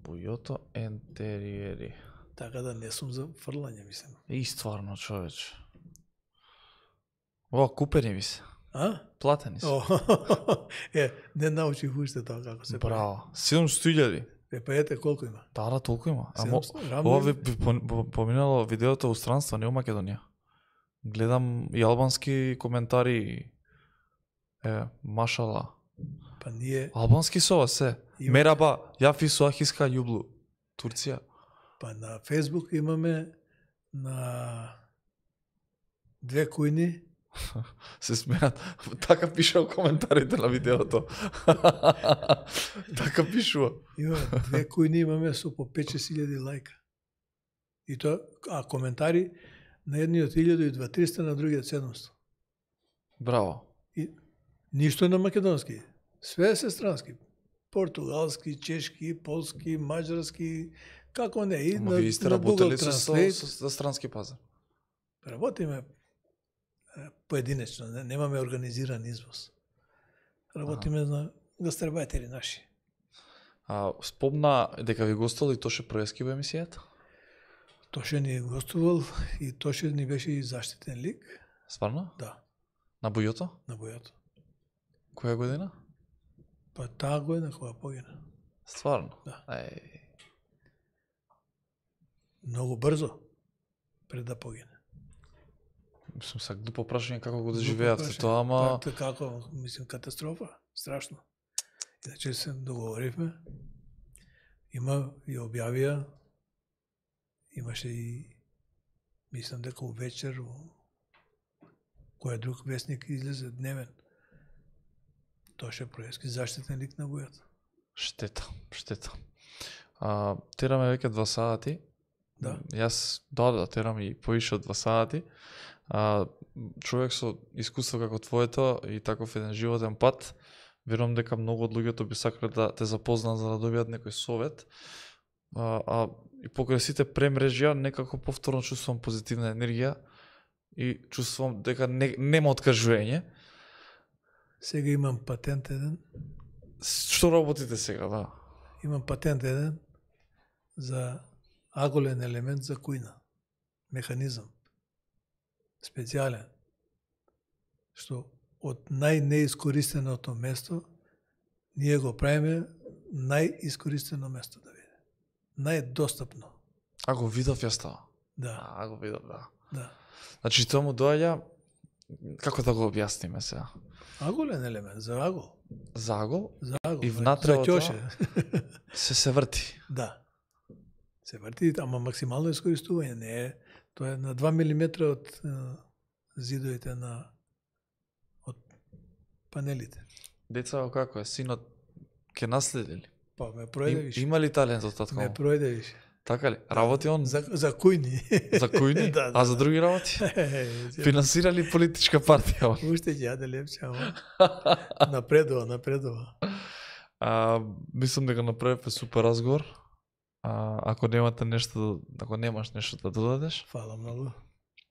Бујото ентериери. Така да не сум за фрлање, мислам. И стварно, човече. Ова купени ми се. А? Платени се. О, е, не научих уште тоа како се прави. Браво. седумстотини илјади. Е, па ете колку има? Да, да, толку има. Амо, седумстотини, рамно ова има? ви, ви пон- по- поминало видеото у странство, не у Македонија. Гледам и албански коментари. Е, машала. Па ние, Албански со ова се. Има- Мераба, јафи суахиска јублу. Турција. па на Facebook имаме на две кујни, Се смеат. Така пише во коментарите на видеото. Така пишува. имаме две кујни имаме со по пет-шест илјади лајка. И тоа, а коментари на едниот илјаду и два триста, на другиот седумсто. Браво. И ништо на македонски. Све се странски. Португалски, чешки, полски, маđарски, како не, и Ама на, вие сте на работели Google со, со, Translate. со, со странски пазар. Работиме е, поединечно, не, немаме организиран извоз. Работиме на гастарбајтери наши. А, спомна дека ви гостувал и Тоше Проески во емисијата? Тоше ни гостувал и Тоше ни беше и заштитен лик, Стварно? да, На Бујото? на бојато. Која година? Па таа година кога погина. Стварно? Да. Еј. Многу брзо пред да погине. Мислам, са глупо прашање како го Глупо доживеавте прашање. тоа, ама... Па, како, мислим, катастрофа, страшно. Иначе се договоривме, има и објавија, имаше и, мислам дека у вечер, у кој друг вестник излезе дневен. Тоше Проески, заштитен лик на бојата. Штета, штета. А, тераме веќе два сати. Да. Јас, да, да, терам и поише од два сати. А, човек со искуство како твоето и таков еден животен пат, верувам дека многу од луѓето би сакале да те запознаат за да добијат некој совет. А, а и покрај сите премрежја некако повторно чувствувам позитивна енергија и чувствувам дека не, нема откажување. Сега имам патент еден, Што работите сега, да? имам патент еден за аголен елемент за кујна. Механизам. Специјален. Што од најнеискористеното место ние го правиме најискористено место да биде. Најдостапно. А го видов јас тоа. Да, А го видов, да. да. Значи тоа му доаѓа, како да го објасниме сега? Аголен елемент за агол. Загол За агол. И за- внатре за од ќоше. се се врти. Да. Се врти, ама максимално искористување. Не е, тоа е на два милиметра од е, зидовите на од панелите. Деца како е, синот ќе наследи ли? Па ме пројде Им, више. има ли талент од татко? Ме му? пројде више. Така ли? Работи он за, За, за кујни. којни? Да, да, а за да. други работи? Финанс... Финансира ли политичка партија? он? Уште ќе јаде лепче, ама напредува, напредува. А, мислам дека направивме супер разговор. А, ако немате нешто, ако немаш нешто да додадеш, Фала многу.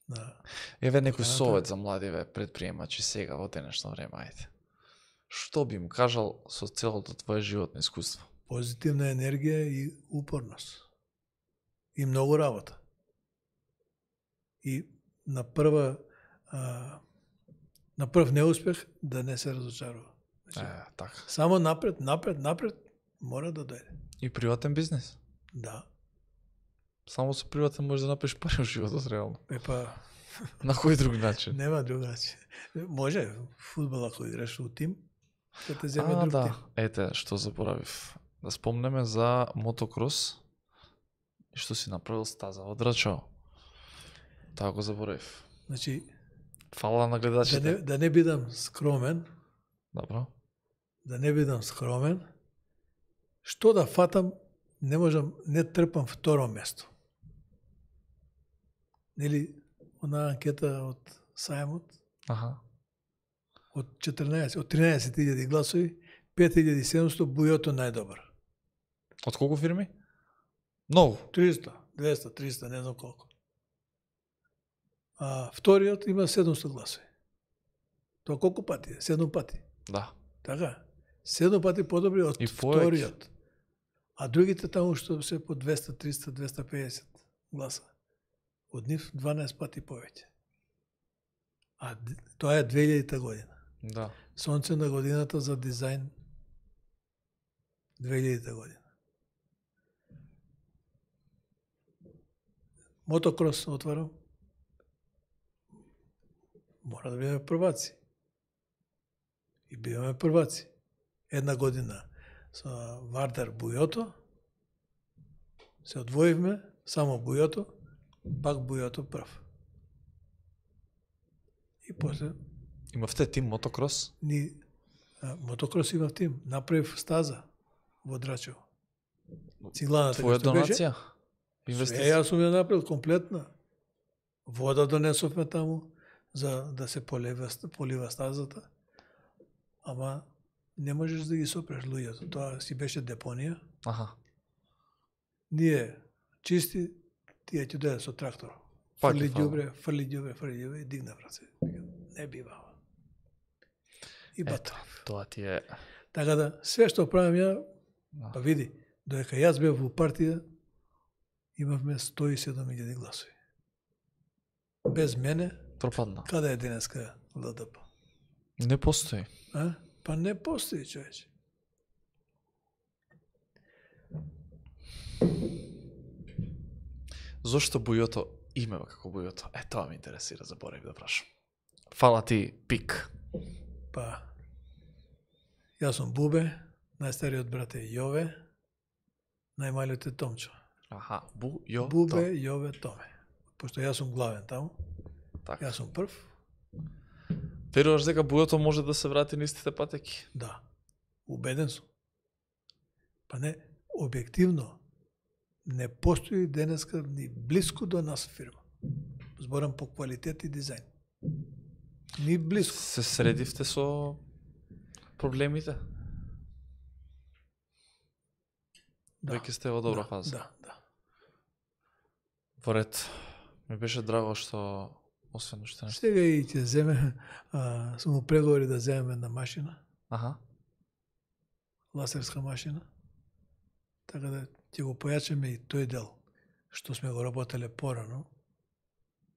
Да. еве некој Поканата. совет за младиве предприемачи сега во денешно време, ајде. Што би им кажал со целото твое животно искуство? Позитивна енергија и упорност. И многу работа. И на прва а, на прв неуспех да не се разочарува. Значи, Е, така. само напред, напред, напред мора да дојде. И приватен бизнес. Да. Само со приватен можеш да направиш пари во животот реално. Е па На кој друг начин? нема другачи. Може фудбал ако играш у тим, ќе те земе А, друг да. тим. Ете, што заборавив. Да спомнеме за мотокрос и што си направил стаза од Рачао. Тоа го заборавив. Значи Фала на да гледачите. не, да не бидам скромен, Добро. да не бидам скромен, што да фатам, не можам, не трпам второ место. Нели, она анкета од Сајмот, Аха. од четрнаесет, од тринаесет илјади гласови, пет илјади и седумсто бујото најдобар. Од колку фирми? Многу. триста, двеста, триста, не знам колку. А вториот има седумсто гласови. Тоа колку пати е? Седум пати. Да. Така? седум пати подобри од И повеќе. вториот. А другите таму што се по двеста, триста, двеста педесет гласа. Од нив дванаесет пати повеќе. А д- тоа е две илјадета година. Да. Сонце на годината за дизајн две илјадета година. Мотокрос отварам. Мора да бидеме прваци. И биваме прваци. Една година со Вардар Бујото, се одвоивме, само Бујото, пак Бујото прв. И после Имавте тим мотокрос? ни а, мотокрос имав тим, направив стаза во Драчево. Цигланата Твоја што беше, донација? све Инвестиција? јас сум ја направил комплетна. Вода донесовме таму за да се полива, полива стазата. Ама не можеш да ги сопреш луѓето. Тоа си беше депонија. Аха. Ние чисти, тие ќе дојдат со трактор. Пак Фрли ќе фала. ѓубре, фрли ѓубре, фрли ѓубре и дигна раце. Не бива. И Ето, батав. тоа ти е... Така да, све што правам ја, Да. па види, додека јас бев во партија, имавме сто и седум илјади гласови. Без мене, Пропадна. каде е денеска Л Д П? Не постои. А? Па не постои, човече. Зошто Бујото име како Бујото? Е, тоа ме интересира, заборав да прашам. Фала ти, Пик. Па, јас сум Бубе, најстариот брат е Јове, најмалиот е Томчо. Аха, Бу, Јо, Бубе, Јове, Томе. Пошто јас сум главен таму, Така. јас сум прв, Веруваш дека Бујото може да се врати на истите патеки? да, убеден сум. Па не, објективно, не постои денеска ни близко до нас фирма. Зборам по квалитет и дизајн. Ни близко. Се средивте со проблемите? Да. Веќе сте во добра да, фаза. Да, да. Во ред. Ми беше драго што освен уште нешто. Сега и ќе земе, а, сум у преговори да земеме една машина, Аха. ласерска машина, така да ќе го појачаме и тој дел, што сме го работеле порано,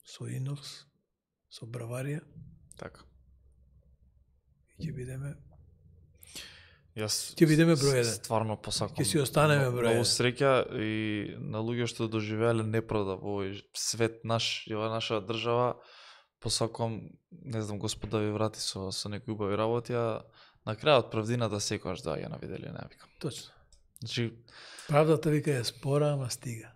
со инокс, со браварија, Така. и ќе бидеме, Јас Ќе бидеме с- број еден. Стварно посакам. ќе си останеме Мно- број Многу еден. среќа и на луѓе што доживеале неправда во овој свет наш и ова наша држава. Посакам, не знам, Господ да ви врати со со некои убави работи, а на крајот правдината секогаш доаѓа на виделие, не викам. Точно. Значи, Правдата вика е спора, ама стига.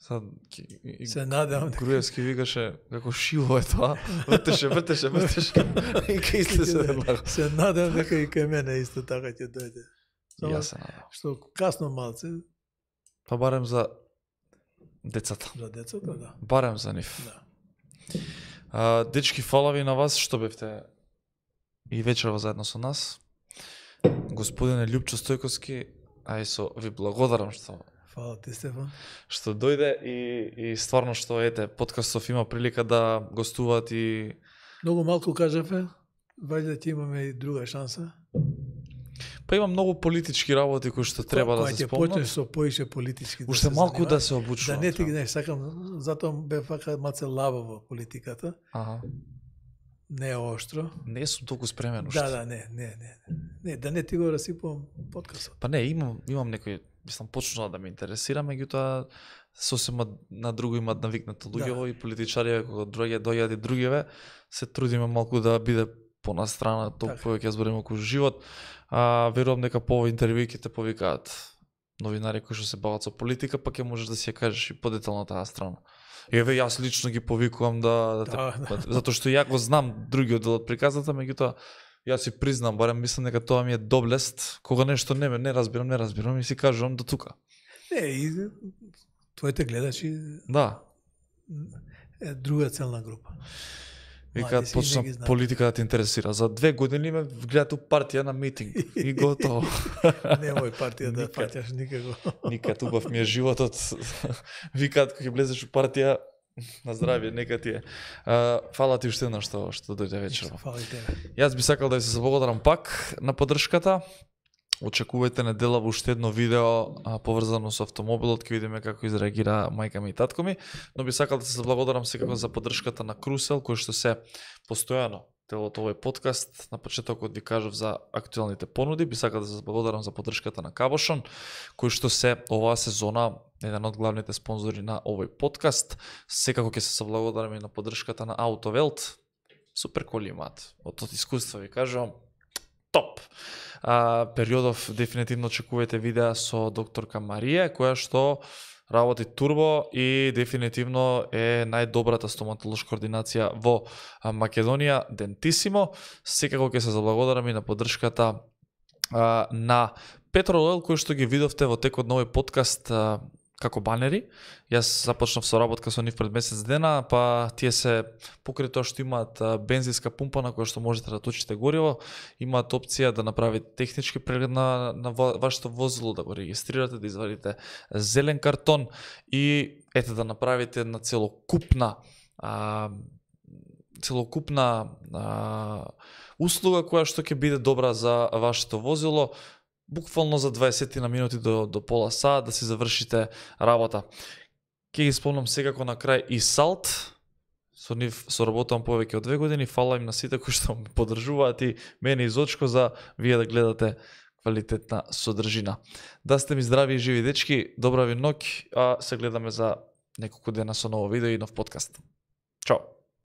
сад ки- и- Се надевам дека Груевски викаше како шиво е тоа, вртеше, вртеше, вртеше и кај сте се надлага. се надевам дека и кај мене исто така ќе дојде. Само Јас се надам. што касно малце Па барем за децата. за децата, да. Барем за нив. Да. А, дечки, фала ви на вас што бевте и вечерва заедно со нас. Господине Љупчо Стојковски, а и со ви благодарам што Фала ти, Стефан. што дојде и и стварно што ете подкастов има прилика да гостуваат и Многу малку кажавме, вајде ќе имаме и друга шанса. па има многу политички работи кои што треба да Кога се ќе почнеш спомнат. со поише политички Уште се малку занимаваш, да се Да обучувам. не ти треба. не сакам, затоа бе фака маце лаба во политиката, Аха. не е оштро. Не сум толку спремен уште. Да, да, не, не, не. Не, да не ти го расипувам подкастот. Па не, имам имам некој, мислам почнува да ме интересира, меѓутоа сосема на друго имаат навикнато луѓево и политичари кога доаѓа доаѓаат и другиве, се трудиме малку да биде понастрана, толку Така. повеќе збориме околу живот. А верувам дека по овој интервју ќе те повикаат новинари кои што се бават со политика, па ќе можеш да си ја кажеш и подетално таа страна. Еве јас лично ги повикувам да, да, те, Да, да. затоа што ја го знам другиот дел од приказната, меѓутоа јас си признам, барем мислам дека тоа ми е доблест, кога нешто не ме не разбирам, не разбирам и си кажувам до тука. Не, и твоите гледачи Да, е друга целна група. викаат Млади си, почна не ги знам. политика да те интересира. За две години ме гледат у партија на митинг и готово. Немој партија да Никад. фаќаш никако. Никад убав ми е животот. Викаат кога ќе влезеш у партија, На здравје, нека ти е. А, фала ти уште еднаш што што дојде вечерва. Фала и тебе. Јас би сакал да ви се заблагодарам пак на поддршката. Очекувајте недела во уште едно видео а, поврзано со автомобилот, ќе видиме како изреагира мајка ми и татко ми, но би сакал да се заблагодарам секако за поддршката на Крусел, кој што се постојано дел од овој подкаст. На почетокот ви кажав за актуелните понуди, би сакал да се заблагодарам за поддршката на Кабошон, кој што се оваа сезона еден од главните спонзори на овој подкаст. Секако ќе се заблагодарам и на поддршката на Аутовелт. Супер коли имаат. Од од искуство ви кажувам, топ. А, периодов дефинитивно очекувате видеа со докторка Марија, која што работи турбо и дефинитивно е најдобрата стоматолошка ординација во Македонија, Дентисимо. Секако ќе се заблагодарам и на поддршката а, на Петрол Ойл, кој што ги видовте во текот на овој подкаст а, како банери. Јас започнав со работка со нив пред месец дена, па тие се покрај тоа што имаат бензинска пумпа на која што можете да точите гориво, имаат опција да направите технички преглед на, на вашето возило, да го регистрирате, да извадите зелен картон и ете да направите една целокупна а, целокупна а, услуга која што ќе биде добра за вашето возило. Буквално за дваесет на минути до, до пола саат да си завршите работа. Ке ги спомнам секако на крај и Салт. Со нив соработувам повеќе од две години. Фала им на сите кои што ме поддржуваат и мене и Зочко за вие да гледате квалитетна содржина. Да сте ми здрави и живи дечки, добра ви ноќ, а се гледаме за неколку дена со ново видео и нов подкаст.